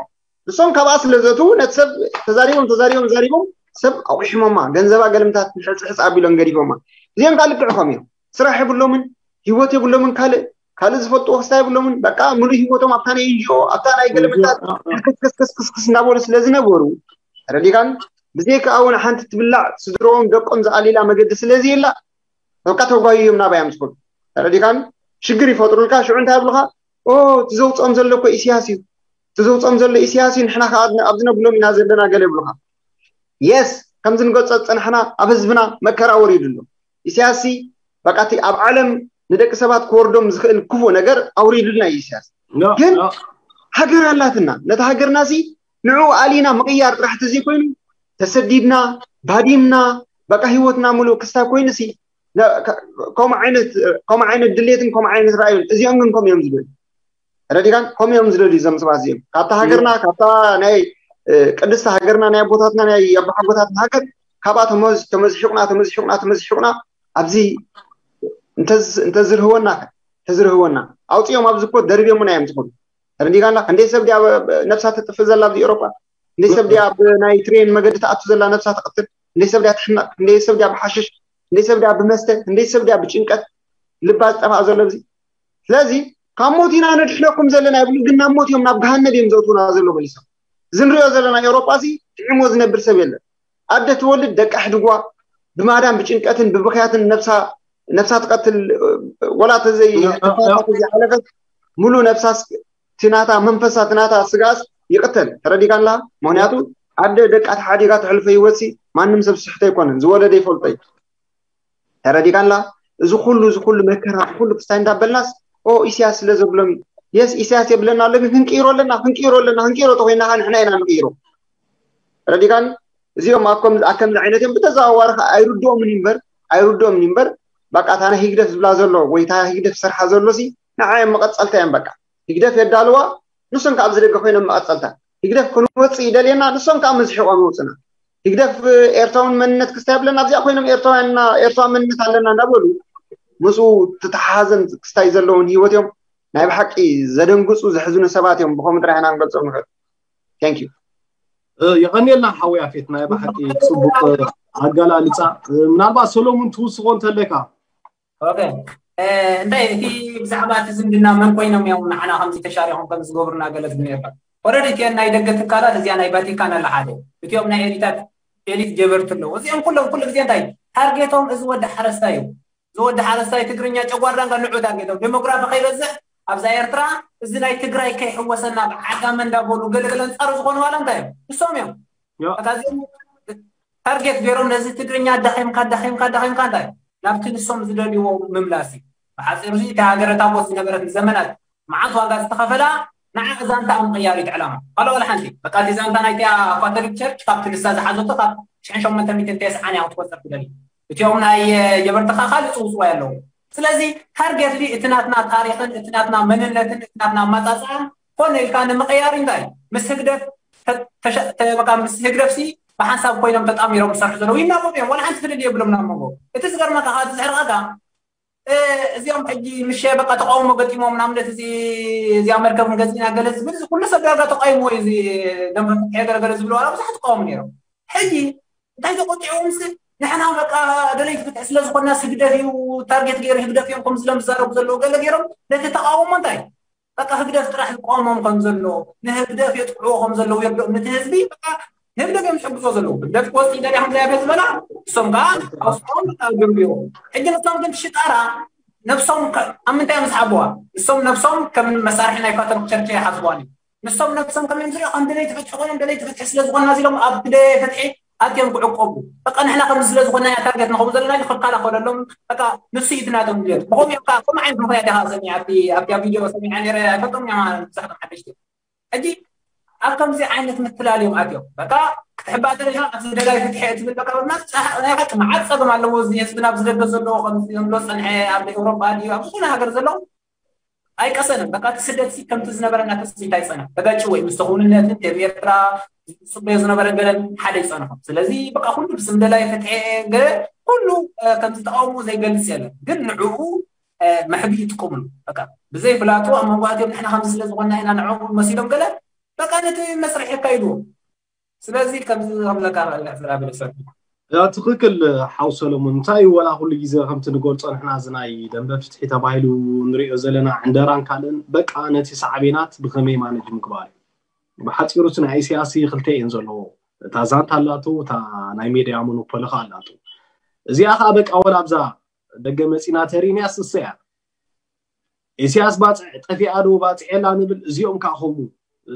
ንሶም ካብኣ ስለ ዘትዉ ነቲ ሰብ ተዛሪቦም ተዛሪቦም ተዛሪቦም ሰብ ኣቑሒሞማ ገንዘባ ገለምታት ሕፅሕፅ ኣቢሎም ገዲፎማ እዚኦም ከዓ ልክዕኾም እዮም ስራሕ የብሎምን ሂወት የብሎምን ካልእ ካልእ ዝፈልጥዎ ክስታ የብሎምን በቃ ሙሉእ ሂወቶም ኣብታ ናይ ኤንጂኦ ኣብታ ናይ ገለምታት ከስከስከስከስከስ እናበሉ ስለ ዝነበሩ ተረዲካን ብዘይካ እውን ሓንቲ ትብላዕ ስድሮኦም ደቆም ዝኣሊላ መገዲ ስለዚ የላ በቃ ተጓይዮም ናባይ ኣምፅኹም ተረዲካን ሽግር ይፈጥሩልካ ሽዑ እንታይ ይብሉካ ኦ እቲ ዘውፅኦም ዘሎ እኮ ኢሳያስ እዩ እቲ ዘውፅኦም ዘሎ ኢሳያስ እዩ፣ ንሕና ከዓ ኣብዚ ነብሎም ኢና ዘለና ገለ ይብሉካ። የስ፣ ከምዚ ንገልፆ ዝፀናሕና ኣብ ህዝብና መከራ ወሪዱ ኣሎ። ኢሳያስ ሲ በቃ እቲ ኣብ ዓለም ንደቂ ሰባት ክወርዶም ዝኽእል ክፉእ ነገር ኣውሪዱልና እዩ ኢሳያስ። ግን ሃገር ኣላትና፣ ነታ ሃገርና ሲ ንዑ ኣሊና ምቕያር ጥራሕ ተዘይኮይኑ፣ ተሰዲድና፣ ባዲምና፣ በቃ ህይወትና ሙሉእ ክስታይ ኮይኑ ሲ ከምኡ ዓይነት ድሌትን ከምኡ ዓይነት ራእዩን እዚኦም ግን ከምኡ እዮም ዝደልዩ። ረዲጋን ከምኡ እዮም ዝደልዩ እዞም ሰባት እዚኦም። ካብታ ሃገርና፣ ካብታ ናይ ቅድስቲ ሃገርና፣ ናይ ኣቦታትና፣ ናይ ኣባሓጎታትና ሃገር፣ ካብኣ ተመዝሒቁና ተመዝሒቁና ተመዝሒቁና ኣብዚ እንተዝርህወና እንተዝርህወና ኣውፅኦም ኣብዚ ኮ ደርብዮምና እዮም ዝኮኑ። ተረዲጋና። ክንደይ ሰብ ድያ ነብሳ ተጥፍእ ዘላ ኣብዚ ኤሮጳ? ክንደይ ሰብ ድያ ኣብ ናይ ትሬን መገዲ ተኣቱ ዘላ ነብሳ ተቐትል? ክንደይ ሰብ ድያ ትሕመቕ? ክንደይ ሰብ ድያ ብሓሽሽ? ክንደይ ሰብ ድያ ብመስተ? ክንደይ ሰብ ድያ ብጭንቀት ልባ ዝጠፍኣ ዘሎ ኣብዚ? ስለዚ ካብ ሞት ኢና ነድሕነኩም ዘለና ይብሉ፣ ግን ናብ ሞት እዮም፣ ናብ ገሃነብ እዮም ዘእትውና ዘሎ መሊሶም። እዚ ንሪኦ ዘለና ኤሮጳ እዚ ጥዒሞ ዝነብር ሰብ የለን። ኣደ ትወልድ ደቃ ሕድጓ ብማዳም ብጭንቀትን ብብኽያትን ነብሳ ነብሳ ትቀትል። ወላ ተዘይ ተፋታ ተዘይሓለፈት ሙሉ ነብሳስ ትናታ መንፈሳ ትናታ ስጋስ ይቅተል። ተረዲካላ? ምክንያቱ ኣደ ደቃ ተሓዲጋ ተሕልፈ ህይወትሲ ማንም ሰብ ስሕተ ኣይኮነን፣ ዝወለደ ይፈልጦ እዩ። ተረዲካላ? እዚ ኩሉ እዚ ኩሉ መከራ እዚ ኩሉ ክስታይ እንዳበልናስ ኦ ኢሳያስ ስለ ዘብሎም የስ ኢሳያስ የብለና ኣሎ፣ ግን ክንቅይሮ ኣለና ክንቅይሮ ኣለና ክንቅይሮ ተኮይና ከዓ ንሕና ኢና ንቅይሮ። ተረዲካኒ? እዚኦም ኣብ ከም ኣብ ከምዚ ዓይነት እዮም ብተዘዋዋሪ ከዓ ኣይርድኦምን እዩ እምበር ኣይርድኦምን እዩ እምበር በቃ እታ ናይ ህግደፍ ዝብላ ዘሎ ወይ እታ ህግደፍ ዝሰርሓ ዘሎ ሲ ንዓ እዮም መቐፀልታ እዮም። በቃ ህግደፍ የዳልዋ ንሶም ከዓ ኣብዚ ደገ ኮይኖም መቐፀልታ። ህግደፍ ክንወፅእ ይደልየና ንሶም ከዓ መዝሒቆም ይወፅና። ህግደፍ ኤርትራውን መንነት ክስታይ ብለና ኣብዚኣ ኮይኖም ኤርትራውያንና ኤርትራዊ መንነት ኣለና እንዳበሉ ምስኡ ተተሓሓዘን ክስታይ ዘለውን ህይወት እዮም። ናይ ብሓቂ ዘደንግፁ ዘሕዝኑ ሰባት እዮም። ብከምኡ ጥራሕ ኢና ክንገልፆም ንኽእል። Thank you። የቐንየልና ሓወይ ኣፌት ናይ ብሓቂ ፅቡቅ ኣገላልፃ። ምናልባት ሰሎሙን ትውስኾ እንተለካ ኦኬ እንታይ እቲ ብዛዕባ እቲ ዝምድና መን ኮይኖም እዮም ንዓና ከምዚ ተሻሪኾም ከም ዝገብሩና ገለ ዝብል ነርካ። ኦረዲ እቲአን ናይ ደገ ትካላት እዚኣ ናይ ቫቲካን ኣላ ሓደ እቲኦም ናይ ኤሊታት ኤሊት ጀበርቲ ኣለዉ። እዚኦም ኩሎም ኩሉ ግዜ እንታይ ታርጌቶም እዚ ወዲ ሓረስታይ እዩ። እዚ ወዲ ሓረስታይ ትግርኛ ጨጓራ እንካ ንዑ ታርጌቶም ዴሞግራፊ ከይበዝሕ ኣብዛ ኤርትራ እዚ ናይ ትግራይ ከይሕወሰና ብዓጋመ እንዳበሉ ገለገለ ኣንፃሩ ዝኾኑ ዋላ እንታይ እዮም ንሶም እዮም። እዚኦም ታርጌት ገይሮም ነዚ ትግርኛ ኣዳኺምካ ኣዳኺምካ ኣዳኺምካ እንታይ ናብቲ ንሶም ዝደልይዎ ምምላስ እዩ። ብሓፂሩ እዚ እታ ሃገረ ታቦት ዝነበረት ንዘመናት መዓት ዋጋ ዝተኸፈላ ንዓ ዛንታ ኣብ ምቕያር እዩ እቲ ዕላማ። ካልኦ ዋላ ሓንቲ በቃ እቲ ዛንታ ናይቲኣ ካቶሊክ ቸርች ካብቲ ንሳ ዝሓዘቶ ካብ ሽሕን ሸሞንተ ሚእትን ተስዓን እያ ክትቆፅር ትደሊ። እቲኦም ናይ ጀበርትኻ ካልእ ፅውፅዋይ ኣለዉ። ስለዚ ታርጌትሊ እቲ ናትና ታሪኽን እቲ ናትና መንነትን እቲ ናትና ኣመፃፅኣን ኮነ ኢልካ ንምቕያር እንታይ ምስ ህግደፍ በቃ ምስ ህግደፍ ሲ ብሓንሳብ ኮይኖም ተጣሚሮም ዝሰርሑ ዘለዉ ይናበቡ እዮም። ዋላ ሓንቲ ፍልል የብሎም ናብ መንጎ። እቲ ዝገርመካ ከዓ እቲ ዝሕርቐካ እዚኦም ሕጂ ምሸ በቃ ተቃውሞ ገጢሞም ንኣብነት እዚ እዚኣ መርከብ ንገዚእና ገለ ዝብል እዚ ኩሉ ሰብ ዳርጋ ተቃይምዎ እዩ። እዚ ደንበ ፍትሒ ገለገለ ዝብሉ ዋላ ብዙሓት ተቃወሙ ነይሮም። ሕጂ እንታይ ተቆጢዖምስ ንሕና በቃ ደለይቲ ፍትሒ ስለ ዝኾንና ስግደፍ እዩ ታርጌት ገይሩ ህግደፍ እዮም ከም ዝሎም ዝዛረቡ ዘለዉ ገለ ገይሮም ነቲ ተቃውሞ እንታይ በቃ ህግደፍ ጥራሕ ዝቆሞም ከም ዘሎ ንህግደፍ የጥቅዕዎ ከም ዘለዉ የርድኦም ነቲ ህዝቢ በቃ ንህግደፍ እዮም ዝሕግዞ ዘለዉ ህግደፍ ክወፅእ ይደልያ ከም ዘያገ ዝበላ እሶም ከዓ ኣውፅኦም በቃ ገንቢዎ ሕጂ ንሶም ግን ሽጣራ ነብሶም ኣብ ምንታይ እዮም ዝሓብዋ ንሶም ነብሶም ከም መሳርሒ ናይ ካቶሊክ ቸርች ይሓስቧን እዩ ንሶም ነብሶም ከም እዮም ዝሪኦ ከም ደለይቲ ፍትሒ ኮይኖም ደለይቲ ፍትሒ ስለ ዝኾንና እዚ ሎም ኣብ ደለየ ፍትሒ ኣትዮም ክዕቆቡ በቃ ንሕና ከም ስለ ዝኾና እያ ታርጌት ንኸው ዘለና ኢሉ ክከላኸለሎም በቃ ንሱ እዩ ናቶም ድሌት ብኸም እዮም ከዓ ከም ዓይነት ምኽንያት ኢኻ ሰሚዓ ኣብቲ ኣብቲ ቪድዮ ሰሚዓ ነረ ኣይፈልጦም እያ ብዙሕ ሓደሽቲ ሕጂ ኣብ ከምዚ ዓይነት ምትላል እዮም ኣትዮም በቃ ክትሕባእ ደለኻ ኣብዚ ደላይ ፍትሒ ትብል በቃ ናይ ሓቂ መዓት ፀገም ኣለዎ እዚ ህዝብና ኣብዚ ደገ ዘለዎ ከምዚ ዝብሎ ፀንሐ ኣብ ኤውሮጳ ድዩ ኣብ ዝኾነ ሃገር ዘሎ ኣይቀሰንን በቃ እቲ ስደት ሲ ከምቲ ዝነበረና ተስፋ ኣይፀንሕ ተጋጭ ወይ ምስ ተኽውንነትን ደብ ኤርትራ ዝፅበዮ ዝነበረ ገለን ሓደ ይፀንሖም ስለዚ በቃ ኩሉ ብስም ደላይ ፍትሒ ገለ ኩሉ ከምዚ ተቃውሞ ዘይገልፅ የለን ግን ንዕኡ መሕቢ ይጥቀምሉ በቃ ብዘይ ፍላጡ ኣብ መንጎ ኣትዮም ንሕና ከምዚ ስለ ዝኾንና ኢና ንዕኡ መሲሎም ገለ በቃ ነቲ መስርሕ የካይድዎ ስለዚ ከምዚ ከምለካ ክእልሕ ዝራብል ሰብ ያ ትኽክል ሓው ሰለሙን እንታይ እዩ ወላ ኩሉ ግዜ ከምቲ ንገልፆ ንሕና እዚ ናይ ደንበ ፍትሒ ተባሂሉ ንሪኦ ዘለና ዕንደራን ካልእን በቃ ነቲ ሳዕቤናት ብኸመይ ማነጅ ምግባር እዩ ብሓፂሩ እቲ ናይ ኢሳያስ ክልተ እየን ዘለዎ እታ ዛንታ ኣላቶ እታ ናይ ሜድያ ሞኖፖሊ ከዓ ኣላቶ እዚኣ ከዓ በቃ ወላ ኣብዛ ደገ መፂና ተሪንያ ስሰያ ኢሳያስ ባፅዕ ጠፊኣ ዶ ባፅዕ የላ ንብል እዚኦም ከዓ ከምኡ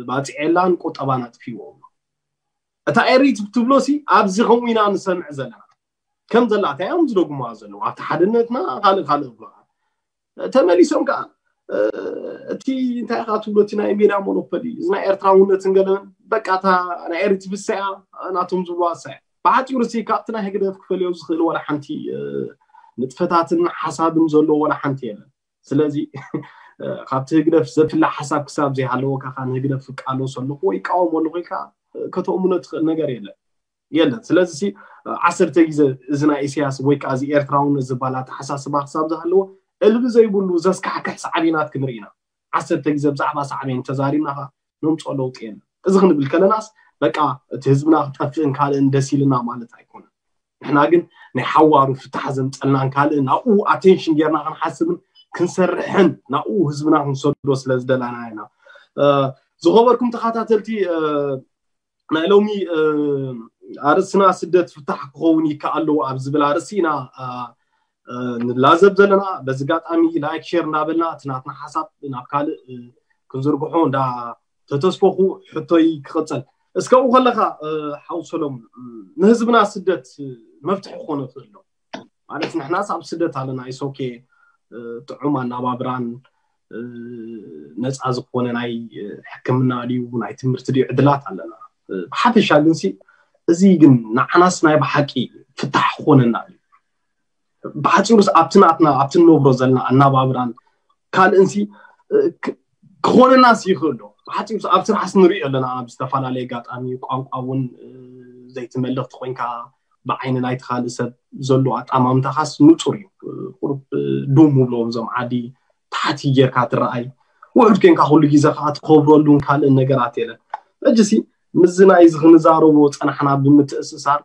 ባፅዕ የላን ቁጠባን ኣጥፊዎ። እታ ኤሪት ትብሎ ሲ ኣብዚ ከምኡ ኢና ንሰምዕ ዘለና። ከም ዘላ እንታይ እዮም ዝደግሙዋ ዘለዉ ኣብቲ ሓድነትና ካልእ ካልእ ብሎ ተመሊሶም ከዓ እቲ እንታይ ኢኻ ትብሎ እቲ ናይ ሜዳ ሞኖፖሊ እዚ ናይ ኤርትራውነትን ገለን በቃ እታ ናይ ኤሪት ብሰያ ናቶም ዝብዋ ሰያ ብሓፂሩ ሲ ካብቲ ናይ ህግደፍ ክፈልዮ ዝኽእል ወላ ሓንቲ ንጥፈታትን ሓሳብን ዘለዎ ወላ ሓንቲ የለን። ስለዚ ካብቲ ህግደፍ ዘፍላ ሓሳብ ክሳብ ዘይሃለወካ ንህግደፍ እቃለሶ ኣለኹ ወይ እቃወሞ ኣለኹ ኢልካ ከተእምኖ ትኽእል ነገር የለን የለን። ስለዚ ዓሰርተ ግዜ እዚ ናይ ኢሳያስ ወይ ከዓ እዚ ኤርትራውነት ዝበሃል ኣተሓሳስባ ክሳብ ዝሃለዎ እልቢ ዘይብሉ ዘስካሕክሕ ሳዕቤናት ክንርኢ ኢና። ዓሰርተ ግዜ ብዛዕባ ሳዕቤን ተዛሪብና ከዓ ነምፅኦ ለውጢ የለን። እዚ ክንብል ከለናስ በቃ እቲ ህዝብና ክጠፍእን ካልእን ደስ ኢልና ማለት ኣይኮነን። ንሕና ግን ናይ ሓዋሩ ፍታሕ ዘምፀልናን ካልእን ናብኡ ኣቴንሽን ጌርና ክንሓስብን ክንሰርሕን ናብኡ ህዝብና ክንሰዶ ስለ ዝደላና ኢና። ዝኸበርኩም ተኸታተልቲ ናይ ሎሚ ኣርእስትና ስደት ፍታሕ ክኸውን ይከኣል ኣለዎ ኣብ ዝብል ኣርእሲ ኢና ንላዘብ ዘለና። በዚ ኣጋጣሚ ላይክ ሼር እንዳበልና እቲ ናትና ሓሳብ ናብ ካልእ ክንዝርግሖ እንዳ ተተስፈኹ ሕቶይ ክቕፅል። እስከ ኣብኡ ከለኻ ሓው ሰሎሙን ንህዝብና ስደት መፍትሒ ክኾነ ይኽእል ዶ? ማለት ንሕናስ ኣብ ስደት ኣለና ኢሶኬ ጥዑም ኣናባብራን ነፃ ዝኾነ ናይ ሕክምና ድዩ ናይ ትምህርቲ ድዩ ዕድላት ኣለና። ብሓፈሻ ግንሲ እዚ ግን ንዓናስ ናይ ብሓቂ ፍታሕ ክኾነና ድዩ? ብሓፂሩስ ኣብቲ ናትና ኣብቲ ንነብሮ ዘለና ኣናባብራን ካልእንሲ ክኾነናስ ይኽእል ዶ? ብሓፂሩስ ኣብ ስራሕስ ንሪኦ ኣለና። ኣብ ዝተፈላለየ ኣጋጣሚ ቋንቋ እውን ዘይትመልኽቲ ኮይንካ ብዓይኒ ናይቲ ካልእ ሰብ ዘሎ ኣጣማምታኻስ ንፁር እዩ። ቁሩብ ዱም ውብሎ እዞም ዓዲ ታሕቲ ጌርካ ትረኣይ ውሑድ ኮይንካ ኩሉ ግዜ ከዓ ትኸብረሉን ካልእን ነገራት የለን። ሕጂሲ ምስዚ ናይ እዚ ክንዛረቦ ፀናሕና ብምትእስሳር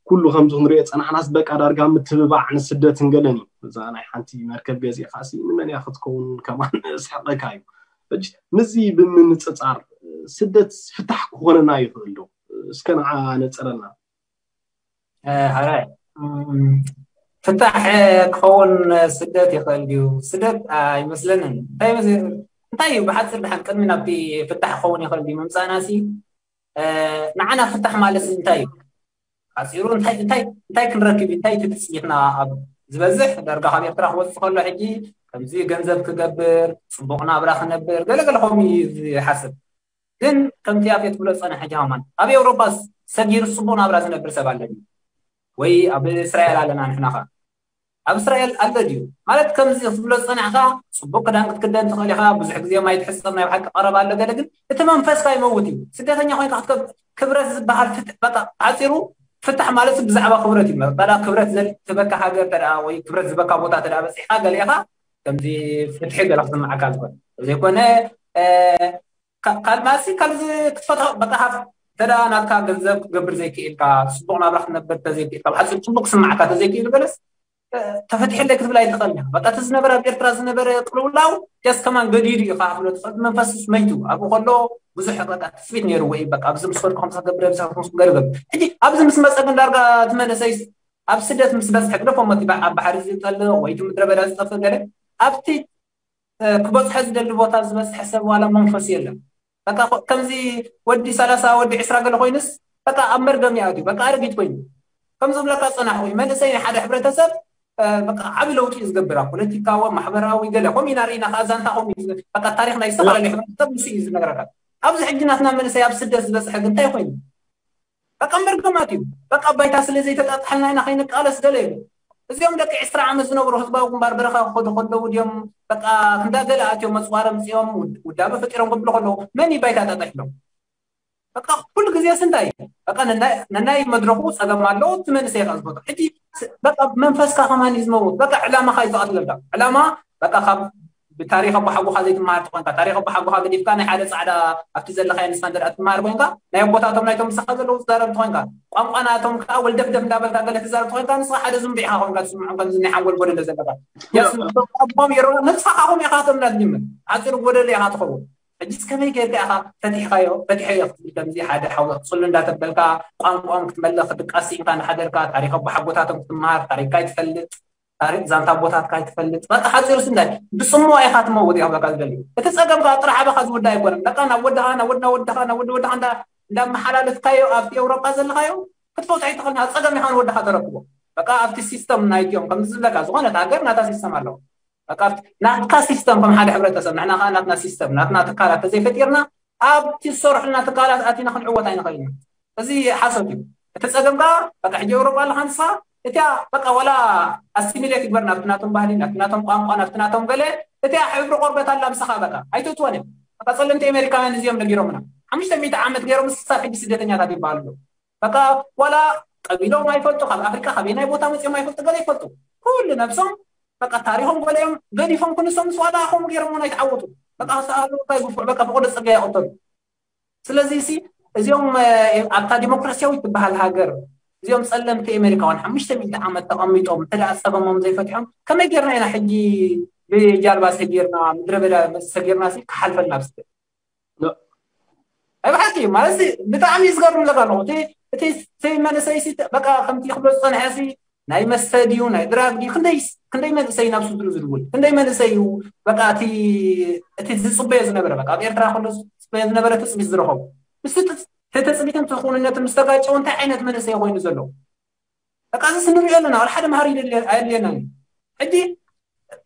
ኩሉ ከምዚ ክንሪኦ ፀናሕናስ በቃ ዳርጋ ምትብባዕ ንስደትን ገለን እዩ። እዛ ናይ ሓንቲ መርከብ ገዚእካ ሲ ንመን እያ ክትከውን ከማን ስሕቀካ እዩ። ሕጂ ምስዚ ብምንፅፃር ስደት ፍታሕ ክኾነና ይኽእል ዶ? እስከ ንዓ ነፅረና። ሓራይ ፍታሕ ክኸውን ስደት ይኽእል ድዩ? ስደት ኣይመስለንን። እንታይ ብሓፂር ድሓን ቅድሚ ናብቲ ፍታሕ ክኸውን ይኽእል ድዩ ምምፃእና ሲ ንዓና ፍታሕ ማለት እንታይ እዩ? ሓፂሩ እንታይ ክንረክብ እንታይ ትፅቢትና ኣብ ዝበዝሕ ዳርጋ ካብ ኤርትራ ክወፅእ ከሎ ሕጂ ከምዚ ገንዘብ ክገብር ፅቡቕ ናብራ ክነብር ገለገለ ከምኡ እዩ ዝሓስብ። ግን ከምቲ ኣፌ ትብሎ ዝፀንሐ ሕጂ ከማን ኣብ ኤውሮጳ ሰጊሩ ፅቡቕ ናብራ ዝነብር ሰብ ኣለኒ ወይ ኣብ እስራኤል ኣለና ንሕና ኸ ኣብ እስራኤል ኣሎ ድዩ ማለት ከምዚ ክትብሎ ዝፀናሕካ ፅቡቅ ክዳን ክትክደን ትኽእል ኢኻ ብዙሕ ግዜ ማይ ትሕፀብ ናይ ብሓቂ ቀረብ ኣሎ ገለ ግን እቲ መንፈስካ ይመውት እዩ ስደተኛ ኮይንካ ክትከብ ክብረት ዝበሃል ፍትሕ በቃ ሓፂሩ ፍታሕ ማለት ብዛዕባ ክብረት እዩ በላ ክብረት ትበካ ሃገር ተደኣ ወይ ክብረት ዝበካ ቦታ ተደኣ በፂሕካ ገለ ኢኻ ከምዚ ፍትሒ ገለ ክስምዓካ ዝኽእል ዘይኮነ ካልማሲ ካልዚ ክትፈትሖ በቃ ሃፍ ተዳ ናትካ ገንዘብ ክትገብር ዘይክኢልካ ፅቡቅ ናብራ ክትነብር ተዘይክኢልካ ብሓፂር ፅቡቅ ክስምዓካ ተዘይክኢሉ ገለስ ተፈትሐለይ ክትብል ኣይትኽእል ኢኻ በቃ እቲ ዝነበረ ኣብ ኤርትራ ዝነበረ ቅልውላው ጀስ ከማን ገዲዱ እዩ ከዓ ክትብሎ ትኽእል መንፈስስ መይቱ ኣብኡ ከሎ ብዙሕ በቃ ትፅቢት ነይርዎ እዩ በቃ ኣብዚ ምስ ከድኩ ከምዚ ክገብር ኣብዚ ምስ ገርገብ ሕጂ ኣብዚ ምስ መፀ ግን ዳርጋ እቲ መንእሰይ ኣብ ስደት ምስ በፅሐ ግደፎ ሞት ኣብ ባሕሪ ዝጠልቕ ወይ እቲ ምድረ በዳ ዝጠፍእ ገለ ኣብቲ ክበፅሖ ዝደሊ ቦታ ዝበፅሐ ሰብ ዋላ መንፈስ የለን በቃ ከምዚ ወዲ ሰላሳ ወዲ ዕስራ ገለ ኮይኑስ በቃ ኣብ መርገም ይኣትዩ በቃ ኣረጊት ኮይኑ ከም ዝብለካ ፀናሕ ወይ መንእሰይ ናይ ሓደ ሕብረተሰብ በቃ ዓቢ ለውጢ እዩ ዝገብር ኣብ ፖለቲካዊ ማሕበራዊ ገለ ከምኡ ኢና ርኢና ከዓ ዛንታ ከምኡ እዩ በቃ ታሪክ ናይ ዝተፈላለዩ ሕብረተሰብ ምስ እዩ ዝነግረካ ኣብዚ ሕጂ ናትና መንእሰይ ኣብ ስደት ዝበፅሐ ግን እንታይ ኮይኑ በቃ መርገማት እዩ በቃ ባይታ ስለ ዘይተጣጣሐልና ኢና ከይንቃለስ ገለ እዩ እዚኦም ደቂ ዕስራ ዓመት ዝነብሩ ህዝባዊ ግንባር በረኻ ክኸዱ ከለዉ ድዮም በቃ ክንዳ ገለ ኣትዮም መፅዋር ኣምፅኦም ውዳበ ፈጢሮም ክብሉ ከለዉ መን እዩ ባይታ ጣጣሒሎም በቃ ኩሉ ግዜስ እንታይ እዩ በቃ ነናይ መድረኹ ፀገም ኣለዎ እቲ መንእሰይ ኢኻ ዝፈትሖ ሕጂ በቃ መንፈስካ ከማን እዩ ዝመውት በቃ ዕላማኻ እዩ ዝቐትለልካ ዕላማ በቃ ካብ ብታሪክ ኣቦሓጎኻ ዘይትመሃር ተኾንካ ታሪክ ኣቦሓጎኻ ገዲፍካ ናይ ሓደ ፃዕዳ ኣብቲ ዘለኻዮ ንስኻ እንተ ትመሃር ኮይንካ ናይ ኣቦታቶም ናይቶም ምሳኻ ዘለዉ ትዛረብ ተኾንካ ቋንቋ ናቶም ከዓ ወልደፍደፍ እንዳበልካ ገለ ትዛረብ ተኾንካ ንስኻ ሓደ ዝንቡዕ ኢኻ ኮይንካ ትስምዖም ከምዚ ናይ ሓንጎል ጎደሎ ዘለካ ኣቦም የሮ ንስኻ ከዓ ከምኡ ኢኻ ቶም ናትጅምር ሓፂሩ ጎደሎ ኢኻ ትኸውን ሕጂስ ከመይ ጌርካ ኢኻ ፈቲሕካዮ ፈቲሐዮ ክትብል ከምዚ ሓደ ሓው ክፅሉ እንዳተበልካ ቋንቋኦም ክትመልእ ክትቃሲ ኢንካ እንዳሓደርካ ታሪክ ኣቦሓጎታቶም ክትመሃር ታሪክካ ይትፈልጥ ታሪክ ዛንታ ቦታትካ ኣይትፈልጥ። በቃ ሓፂሩስ እንታይ ብፅምዋ ኢኻ ትመውት ኢኻ በቃ ዝደሊ። እቲ ፀገም ከዓ ጥራሕ ኣባኻ ዝውዳ ኣይኮነን። በቃ ናብ ወድኻ ናብ ወድና ወድኻ ናብ ወዲ ወድኻ እንዳ እንዳመሓላለፍካዮ ኣብቲ ኤውሮጳ ዘለኻዮ ክትፈውት ኣይትኽእልን። ኣብ ፀገም ኢኻ ንወድኻ ተረክቦ። በቃ ኣብቲ ሲስተም ናይትዮም ከምዚ ዝብለካ ዝኾነት ሃገር ናታ ሲስተም ኣለዎ። በቃ ኣብቲ ናትካ ሲስተም ከም ሓደ ሕብረተሰብ ንሕና ከዓ ናትና ሲስተም ናትና ትካላት ተዘይፈጢርና ኣብቲ ዝሰርሑልና ትካላት ኣቲና ክንዕወት ኣይንኽእልን። እዚ ሓሶት እዩ። እቲ ፀገም ከዓ በቃ ሕጂ ኤውሮጳ ኣለካ ንስኻ እቲያ በቃ ዋላ ኣሲሚሌት ይግበር ናብቲ ናቶም ባህሊ ናብቲ ናቶም ቋንቋ ናብቲ ናቶም ገለ እቲያ ሕብሪ ቆርበት ኣላ ምሳኻ በቃ ኣይትእትወን እዮም። በቃ ፀለምቲ ኣሜሪካውያን እዚኦም ነጊሮምና ሓሙሽተ ሚእቲ ዓመት ገይሮም ንሳ ሕጂ ስደተኛታት ይበሃሉ ኣለዉ። በቃ ዋላ ቀቢሎም ኣይፈልጡ ካብ ኣፍሪካ ካበየናይ ቦታ መፅኦም ኣይፈልጡ ገለ ይፈልጡ ኩሉ ነብሶም በቃ ታሪኮም ገሊኦም ገዲፎም ክንሶም ምስ ዋላ ከምኡ ገይሮም እውን ኣይተዓወቱ። በቃ ሰኣሉ እንታይ ግፉዕ በቃ ፈቆዶ ፅርግያ ይቐተሉ። ስለዚ ሲ እዚኦም ኣብታ ዲሞክራሲያዊት ትበሃል ሃገር እዚኦም ፀለምቲ ኣሜሪካውያን ሓሙሽተ ሚእቲ ዓመት ተቐሚጦም እንተ ደኣ ፀገሞም ዘይፈትሖም ከመይ ጌርና ኢና ሕጂ ብጃልባ ሰጊርና ምድረ በዳ ሰጊርና ሲ ክሓልፈልና ብስተ? ኣብ ሓቂ ማለት ብጣዕሚ እዩ ዝገርም ዘካ ኣለኹ እቲ እቲ መንእሰይ ሲ በቃ ከምቲ ክብሎ ዝፀንሐ ሲ ናይ መስተ ድዩ ናይ ድራግ ድዩ ክንደይ ክንደይ መንእሰይ ናብ ስድሩ ዝድውል ክንደይ መንእሰይ እዩ በቃ እቲ እቲ ዝፅበዮ ዝነበረ በቃ ኣብ ኤርትራ ከሎ ዝፅበዮ ዝነበረ ትፅቢት ዝረኸቡ ምስ ተፅቢትን ትኽውንነትን ምስ ተጋጨው እንታይ ዓይነት መንእሰይ ኮይኑ ዘሎ በቃ እዚ ስንሪኦ ኣለና ወላ ሓደ መሃሪ ኣየድልየናን ሕጂ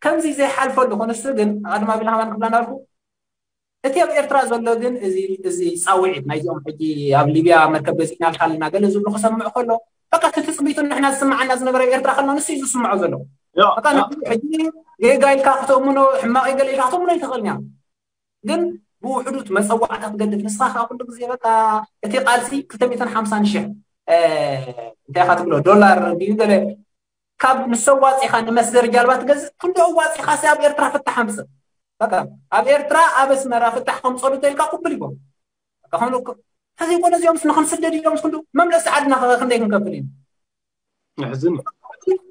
ከምዚ ዘይሓልፈሉ ኮነስ ግን ኣድማ ቢልሃማን ክብላ እንዳልኩ እቲ ኣብ ኤርትራ ዘሎ ግን እዚ ፃውዒት ናይዚኦም ሕጂ ኣብ ሊብያ መርከብ ገዚእና ኣልካ ኣለና ገለ ዝብሉ ክሰምዕ ከሎ በቃ እቲ ትፅቢቱ ንሕና ዝስምዓና ዝነበረ ኣብ ኤርትራ ከሎ ንሱ እዩ ዝስምዖ ዘሎ በቃ ንሱ ሕጂ ጌጋ ኢልካ ክተእምኖ ሕማቕ ገለ ኢልካ ክተእምኖ ይትኽእል እያ ግን ብውሕዱት መፀዋዕታ ትገድፍ ንስኻ ከዓ ኩሉ ግዜ በቃ እቲ ቃልሲ ክልተ ሚእትን ሓምሳን ሽሕ እንታይ ኢኻ ትብሎ ዶላር ድዩ ገለ ካብ ንሶም ዋፂኻ ንመስገሪ ጃልባ ትገዝእ ክንዲ ኣዋፂኻ ሲ ኣብ ኤርትራ ፍታሕ ኣምፅእ በቃ ኣብ ኤርትራ ኣብ ኣስመራ ፍታሕ ከምፀሉ ተልካ ቅብል ይኮን በቃ ከምኡ እኮ ተዘይኮነ እዚኦም ንክንስደድ ኢሎም ክንዱ መምለሲ ዓድና ከ ክንደይ ክንከፍል እዩ የሕዝን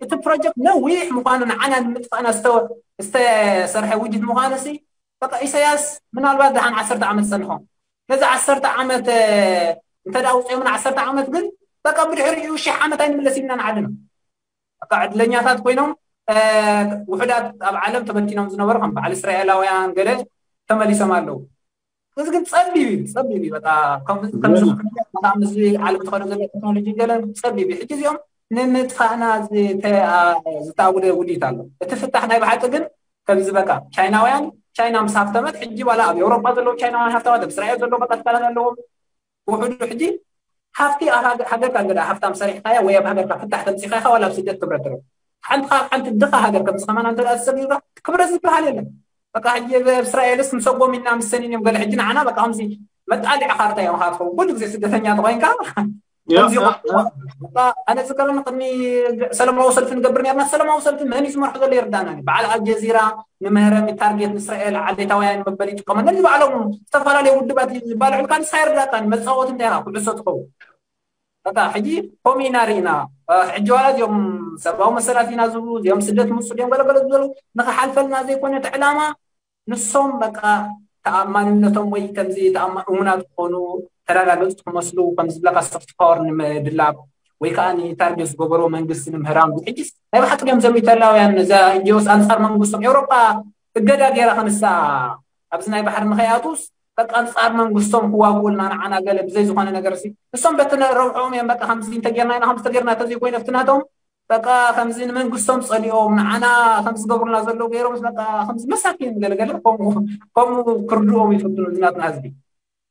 እቲ ፕሮጀክት ነዊሕ ምኳኑ ንዓና ንምጥፋእና ዝተሰርሐ ውዲት ምኳኑ ሲ በቃ ኢሳያስ ምናልባት ደሓን ዓሰርተ ዓመት ፀንሖም ነዚ ዓሰርተ ዓመት እንተ ደኣ ውፅኦም ን ዓሰርተ ዓመት ግን በቃ ብድሕሪኡ ሽሕ ዓመት ኣይንምለስ ኢልና ንዓድና በቃ ዕድለኛታት ኮይኖም ውሕዳት ኣብ ዓለም ተበቲኖም ዝነበሩ ከም በዓል እስራኤላውያን ገለ ተመሊሶም ኣለዉ እዚ ግን ፀቢብ እዩ ፀቢብ እዩ በቃ ከምዚ ዓለም ትኸዶ ዘሎ ቴክኖሎጂ ገለ ፀቢብ እዩ ሕጂ እዚኦም ንምጥፋእና ዝተኣጉደ ውዲት ኣሎ እቲ ፍታሕ ናይ ብሓቂ ግን ከምዚ በቃ ቻይናውያን ቻይና ምስ ሃፍተመት ሕጂ ዋላ ኣብ ኤውሮጳ ዘለዉ ቻይናውያን ሃፍታማት ኣብ እስራኤል ዘለዉ በቃ ትካላት ኣለዎም ውሕዱ ሕጂ ሃፍቲ ኣብ ሃገርካ እንተ ሃፍታም ሰሪሕካያ ወይ ኣብ ሃገርካ ፍታሕ ተምፂኻይካ ዋላ ኣብ ስደት ክብረት ትረብ ሓንቲ ካብ ሓንቲ ድኻ ሃገር ከምዚ ከማና እንተ ተሰጊርካ ክብረት ዝበሃል የለን በቃ ሕጂ ኣብ እስራኤልስ ምሰጎም ኢና ምሰኒን እዮም ገለ ሕጂ ንዓና በቃ ከምዚ መጣልዒ ካርታ እዮም ካ ትኸውን ኩሉ ግዜ ስደተኛ ተኮይንካ ኣነ ዝከረኒ ቅድሚ ሰለማዊ ሰልፊ ንገብር ነርና ሰለማዊ ሰልፊ መን እዩ ዝመርሑ ዘሎ ይርዳና በዓል ኣልጀዚራ ንምህረም ታርጌት ንእስራኤል ዓሌታውያን መበል ይጥቀመሉ ንባዕሎም ዝተፈላለዩ ውድባት ዝባልዑልካ ንሳ ይርዳካ መፃወት እንታይ ኢኻ ኩዕሶ ትኸውን በቃ ሕጂ ከምኡ ኢና ርኢና ሕጂ ዋላ እዚኦም ሰብኣዊ መሰላት ኢና ዝብሉ እዚኦም ስደት ምፁ ድዮም ገለገለ ዝበሉ ንክሓልፈልና ዘይኮነ እቲ ዕላማ ንሶም በቃ ተኣማንነቶም ወይ ከምዚ እሙናት ክኾኑ ተረጋገፅቲ ክመስሉ ከም ዝብለካ ሶፍት ፓወር ንምድላብ ወይ ከዓ ንታርጌት ዝገበርዎ መንግስቲ ንምህራም ሕጂስ ናይ ብሓቂ ድዮም ዘም ኢታላውያን እዛ እንጂኦስ ኣንፃር መንግስቶም ኤውሮጳ እገዳ ገይራ ክንሳ ኣብዚ ናይ ባሕሪ ንኸይኣትውስ በቃ ኣንፃር መንግስቶም ክዋግኡልና ንዓና ገለ ብዘይ ዝኾነ ነገር ሲ ንሶም በቲ ረብሖም እዮም በቃ ከምዚ እንተጌርና ኢና ከምዚ ተጌርና ተዘይኮይነ ኣብቲ ናቶም በቃ ከምዚ ንመንግስቶም ፀሊኦም ንዓና ከምዚ ዝገብሩና ዘለዉ ገይሮም በቃ ከምዚ መሳኪን ገለገለ ከምኡ ክርድኦም ይፍትኑ እዚ ናትና ህዝቢ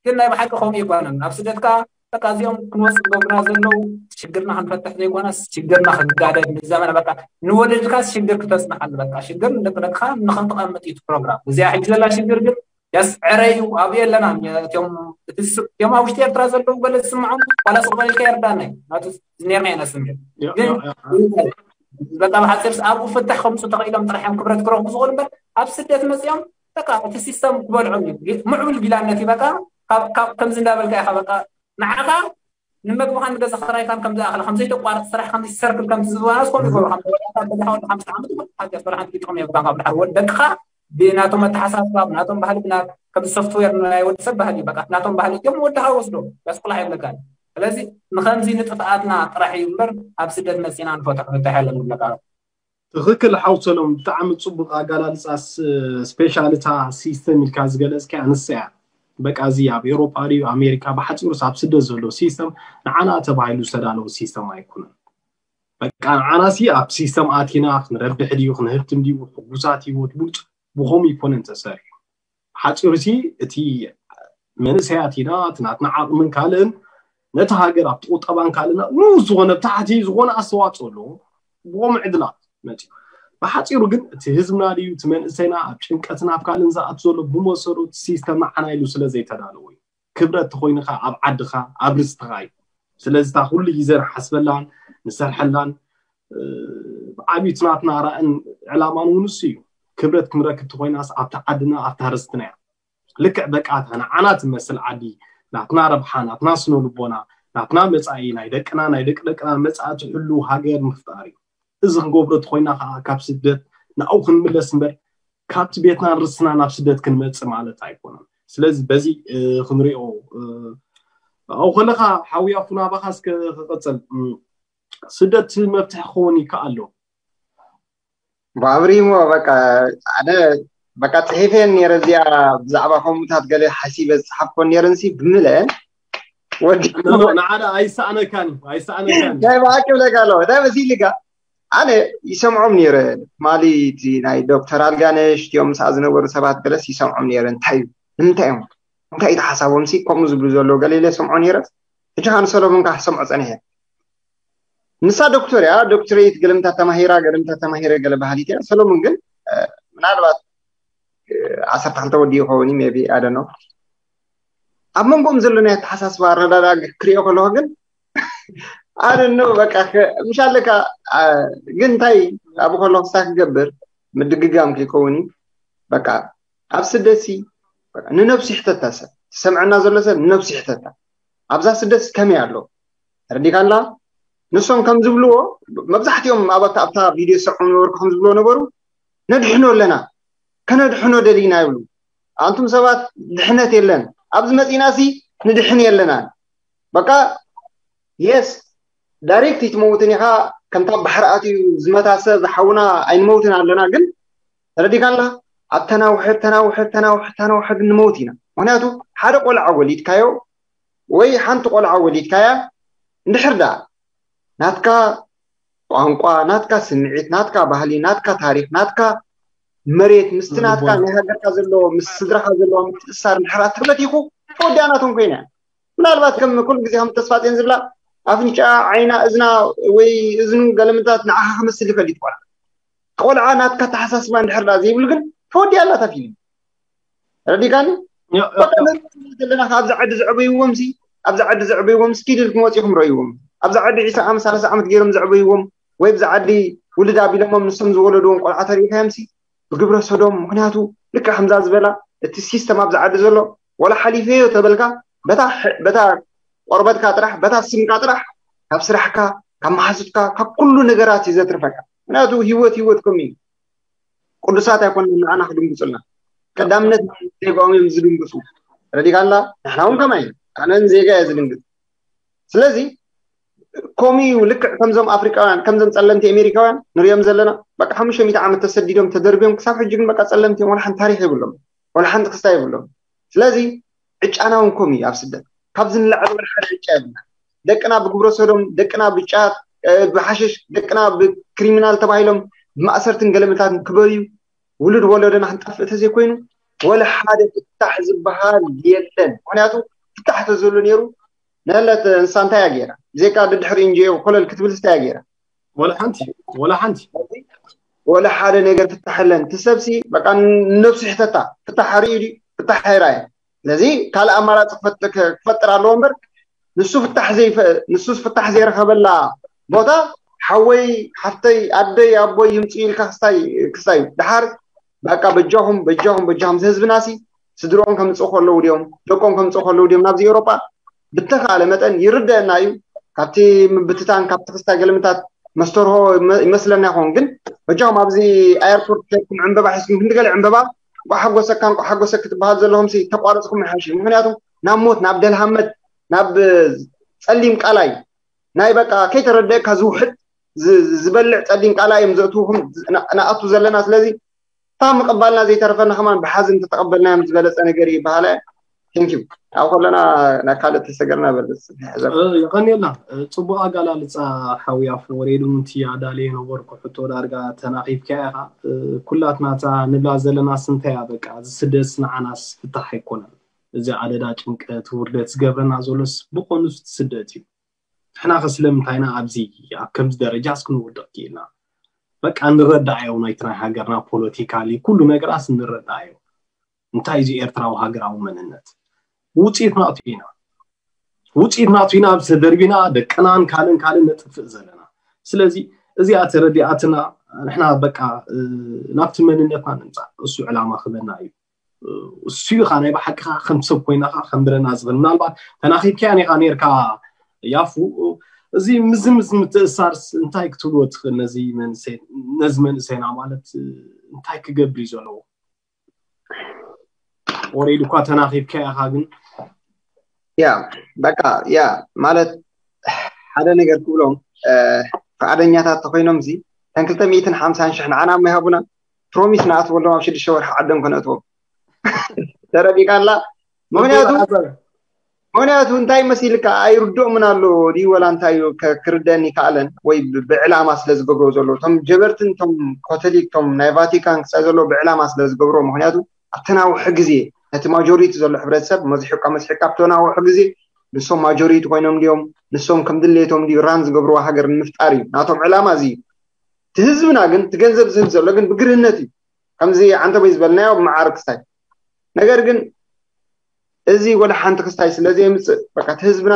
ግን ናይ ብሓቂ ከምኡ ይኮነን ኣብ ስደትካ በቃ እዚኦም ክንወፅእ ዝገብሩና ዘለዉ ሽግርና ክንፈትሕ ዘይኮነስ ሽግርና ክንጋደድ ንዘመና በቃ ንወለድካ ሽግር ክተፅንሓሉ በቃ ሽግር ንደቂ ደቅካ ንክትቐምጥ እዩ ፕሮግራም እዚኣ ሕጂ ዘላ ሽግር ግን የስዕረ እዩ ኣብኡ የለናን እቲኦም ኣብ ውሽጢ ኤርትራ ዘለዉ ገለ ዝስምዖም ዋላ ስቕ በልካ የርዳና እዩ ናቱ ነርና ኢና ስምዒት ግን በቃ ብሓፂር ኣብኡ ፍታሕ ከምፁ ተኽኢሎም ጥራሕ እዮም ክብረት ክረኽቡ ዝኽእሉ እምበር ኣብ ስደት መፅኦም በቃ እቲ ሲስተም ክበልዖም እዩ ምዕቡል ጊላነት እዩ በቃ ከምዚ እንዳበልካ ኢኻ በቃ ንዓኻ ንመግብኻን ንገዛ ክራይካን ከም ዝኣኽለ ከም ዘይተቋርፅ ስራሕ ከም ሰርክል ከም ዝዝባናስ ከም ይገብሩ ከም ወዳታ በዛ ሓንቲ ዓመት ሓንቲ ስራሕ ሓንቲ ጥቕሚ የብልካን ካብ ድሓር ወድ ደቅኻ ብናቶም ኣተሓሳስባ ብናቶም ባህሊ ብና ከም ሶፍትዌር ናይ ወዲ ሰብ ባህሊ በቃ ናቶም ባህሊ እዮም ወድኻ ወስዶ ያስቁላ የብለካን ስለዚ ንኸምዚ ንጥፍኣትና ጥራሕ እዩ እምበር ኣብ ስደት መፂና ንፈትሖ ፍታሕ የለን ንብለካ ትኽክል ሓው ሰሎም፣ ብጣዕሚ ጽቡቕ ኣገላልጻ። ስፔሻል እታ ሲስተም ኢልካ ዝገለጽካ ኣንሳ እያ። በቃ እዚ ኣብ ኤውሮጳ ድዩ ኣሜሪካ፣ ብሓጺሩስ ኣብ ስደት ዘሎ ሲስተም ንዓና ተባሂሉ ዝተዳለወ ሲስተም ኣይኮነን። በቃ ንዓናሲ ኣብ ሲስተም ኣቲና ክንረብሕ ድዩ ክንህብትም ድዩ፣ ሕጉሳት ህይወት ብሉጽ ብኸምኡ ኣይኮነን ተሰሪሑ። ሓፂሩሲ እቲ መንእሰያት ኢና፣ እቲ ናትና ዓቕምን ካልእን ነቲ ሃገር ኣብቲ ቁጠባን ካልእና ንኡስ ዝኾነ ብታሕቲ ዝኾነ ኣስተዋፅኦ ኣለዎ። ብኸምኡ ዕድላት መፂኡ። ብሓፂሩ ግን እቲ ህዝብና ድዩ እቲ መንእሰይና ኣብ ጭንቀትን ኣብ ካልእን ዝኣቱ ዘሎ ብመሰረቱ ሲስተም ንዓና ኢሉ ስለ ዘይተዳለወ እዩ። ክብረት ተኾይንኻ ኣብ ዓድኻ ኣብ ርስትኻ እዩ። ስለዚ እታ ኩሉ ግዜ ንሓስበላን ንሰርሐላን ብዓብዩ እቲ ናትና ራእን ዕላማን እውን እሱ እዩ። ክብረት ክንረክብ ተኾይናስ ኣብታ ዓድና ኣብታ ርስትና እያ። ልክዕ በቃ እታ ንዓና ትመስል ዓዲ ናትና ረብሓ ናትና ስነ ልቦና ናትና መፃኢ ናይ ደቅና ናይ ደቂ ደቅና መፃኢ ትሕሉ ሃገር ምፍጣር እዩ። እዚ ክንገብሮ ተኾይና ከዓ ካብ ስደት ናብኡ ክንምለስ እምበር ካብቲ ቤትናን ርስትና ናብ ስደት ክንመፅእ ማለት ኣይኮነን። ስለዚ በዚ ክንሪኦ ኣብኡ ከለካ ሓውያ ፉና ኣባካ እስከ ክቀፅል ስደት መፍትሒ ክኸውን ይከኣል ዶ? ብኣብሪሞ በቃ ኣነ በቃ ፅሒፈን ነረ እዚኣ ብዛዕባ ከምኡታት ገለ ሓሲበ ዝፅሓፍኮን ነረንሲ ብምለን ወዲ ንዓዳ ኣይሰኣነካን ኣይሰኣነካን ናይ ብሓቂ ብለካ ኣለዎ እንታይ መሲልካ ኣነ ይሰምዖም ነረ ትማሊ እቲ ናይ ዶክተር ኣልጋነሽ እቲኦም ምሳኣ ዝነበሩ ሰባት ገለስ ይሰምዖም ነረ እንታይ እዩ ንምንታይ እዮም እንታይ እዩ ሓሳቦም ሲ ከምኡ ዝብሉ ዘለዉ ገለ ኢለ ሰምዖ ነረ ሕጂ ካን ሰሎሞን ከዓ ሰምዖ ፀኒሐ ንሳ ዶክተር እያ ዶክትሬት ገለምታ ተማሂራ ገለምታ ተማሂረ ገለ ባህሊት እያ ሰሎሞን ግን ምናልባት ዓሰርተ ክልተ ወዲ ይኸውን ሜቢ ኣደኖ ኣብ መንጎም ዘሎ ናይ ኣተሓሳስባ ኣረዳዳ ክሪኦ ከለኹ ግን ኣደኖ በቃ ምሽ ኣለካ ግን እንታይ ኣብ ከለኹ ስታ ክገብር ምድግጋም ከይከውን እዩ በቃ ኣብ ስደትሲ ንነብሱ ይሕተታ ሰብ ትሰምዐና ዘሎ ሰብ ንነብሱ ይሕተታ ኣብዛ ስደትሲ ከመይ ኣሎ ተረዲካላ ንሶም ከም ዝብልዎ መብዛሕትኦም ኣብታ ኣብታ ቪድዮ ዝሰምዑ ነበርኩ ከም ዝብልዎ ነበሩ ነድሕኖ ኣለና ከነድሕኖ ደሊና ይብሉ ኣንቱም ሰባት ድሕነት የለን ኣብዚ መፂና ሲ ንድሕን የለና በቃ የስ ዳይሬክት ይትመውትን ኢኻ ከምታ ባሕሪ ኣትዩ ዝመታ ሰብ ዝሓውና ኣይንመውትን ኣለና ግን ተረዲካላ ኣብ ተናውሐ ተናውሐ ተናውሐ ተናውሐ ግን ንመውት ኢና ምክንያቱ ሓደ ቆልዓ ወሊድካዮ ወይ ሓንቲ ቆልዓ ወሊድካያ እንድሕር ደኣ ናትካ ቋንቋ ናትካ ስምዒት ናትካ ባህሊ ናትካ ታሪክ ናትካ መሬት ምስቲ ናትካ ናይ ሃገርካ ዘለዎ ምስ ስድራካ ዘለዎ ምትእሳር እንድሕር ኣተበቲኹ ተወዲኣ ናቶም ኮይና ምናልባት ከም ኩሉ ግዜ ከም ተስፋፅዮን ዝብላ ኣፍንጫ ዓይና እዝና ወይ እዝኑ ገለምንታት ንዓኻ ክመስል ይኽእል ይትቆላ ቆልዓ ናትካ ተሓሳስባ እንድሕር ዳ ዘይብሉ ግን ተወዲኣ ኣላ እታ ፊልም ረዲካኒ በቃ ዘለና ኣብዚ ዓዲ ዘዕበይዎም ሲ ኣብዚ ዓዲ ዘዕበይዎም ሲ ኪድል ክመፅኡ ክምረእይዎም ኣብዚ ዓዲ ዒስራ ዓመት ሰላሳ ዓመት ገይሮም ዘዕበይዎም ወይ ብዚ ዓዲ ውልድ ኣቢሎሞም ንሶም ዝወለድዎም ቆልዓ ተሪኢካዮም ሲ ብግብረ ሰዶም ምክንያቱ ልክዕ ከምዛ ዝበላ እቲ ሲስተም ኣብዚ ዓዲ ዘሎ ወላ ሓሊፈዮ ተበልካ በታ ቆርበትካ ጥራሕ በታ ስምካ ጥራሕ ካብ ስራሕካ ካብ መሓዙትካ ካብ ኩሉ ነገራት እዩ ዘትርፈካ ምክንያቱ ህይወት ህይወት ከም እዩ ቅዱሳት ኣይኮን ንዓና ክድንግፁልና ቀዳምነት ዜጋኦም እዮም ዝድንግፁ ረዲካላ ንሕና እውን ከማይ ኣነን ዜጋ እየ ዝድንግፅ ስለዚ ከምኡ እዩ ልክዕ ከምዞም ኣፍሪቃውያን ከምዞም ፀለምቲ ኣሜሪካውያን ንሪኦም ዘለና በቃ ሓሙሽተ ሚእቲ ዓመት ተሰዲዶም ተደርብዮም ክሳብ ሕጂ ግን በቃ ፀለምቲ እዮም ወላ ሓንቲ ታሪክ የብሎም ወላ ሓንቲ ክስታይ የብሎም ስለዚ ዕጫና እውን ከምኡ እዩ ኣብ ስደት ካብዚ ንላዕሊ ወላ ሓደ ዕጫ የብልና ደቅና ብግብረ ሰዶም ደቅና ብጫት ብሓሽሽ ደቅና ብክሪሚናል ተባሂሎም ብማእሰርትን ገለመታትን ክበዩ ውሉድ ወለዶና ክንጠፍእ ተዘይኮይኑ ወላ ሓደ ፍታሕ ዝበሃል የለን ምክንያቱ ፍታሕ ተዘሎ ነይሩ ነለት እንሳ እንታይ እያ ገይራ ብዘይካ ድድሕሪ እንጀዮ ኮለል ክትብል እንታይ እያ ገይራ ወላ ሓንቲ ወላ ሓንቲ ወላ ሓደ ነገር ፍታሕ የለን እቲ ሰብሲ በቃ ነብሱ ይሕተታ ፍታሕ ርእዩ ድዩ ፍታሕ ኣይረኣየ ስለዚ ካልእ ኣማራፂ ክፈጥር ኣለዎ እምበር ንሱ ፍታሕ ዘይፈ ንሱ ፍታሕ ዘይረኸበላ ቦታ ሓወይ ሓፍተይ ኣደይ ኣቦይ ይምፅኡ ኢልካ ክስታይ ክስታይ ድሓር በቃ በጃኹም በጃኹም በጃኹም እዚ ህዝብና ሲ ስድርኦም ከምፅኡ ከለዉ ድዮም ደቆም ከምፅኡ ከለዉ ድዮም ናብዚ ኤውሮጳ ብተኻለ መጠን ይርደአና እዩ ካብቲ ምብትታን ካብቲ ክስታይ ገለምታት መስተርሆ ይመስለና ይኸውን ግን በጃኹም ኣብዚ ኣየርፖርት ከድኩም ዕንበባ ሒዝኩም ክንዲ ገለ ዕንበባ እንቋ ሓጎሰካ እንቋ ሓጎሰ ክትበሃል ዘለኹም ተቋረፅኩም ይሓሽ ምክንያቱ ናብ ሞት ናብ ደልሃመት ናብ ፀሊም ቃላይ ናይ በቃ ከይተረደእካ ዝውሕድ ዝበልዕ ጸሊም ቃላ እዮም ዘእትውኹም ንኣቱ ዘለና። ስለዚ ካብ ምቕባልና ዘይተረፈና ከማን ብሓዘን ተተቐበልናዮም ዝበለጸ ነገር እዩ ይበሃለ። Thank you። ኣብ ከለና ናብ ካልእ ተሰገርና በል። የቐንየልና። ጽቡቕ ኣጋላልጻ ሓውያ ፍወሬድ እውን እቲ ኣዳልየ ነበርኩ ሕቶ ዳርጋ ተናኺፍካ ኢኻ። ኩላትና እታ ንብላ ዘለና ስንታያ በቃ እዚ ስደት ንዓናስ ፍታሕ ኣይኮነን። እዚ ኣደዳ ጭንቀት ውርደት ዝገብረና ዘሎስ ብኾኑ ስደት እዩ። ንሕና ከ ስለምንታይና ኣብዚ ኣብ ከምዚ ደረጃስ ክንውድቕ ክኢልና? በቃ ንረዳኣዮ ናይቲ ናይ ሃገርና ፖለቲካሊ ኩሉ ነገራስ ንረዳኣዮ። እንታይ እዚ ኤርትራዊ ሃገራዊ መንነት ውፅኢት ናቱ ኢና ውፅኢት ናቱ ኢና ኣብዚ ተደርቢና ደቅናን ካልእን ካልእን ነጥፍእ ዘለና። ስለዚ እዚኣ ተረዲኣትና ንሕና በቃ ናብቲ መንነትና ንምፃእ እሱ ዕላማ ክበና እዩ። እሱ ኢኻ ናይ ብሓቅኻ ከም ሰብ ኮይናኻ ከም ብለና ዝብል ምናልባት ተናኺብካያን ኢኻ ነርካ ያፉ። እዚ ምዚ ምዚ ምትእሳርስ እንታይ ክትብልዎ ትኽእል ነዚ መንእሰይ ነዚ መንእሰይና ማለት እንታይ ክገብር እዩ ዘለዎ? ወሬድ እኳ ተናኺብካ ኢኻ ግን ያ በቃ ያ ማለት ሓደ ነገር ክብሎም ፍቃደኛታት ተኮይኖም እዚ ተን ክልተ ሚእትን ሓምሳን ሽሕ ንዓና እሞ ይሃቡና ፕሮሚስ ንኣትወሎም ኣብ ሽዱሽተ ወርሒ ዓዶም ከነእትዎም ተረዲካ ኣላ። ምክንያቱ ምክንያቱ እንታይ መሲልካ ኣይርድኦምን ኣሎ ድዩ ወላ እንታይ እዩ ክርደን ይከኣለን ወይ ብዕላማ ስለ ዝገብሮ ዘሎ እቶም ጀበርትን እቶም ኮቶሊክ እቶም ናይ ቫቲካን ክሳ ዘሎ ብዕላማ ስለ ዝገብሮ ምክንያቱ ኣብተናውሑ ግዜ ነቲ ማጆሪቲ ዘሎ ሕብረተሰብ መዝሕቃ መስሕቃ ኣብተናውሑ ግዜ ንሶም ማጆሪቲ ኮይኖም ድዮም ንሶም ከም ድሌቶም ድዩ ራን ዝገብርዋ ሃገር ንምፍጣር እዩ ናቶም ዕላማ እዚ እዩ። እቲ ህዝብና ግን እቲ ገንዘብ ዝህብ ዘሎ ግን ብግርህነት እዩ። ከምዚ ዓንተቦይ ዝበልናዮ ብመዓር ክስታይ ነገር ግን እዚ ወላ ሓንቲ ክስታይ ስለ ዘየምፅእ በቃ እቲ ህዝብና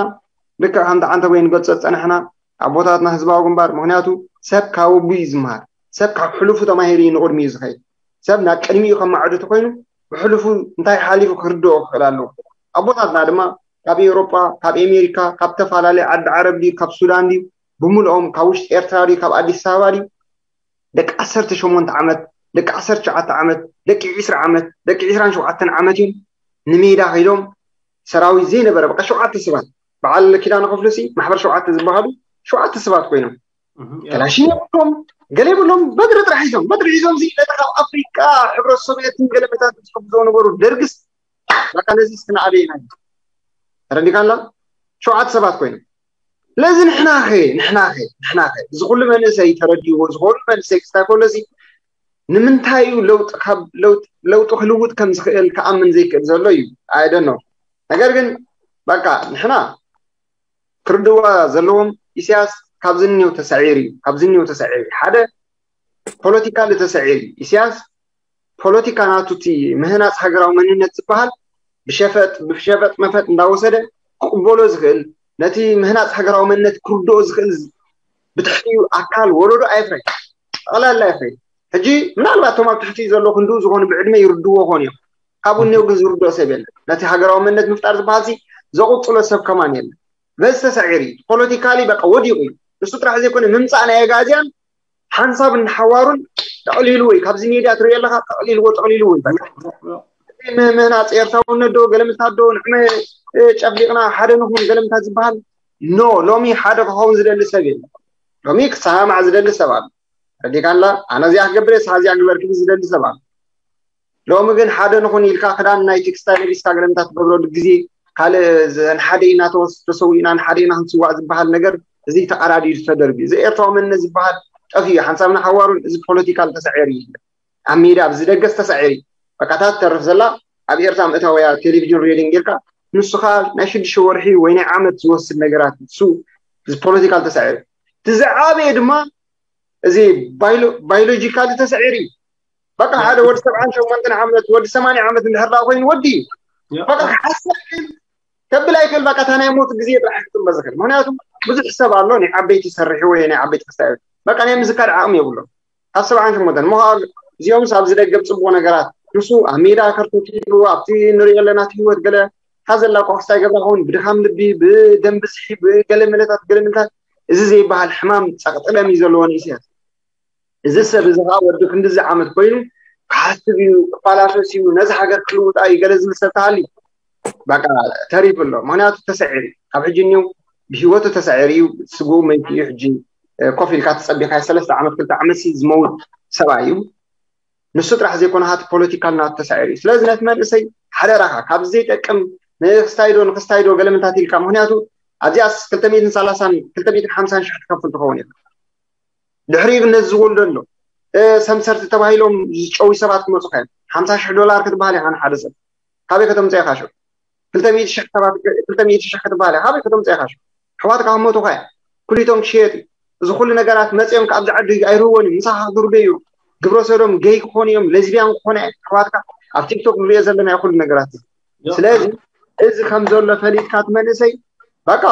ልክዕ ከምቲ ዓንተቦይ ንገልፆ ዝፀናሕና ኣቦታትና ህዝባዊ ግንባር ምክንያቱ ሰብ ካብ ኣቡ እዩ ዝመሃር ሰብ ካብ ሕሉፉ ተማሂሩ እዩ ንቅድሚ እዩ ዝኸይድ ሰብ ናብ ቅድሚኡ ከማዕዱ ተኮይኑ ብሕሉፉ እንታይ ሓሊፉ ክርድኦ ክኽእል ኣለዎ ኣቦታትና ድማ ካብ ኤውሮጳ ካብ ኤሜሪካ ካብ ተፈላለዩ ዓዲ ዓረብ ድዩ ካብ ሱዳን ድዩ ብምልኦም ካብ ውሽጢ ኤርትራ ድዩ ካብ ኣዲስ ኣበባ ድዩ ደቂ ዓሰርተ ሸሞንተ ዓመት ደቂ ዓሰርተ ትሽዓተ ዓመት ደቂ ዒስራ ዓመት ደቂ ዒስራን ሸውዓተን ዓመት እዮም ንሜዳ ከይዶም ሰራዊት ዘይነበረ በቃ ሸውዓተ ሰባት በዓል ኪዳነ ክፍሉ ሲ ማሕበር ሸውዓተ ዝበሃሉ ሸውዓተ ሰባት ኮይኖም ከላሽን የብሎም ገለ የብሎም በትሪ ጥራሕ ሒዞም በትሪ ሒዞም ሲ ነቲ ካብ ኣፍሪቃ ሕብረት ሶቪየትን ገለ መታት ዝሕግዞ ነበሩ ደርግስ በቃ ነዚ እስክና ኣበይና ተረዲካላ ሸውዓተ ሰባት ኮይኖም ስለዚ ንሕናኸ ንሕናኸ ንሕናኸ እዚ ኩሉ መንእሰይ ተረዲዎ እዚ ኩሉ መንእሰይ ክስታይ ከሎ ሲ ንምንታይ እዩ ለውጢ ካብ ለውጢ ለውጢ ክልውጥ ከም ዝኽእል ክኣምን ዘይክእል ዘሎ እዩ ኣይደኖ ነገር ግን በቃ ንሕና ክርድዋ ዘለዎም ኢሳያስ ካብዚ እኒው ተሳዒሩ እዩ ካብዚ እኒው ተሳዒሩ እዩ ሓደ ፖለቲካሊ ተሳዒሩ እዩ ኢሳያስ ፖለቲካ ናቱ እቲ ምህናፅ ሃገራዊ መንነት ዝበሃል ብሸፈጥ ብሸፈጥ መፈጥ እንዳወሰደ ክቕበሎ ዝኽእል ነቲ ምህናፅ ሃገራዊ መንነት ክርድኦ ዝኽእል ብትሕቲኡ ኣካል ወለዶ ኣየፍረይ ጠቕላላ የፍረይ ሕጂ ምናልባት እቶም ኣብ ትሕቲ ዘሎ ክንድኡ ዝኾኑ ብዕድመ ይርድዎ ኾን እዮም ካብኡ እኒው ግን ዝርድኦ ሰብ የለን ነቲ ሃገራዊ መንነት ምፍጣር ዝበሃል ሲ ዘቕፅሎ ሰብ ከማን የለን በዚ ተሳዒሩ እዩ ፖለቲካሊ በቃ ወዲቑ እዩ ንሱ ጥራሕ ዘይኮነ ምምፃእ ናይ ኣጋዝያን ሓንሳብ ንሓዋሩን ጠቕሊሉ ወይ ካብዚ ሜድያ ትሪኦ ኣለካ ጠቕሊልዎ ጠቕሊልዎ እዩ ምህናፅ ኤርትራውነት ዶ ገለምልታት ዶ ንዕመ ጨፍሊቕና ሓደ ንኹን ገለምልታት ዝበሃል ኖ ሎሚ ሓደ ክኸውን ዝደሊ ሰብ የለ ሎሚ ክሰማማዕ ዝደሊ ሰብ ኣሎ ረዲካላ ኣነ እዚኣ ክገብር እየ ስኻ እዚኣ ግበር ክብል ዝደሊ ሰብ ኣሎ ሎሚ ግን ሓደ ንኹን ኢልካ ክዳን ናይ ቴክስታይ ለቢስካ ገለምልታት ትገብረሉ ግዜ ካልእ ንሓደ ኢና ተሰዊእና ንሓደ ኢና ክንስዋእ ዝበሃል ነገር እዚ ተቐዳዲዱ ተደርቢ እዚ ኤርትራዊ መንነት ዝበሃል ጠፊኡ ሓንሳብ ንሓዋሩን እዚ ፖለቲካል ተሳዒሩ እዩ ኣብ ሜዳ ኣብዚ ደገስ ተሳዒሩ እዩ በቃ እታ ትተርፍ ዘላ ኣብ ኤርትራ ምእታወያ ቴሌቪዥን ሬድዮ ጌርካ ንሱ ከዓ ናይ ሽዱሽተ ወርሒ ወይ ናይ ዓመት ዝወስድ ነገራት እሱ እዚ ፖለቲካል ተሳዒሩ እቲ ዝዓበየ ድማ እዚ ባዮሎጂካሊ ተሳዒሩ እዩ በቃ ሓደ ወዲ ሰብዓን ሸሞንተን ዓመት ወዲ ሰማንያ ዓመት እንድሕር ደኣ ኮይኑ ወዲ እዩ በቃ ክሓስብ ግን ከብል ኣይክእል በቃ እታ ናይ ሞት ግዜ ጥራሕ ክጥመ ዝኽእል ምክንያቱ ብዙሕ ሰብ ኣሎ ናይ ዓበይቲ ሰርሒ ወይ ናይ ዓበይቲ ክስታይ በቃ ናይ ምዝካር ዓቕሚ የብሎም ካብ ሰብዓን ሸሞንተን እሞ ከዓ እዚኦምስ ኣብዚ ደገብ ፅቡቅ ነገራት ንሱ ኣብ ሜዳ ከርተት ኢሉ ኣብቲ ንሪኦ ኣለና እቲ ህይወት ገለ ሓዘላ ኮክስታ ይገብራ ኸውን ብድኻም ልቢ ብደም ብዝሒ ብገለ መለታት ገለ ምልታት እዚ ዘይበሃል ሕማም ጸቕጥለም እዩ ዘለዎ ንእስያስ እዚ ሰብ እዚ ከዓ ወዲ ክንድዚ ዓመት ኮይኑ ክሓስብ እዩ ክፈላሰስ እዩ ነዚ ሃገር ክልውጣ እዩ ገለ ዝብል ሰብ ተሃልዩ በቃ ተሪፉ ኣሎ ምክንያቱ ተሰዒሩ ካብ ሕጂ እኒው ብሂወቱ ተሰዒሩ እዩ ስግኡ መይቱ እዩ ሕጂ ኮፍ ኢልካ ተፀቢኻዮ ሰለስተ ዓመት ክልተ ዓመት ዝመውት ሰብኣይ እዩ። ንሱ ጥራሕ ዘይኮነ ሃቲ ፖለቲካል ናቱ ተሳዒሩ እዩ። ስለዚ ነቲ መንእሰይ ሓደራኻ ካብዚ ዘይጠቅም ንክስታይዶ ንክስታይዶ ገለመታት ኢልካ፣ ምክንያቱ ኣብዚኣስ ክልተ ሚእትን ሰላሳን ክልተ ሚእትን ሓምሳን ሽሕ ትከፍል ትኸውን ኢኻ። ድሕሪኡ ግን ነዚ ዝወልዶ ኣሎ ሰምሰርቲ ተባሂሎም ዝጨዊ ሰባት ክመፁ ከ ሓምሳ ሽሕ ዶላር ክትበሃል ኢኻ ንሓደ ሰብ ካበይ ከተምፅኦ ኢኻ ሽዑ? ክልተ ሚእቲ ሽሕ ክትበሃል ኢኻ ካበይ ከተምፅኦ ኢኻ ሽዑ? ኣሕዋትካ ክመቱኻ እዮም። ኩሊቶም ክሽየጥ እዩ። እዚ ኩሉ ነገራት መፅኦም ካብዚ ዓዲ ኣይርህቦን እዩ። ምሳኻ ክድርበዩ እዮም። ግብረ ሰዶም ገይ ክኾኑ እዮም። ሌዝቢያን ክኾኑ እዮም። ኣሕዋትካ ኣብ ቲክቶክ ንሪኦ ዘለና እዩ ኩሉ ነገራት። ስለዚ እዚ ከም ዘሎ ፈሊጥካ እቲ መንእሰይ በቃ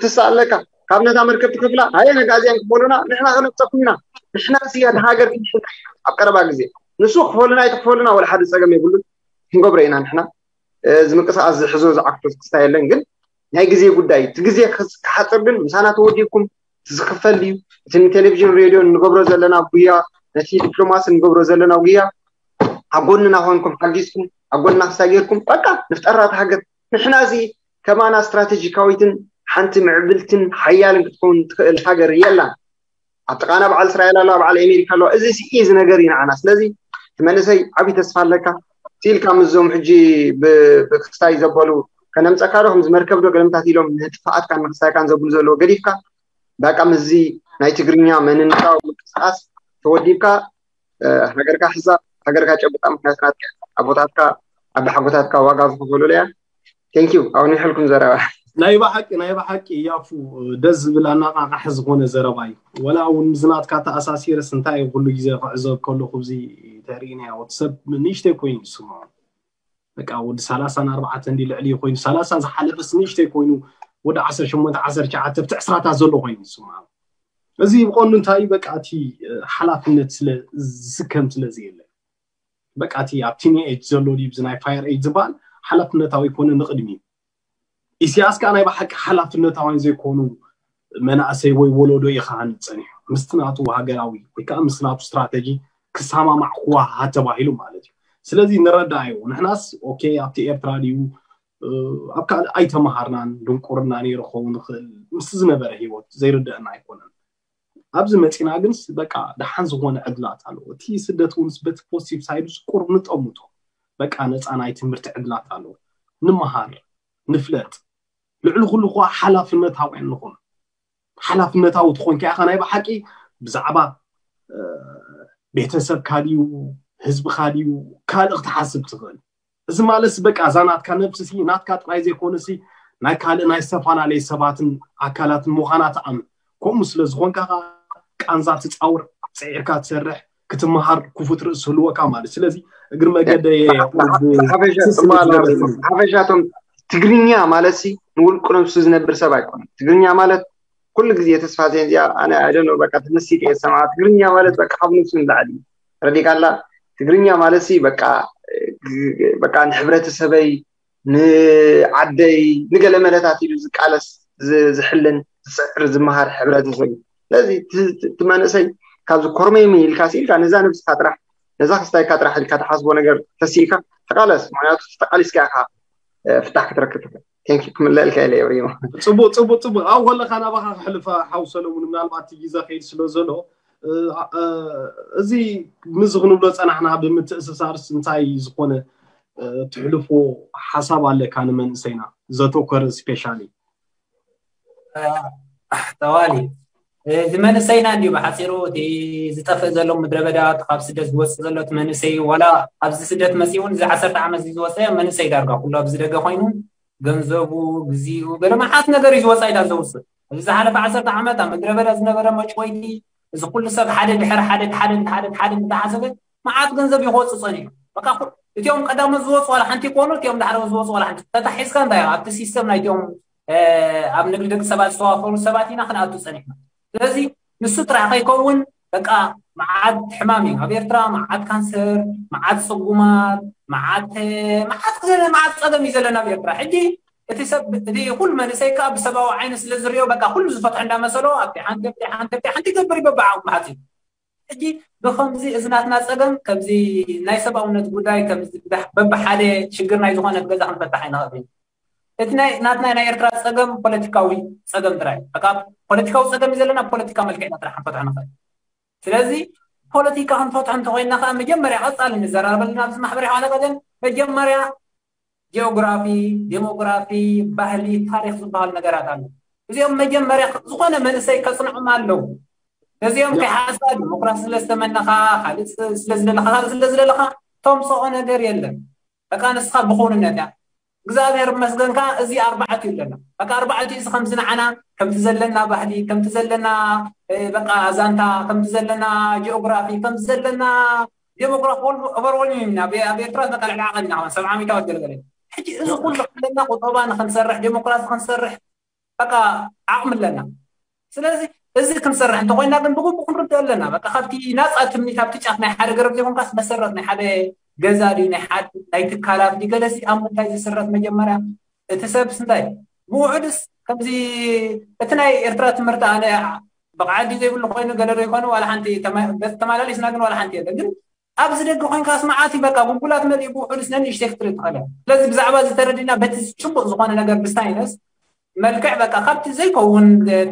ትስእ ኣለካ። ካብ ነታ መርከብ ትከፍላ ሃየ ነጋዚያን ክፈሉና ንሕና ከነምፀኩም ኢና። ንሕና ስያ ሃገር ክንሽና ኣብ ቀረባ ግዜ ንሱ ክፈሉና ኣይትክፈሉና ወላ ሓደ ፀገም የብሉን። ክንገብሮ ኢና ንሕና። እዚ ምንቅስቃስ ዝሕዞ ዝዓክቶ ክስታ የለን ግን ናይ ግዜ ጉዳይ እቲ ግዜ ክሓፅር ግን ምሳና ተወዲብኩም ዝክፈል ድዩ? እቲ ንቴሌቪዥን ሬድዮ እንገብሮ ዘለና ጉያ ነቲ ዲፕሎማሲ እንገብሮ ዘለና ጉያ ኣብ ጎንና ኮንኩም ሓጊዝኩም ኣብ ጎንና ክሳጌርኩም በቃ ንፍጠራ ሃገር ንሕና እዚ ከማና ስትራቴጂካዊትን ሓንቲ ምዕብልትን ሓያልን ክትከውን ትኽእል ሃገር የላን። ኣብ ጥቃና በዓል እስራኤል ኣለዋ በዓል ኣሜሪካ ኣለዋ። እዚ እዚ ነገር እዩ ንዓና። ስለዚ እቲ መንእሰይ ዓብዪ ተስፋ ኣለካ። ስኢልካ ምስዞም ሕጂ ብክስታይ ዘበሉ ከነምፀካ ዶ ከምዚ መርከብ ዶ ገለምታት ኢሎም ንጥፍኣትካን ንክስታይካን ዘብሉ ዘለዎ ገዲፍካ በቃ ምስዚ ናይ ትግርኛ መንነታዊ ምንቅስቃስ ተወዲብካ ሃገርካ ሕዛ ሃገርካ ጨብጣ። ምክንያቱ ናትካ ኣቦታትካ ኣባሓጎታትካ ዋጋ ዝኸፈሉላ እያ። ቴንኪዩ ኣውኒሐልኩም ዘረባ። ናይ ብሓቂ ናይ ብሓቂ ያፉ ደስ ዝብል ኣናቃቃሒ ዝኾነ ዘረባ እዩ። ወላ እውን ምስ ናትካ ተኣሳሲረስ እንታይ እዩ ኩሉ ግዜ ክዕዘብ ከለኹ እዚ ተርእናያ ወዲ ሰብ ንእሽተይ ኮይኑ ይስምዖ። በቃ ወዲ ሰላሳን ኣርባዕተን ድዩ ልዕሊ ኮይኑ ሰላሳ ዝሓለፈስ ንእሽተይ ኮይኑ ወዲ ዓሰርተ ሸሞንተ ዓሰርተ ትሽዓተ ኣብቲ ዕስራታት ዘሎ ኮይኑ ይስምዖ። እዚ ብቐንዱ እንታይ እዩ በቃ እቲ ሓላፍነት ስለ ዝስከም ስለ ዘየለ በቃ እቲ ኣብ ቲን ኤጅ ዘሎ ድዩ እዚ ናይ ፋየር ኤጅ ዝበሃል ሓላፍነታዊ ኣይኮነ ንቕድሚ ኢሳያስ ከዓ ናይ ብሓቂ ሓላፍነታውያን ዘይኮኑ መናእሰይ ወይ ወለዶ እዩ ክሃንፅ ፀኒሑ ምስቲ ናቱ ሃገራዊ ወይ ከዓ ምስቲ ናቱ ስትራተጂ ክሰማማዕ ክወሃሃድ ተባሂሉ ማለት እዩ። ስለዚ ንረዳኣዮ ንሕናስ ኦኬ ኣብቲ ኤርትራ ድዩ ኣብ ካልእ ኣይተመሃርናን ድንቁርና ነይሩ ክኸውን ይኽእል ምስቲ ዝነበረ ሂወት ዘይርደአና ኣይኮነን። ኣብዚ መፂና ግንስ በቃ ደሓን ዝኾነ ዕድላት ኣለዎ። እቲ ስደት እውን በቲ ፖዚቲቭ ሳይዱ ቁሩብ ንጠምቶ በቃ ነፃ ናይ ትምህርቲ ዕድላት ኣለዎ። ንምሃር ንፍለጥ ልዕሊ ኩሉ ከ ሓላፍነታውያን ንኹን። ሓላፍነታዊ ትኾንካ ኢኻ ናይ ብሓቂ ብዛዕባ ቤተሰብካ ድዩ ህዝብኻ ድዩ ካልእ ክትሓስብ ትኽእል። እዚ ማለት በቃ እዛ ናትካ ነብሲ ሲ ናትካ ጥራይ ዘይኮነ ሲ ናይ ካልእ ናይ ዝተፈላለየ ሰባትን ኣካላትን ምዃና ትኣምን። ከምኡ ስለ ዝኾንካ ቃንዛ ትፃውር፣ ፅዒርካ ትሰርሕ፣ ክትመሃር ክፉት ርእሲ ህልወካ ማለት። ስለዚ እግሪ መገደየ ሓፈሻ እቶም ትግርኛ ማለት ሲ ንውልቁ ነብሱ ዝነብር ሰብ ኣይኮነን። ትግርኛ ማለት ኩሉ ግዜ ተስፋ ዜን እዚኣ ኣነ ኣይደኖ በቃ ተመሲጥ እየ ዝሰምዓ። ትግርኛ ማለት በቃ ካብ ነብሱ ንላዕሊ ረዲካላ። ትግርኛ ማለት ሲ በቃ በቃ ንሕብረተሰበይ ንዓደይ ንገለ መለታት ኢሉ ዝቃለስ ዝሕልን ዝፅዕር ዝመሃር ሕብረተሰብ እዩ። ስለዚ እቲ መንእሰይ ካብዚ ኮርመይመይ ኢልካ ስኢልካ ነዛ ነብስካ ጥራሕ ነዛ ክስታይካ ጥራሕ ኢልካ ትሓስቦ ነገር ተሲእካ ተቃለስ። ምክንያቱ ተቃሊስካ ኢካ ፍታሕ ክትረክብ ትኽእል። ቴንኪ ክምለልካ ኢለ የብሪሞ። ፅቡቅ ፅቡቅ ፅቡቅ ኣብ ከለካ ናባካ ክሕልፋ ሓው ሰለሙን ምናልባት እቲ ግዜ ከይድ ስለ ዘሎ እዚ ምዚ ክንብሎ ፀናሕና ብምትእስሳርስ እንታይ ዝኾነ ትሕልፎ ሓሳብ ኣለካ ንመንእሰይና ዘተኮረ ስፔሻሊ ጠዋሊ እዚ መንእሰይና እንዲዩ ብሓፂሩ እቲ ዝጠፍእ ዘሎ ምድረ በዳ ካብ ስደት ዝወፅእ ዘሎ እቲ መንእሰይ ዋላ ኣብዚ ስደት መፂኡ እውን እዚ ዓሰርተ ዓመት እዚ ዝወፀ መንእሰይ ዳርጋ ኩሉ ኣብዚ ደገ ኮይኑ ገንዘቡ ግዜኡ ገለ መዓት ነገር እዩ ዝወፃ ኢዳ ዘውፅእ እዚ ዝሓለፈ ዓሰርተ ዓመት ኣብ ምድረ በዳ ዝነበረ መጭወይቲ እዚ ኩሉ ሰብ ሓደ ድሕሪ ሓደ ሓደ ሓደ ሓደ እንዳሓሰበ መዓት ገንዘብ እዩ ክወፅእ ፀኒሑ በቃ እቲኦም ቀዳሞት ዝወፁ ዋላ ሓንቲ ይኮኑ እቲኦም ዳሕረዎት ዝወፁ ዋላ ሓንቲ ተታሒዝካ እንታይ ኣብቲ ሲስተም ናይቲኦም ኣብ ንግዲ ደቂ ሰባት ዝተዋፈሩ ሰባት ኢና ክንኣቱ ፀኒሕና ስለዚ ንሱ ጥራሕ ከይከውን በቃ መዓት ሕማም እዩ ኣብ ኤርትራ መዓት ካንሰር መዓት ፅጉማት መዓት መዓት መዓት ፀገም እዩ ዘለና ኣብ ኤርትራ ሕጂ እቲ ሰብ እቲ ኩሉ መንእሰይ ከዓ ብሰብኣዊ ዓይኒ ስለ ዝሪኦ በቃ ኩሉ ዝፈትሖ እንዳመሰሎ ኣብቲ ሓንቲ ኣብቲ ሓንቲ ኣብቲ ሓንቲ ይገብር ይበብዓ መዓት እዩ ሕጂ ብከምዚ እዚ ናትና ፀገም ከምዚ ናይ ሰብኣውነት ጉዳይ ከምዚ በብሓደ ሽግር ናይ ዝኾነት ገዛ ክንፈታሕ ኣይንኽእል እቲ ናይ ናትና ናይ ኤርትራ ጸገም ፖለቲካዊ ጸገም ጥራይ። በቃ ፖለቲካዊ ጸገም እዩ ዘለና፣ ፖለቲካ መልክዕና ጥራሕ ክንፈትሖ ንኽእል። ስለዚ ፖለቲካ ክንፈትሖ እንተኮይና ከዓ መጀመርያ ቀጻሊ ንዘራረበልና ኣብዚ ማሕበራዊ ሓለቀተን መጀመርያ ጂኦግራፊ፣ ዴሞግራፊ፣ ባህሊ፣ ታሪክ ዝበሃሉ ነገራት ኣሎ። እዚኦም መጀመርያ ዝኾነ መንእሰይ ከጽንዖም ኣለዉ። ነዚኦም ከይሓዝካ ዲሞክራሲ ስለ ዝተመነኻ፣ ካልእ ስለ ዝደለኻ፣ ካልእ ስለ ዝደለኻ ተምጽኦ ነገር የለን። በቃ ንስኻ ብኹንነት እያ። እግዚኣብሔር ይመስገን ከኣ እዚ ኣርባዕቲኡ ኣለና። በቃ ኣርባዕቲኡ እዚ ከምዚ ንዓና ከምቲ ዘለና ባህሊ፣ ከምቲ ዘለና በቃ ዛንታ፣ ከምቲ ዘለና ጂኦግራፊ፣ ከምቲ ዘለና ዴሞክራሲ ኦቨርወልሚንግ ኢና። ኣብ ኤርትራ በቃ ልዕሊ ዓቐን ኢና፣ ሰብዓ ሚእታዊት ገለገለ። ሕጂ እዚ ኩሉ ኣለና፣ ቁጠባ ንክንሰርሕ፣ ዴሞክራሲ ክንሰርሕ በቃ ዓቕሚ ኣለና። ስለዚ እዚ ክንሰርሕ እንተኮይና ግን ብግቡእ ክንርድኦ ኣለና። በቃ ካብቲ ናፃ ትምኒት ኣብቲ ጫፍ ናይ ሓደ ገረብ ዘይኮንካስ መሰረት ናይ ሓደ ገዛ ድዩ ናይ ሓደ ናይ ትካላት ድዩ ገለሲ ኣብ ምንታይ ዝስረት መጀመርያ እቲ ሰብስ እንታይ ብውሑድስ ከምዚ እቲ ናይ ኤርትራ ትምህርቲ ኣነ ብቕዓት ድዩ ዘይብሉ ኮይኑ ገለ ዶ ይኮነ ዋላ ሓንቲ ተመ- በዚ ተመላሊስና ግን ዋላ ሓንቲ የለን ግን ኣብዚ ደገ ኮይንካ ስማዓት በቃ ጉጉላት መሊኡ ብውሑድስ ነንእሽተይ ክትርኢ ትኽእል እያ። ስለዚ ብዛዕባ እዚ ተረዲና በቲ ጭቡጥ ዝኾነ ነገር ብሳይነስ መልክዕ በቃ ካብቲ ዘይከውን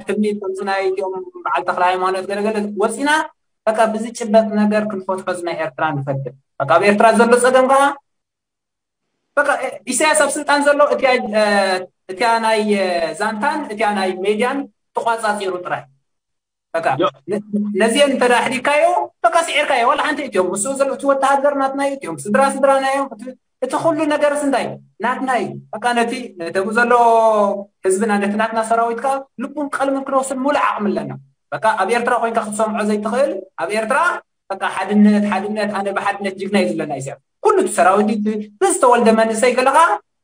ትምኒት ከምዚ ናይ እቲኦም በዓል ተክለ ሃይማኖት ገለገለ ወፂና በቃ ብዝጭበጥ ነገር ክንፈትሖ እዚ ናይ ኤርትራ ንፈትሕ። በቃ ኣብ ኤርትራ ዘሎ ፀገም ከዓ በቃ ኢሳያስ ኣብ ስልጣን ዘሎ እቲያ እቲያ ናይ ዛንታን እቲያ ናይ ሜድያን ተቋፃፂሩ ጥራይ በቃ ነዚአን እንተ ኣሕዲካዮ በቃ ስዒርካዮ ዋላ ሓንቲ እትዮም ምስ ዘሎ እቲ ወተሃደር ናትና እዩ እትዮም ስድራ ስድራና እዮም እቲ ኩሉ ነገርስ እንታይ ናትና እዩ በቃ ነቲ ነተቡ ዘሎ ህዝብና ነቲ ናትና ሰራዊት ከዓ ልቡን ቀልምን ክነውስን ሙሉእ ዓቕሚ ኣለና በቃ ኣብ ኤርትራ ኮይንካ ክትሰምዖ ዘይትኽእል ኣብ ኤርትራ በቃ ሓድነት ሓድነት ኣነ ብሓድነት ጅግና እዩ ዝብለና ኢሳያስ ኩሉ እቲ ሰራዊት ብዝተወልደ መንእሰይ ገለኻ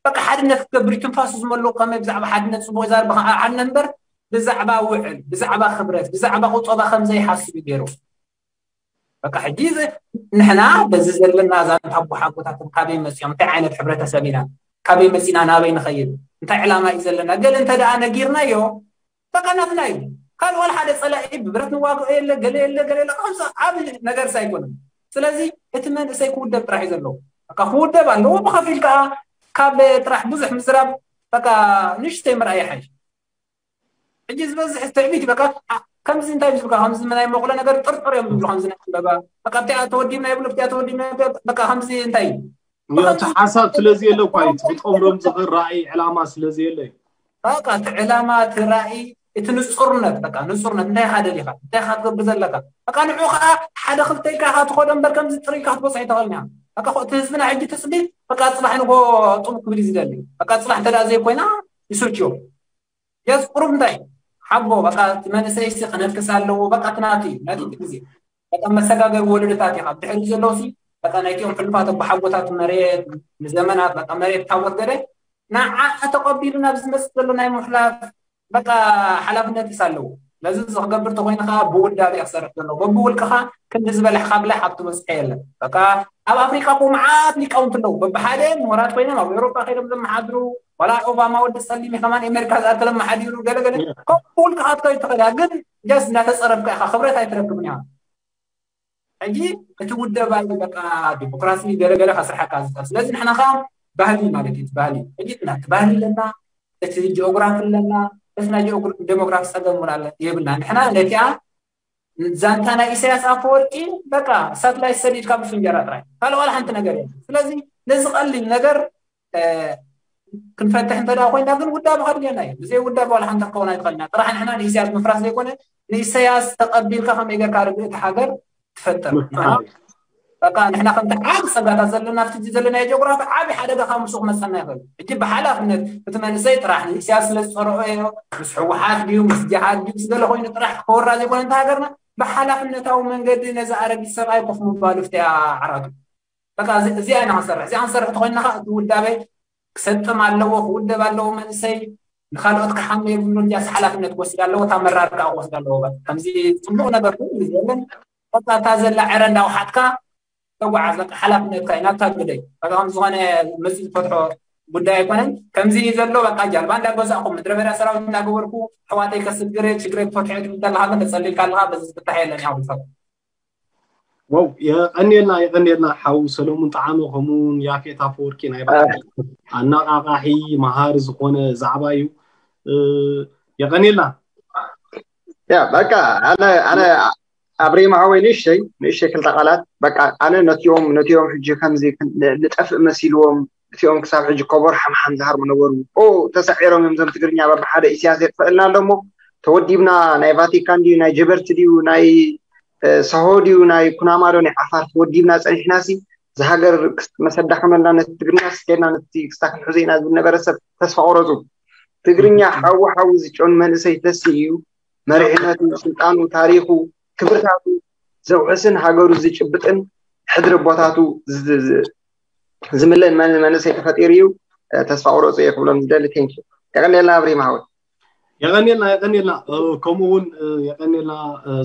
በቃ ሓድነት ክትገብር እዩ ትንፋሱ ዝመልኡ ከመይ ብዛዕባ ሓድነት ፅቡቅ ይዛርብ ሓድነት እምበር ብዛዕባ ውዕል ብዛዕባ ክብረት ብዛዕባ ቁጠባ ከም ዘይሓስብ እዩ ገይሩ በቃ ሕጂ ንሕና በዚ ዘለና ዛንታ ኣቦሓጎታትን ካበይ መፂኦም እንታይ ዓይነት ሕብረተሰብ ኢና ካበይ መፂና ናበይ ንኸይድ እንታይ ዕላማ እዩ ዘለና ገለ እንተ ደኣ ነጊርናዮ በቃ ናትና እዩ ካልእ ዋላ ሓደ ፀላኢ ብብረት ንዋግኦ የለ ገለ የለ ገለ የለ ከምዚ ዓብ ነገርስ ኣይኮነን ስለዚ እቲ መንእሰይ ክውደብ ጥራሕ እዩ ዘለዎ በቃ ክውደብ ኣለዎ ብኸፊል ከዓ ካብ ጥራሕ ብዙሕ ምዝራብ በቃ ንሽተይ ምርኣይ ይሓይሽ ሕጂ ዝበዝሕ ትዕቢት በቃ ከምዚ እንታይ ዝብልካ ከምዚ ናይ መቑሎ ነገር ጥርጥር እዮም ዝብሉ ከምዚ ናይ ዕምበባ በቃ ኣብቲኣ ተወዲብና ይብሉ ኣብቲኣ ተወዲብና በቃ ከምዚ እንታይ እዩ እቲ ሓሳብ ስለዚ የለ እኳ እዩ ትፍጠምሮም ዝኽእል ራእይ ዕላማ ስለዚ የለ እዩ በቃ እቲ ዕላማ እቲ ራእይ እቲ ንፁርነት በቃ ንፁርነት እንታይ ኢኻ ደሊኻ እንታይ ኢኻ ትገብር ዘለካ በቃ ንዑ ከዓ ሓደ ክልተ ኢልካ ኢኻ ትኸዶ እምበር ከምዚ ጥርይ ኢልካ ክትበፅሕ ይተኽእል ኒኻ በቃ እቲ ህዝብና ሕጂ ትፅቢት በቃ ፅባሕ ንጎ ጥቡ ክብል እዩ ዝደሊ በቃ ፅባሕ እንተ ዘይኮይና ይስልችዮ የስ ቁሩብ እንታይ ሓቦ በቃ እቲ መንእሰይሲ ክነክስ ኣለዎ በቃ እቲ ናቱ እዩ ናቱ እቲ ግዜ በቃ መሰጋገሪ ወለዶታት ኢኻ ብድሕሪ ዘለውሲ በቃ ናይቲኦም ሕሉፋት ኣቦሓጎታት መሬት ንዘመናት በቃ መሬት ታወት ገደ ንዓ ተቐቢሉ ናብ ዝመፅእ ዘሎ ናይ ምሕላፍ በቃ ሓላፍነትስ ኣለዎ ነዚ ዝክገብር ተኮይኑ ከዓ ብውዳቤ ክሰርሕ ዘለዎ በብውልቅኻ ክንዲ ዝበለሕ ካብለ ሓብቲ በፅሐ የለን በቃ ኣብ ኣፍሪካ ኮ መዓት ሊቃውንቲ ኣለዉ በብሓደ ምሁራት ኮይኖም ኣብ ኤውሮጳ ከይዶም ዘመሓድሩ ዋላ ኦባማ ወዲ ፀሊም ከማን ኣሜሪካ ዝኣከለ መሓዲሩ ገለገለ ከም ብውልቅኻ ትከይድ ትኽእል ግን ጀስ እናተፀረፍካ ኢኻ ክብረት ኣይትረክብን ኢኻ ሕጂ እቲ ውደባ እዩ በቃ ዲሞክራሲ ገለገለ ከስርሐካ ዝኽእል ስለዚ ንሕና ከዓ ባህሊ ማለት እዩ ባህሊ ሕጂ ናቲ ባህሊ ኣለና እቲ ጂኦግራፊ ኣለና በስና ዴሞግራፊ ፀገም እውን ኣለ የብልና ንሕና ነቲኣ ዛንታ ናይ ኢሳያስ ኣፈወርቂ በቃ ሳትላይት ሰዲድካ ብፍንጀራ ጥራይ ካልእ ዋላ ሓንቲ ነገር የለ ስለዚ ነዚ ቀሊል ነገር ክንፈትሕ እንተ ኮይና ግን ውዳበ ከድልየና እዩ ብዘይ ውዳበ ዋላ ሓንቲ ክኸውን ኣይትኽእልና ጥራሕ ንሕና ንኢሳያስ ምፍራስ ዘይኮነ ንኢሳያስ ተቐቢልካ ከመይ ገርካ ርግእቲ ሃገር ትፈጥር በቃ ንሕና ከምቲ ዓብ ፀጋታት ዘለና ኣብቲ ዘለና ጂኦግራፊ ዓብ ሓደጋ ካብ ምስኡ ክመፀና ይኽእል እቲ ብሓላፍነት እቲ መንእሰይ ጥራሕ ንእስያስ ስለ ዝፀረኦ እዮ ምስ ሕወሓት ድዩ ምስ ጅሃድ ድዩ ስገለ ኮይኑ ጥራሕ ክወራ ዘይኮነ እንተ ሃገርና ብሓላፍነታዊ መንገዲ ነዚ ኣረጊት ሰብኣይ ኮፍ ምባሉ ፍትያ ዓራቱ በቃ እዚኣ ኢና ክንሰርሕ እዚኣ ክንሰርሕ ተኮይንና ከዓ እቲ ውዳበ ክሰጥም ኣለዎ ክውደብ ኣለዎ መንእሰይ ንካልኦት ክሓመ የብሉ እንዲያስ ሓላፍነት ክወስድ ኣለዎ እታ መራር ከዓ ክወስድ ኣለዎ ከምዚ ፅቡቅ ነገር ኩሉ የለን በቃ እታ ዘላ ዕረ እንዳውሓጥካ ተጓዓዝ በቃ ሓላፍነትካ እዩ ናብታ ግደይ በቃ ከም ዝኾነ መፂ ዝፈትሖ ጉዳይ ኣይኮነን ከምዚ እዩ ዘሎ በቃ ጃልባ እንዳገዛእኩ ምድረ በዳ ሰራዊት እንዳገበርኩ ኣሕዋተይ ከስግር ሽግረይ ክፈትሖ ትብል ዘለካ ግን ተፀሊልካ ኣለካ በዚ ዝፍታሕ የለን ያው ዝፈት ዋው፣ የቐንየልና፣ የቐንየልና ሓው ሰለሙን ጠዓመ፣ ከምኡውን ያፌት ኣፈወርቂ። ናይ ባዕሉ ኣናቓቓሒ፣ መሃሪ ዝኾነ ዛዕባ እዩ። የቐንየልና። ያ በቃ ኣነ ኣነ ኣብሬማ ሓወይ ንእሽተይ ንእሽተይ ክልተ ቃላት በቃ ኣነ ነቲኦም ነቲኦም ሕጂ ከምዚ ንጠፍእ መሲልዎም እቲኦም ክሳብ ሕጂ ኮቦር ሓምሓም ዝሃርሙ ነበሩ። ተሳዒሮም እዮም እዞም ትግርኛ በብሓደ። ኢሳያስ የጥፈእልና ኣሎ እሞ ተወዲብና፣ ናይ ቫቲካን ድዩ ናይ ጀበርቲ ድዩ ናይ ሳሆ ድዩ ናይ ኩናማ ዶ ናይ ዓፋር ተወዲብና ጸኒሕና ሲ ዝሃገር መሰዳኸመልና ነቲ ትግርኛ ስኬድና ነቲ ክስታ ክንሕዞ ኢና ዝብል ነበረ ሰብ ተስፋ ቆረጹ። ትግርኛ ሓዊ ሓዊ ዝጨኑ መንእሰይ ተሲ እዩ። መሪሕነቱ፣ ስልጣኑ፣ ታሪኹ፣ ክብርታቱ ዘውሕስን ሃገሩ ዝጭብጥን ሕድሪ ኣቦታቱ ዝምለን መንእሰይ ተፈጢሩ እዩ። ተስፋ ቁረፁ እየ ክብሎም ዝደሊ። ቴንኪ። የቀንየልና ኣብሪም ሓወይ። የቀንየልና የቀንየልና። ከምኡ እውን የቀንየልና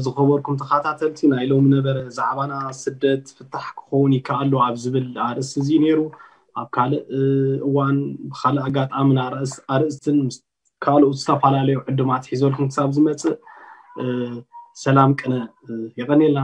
ዝኸበርኩም ተኸታተልቲ ናይ ሎሚ ነበረ ዛዕባና ስደት ፍታሕ ክኸውን ይከኣሉ ኣብ ዝብል ኣርእስቲ እዚ ነይሩ። ኣብ ካልእ እዋን ብካልእ ኣጋጣሚ ኣርእስትን ካልኦት ዝተፈላለዩ ዕድማት ሒዘልኩም ክሳብ ዝመፅእ ሰላም ቅነ። የቀንየልና።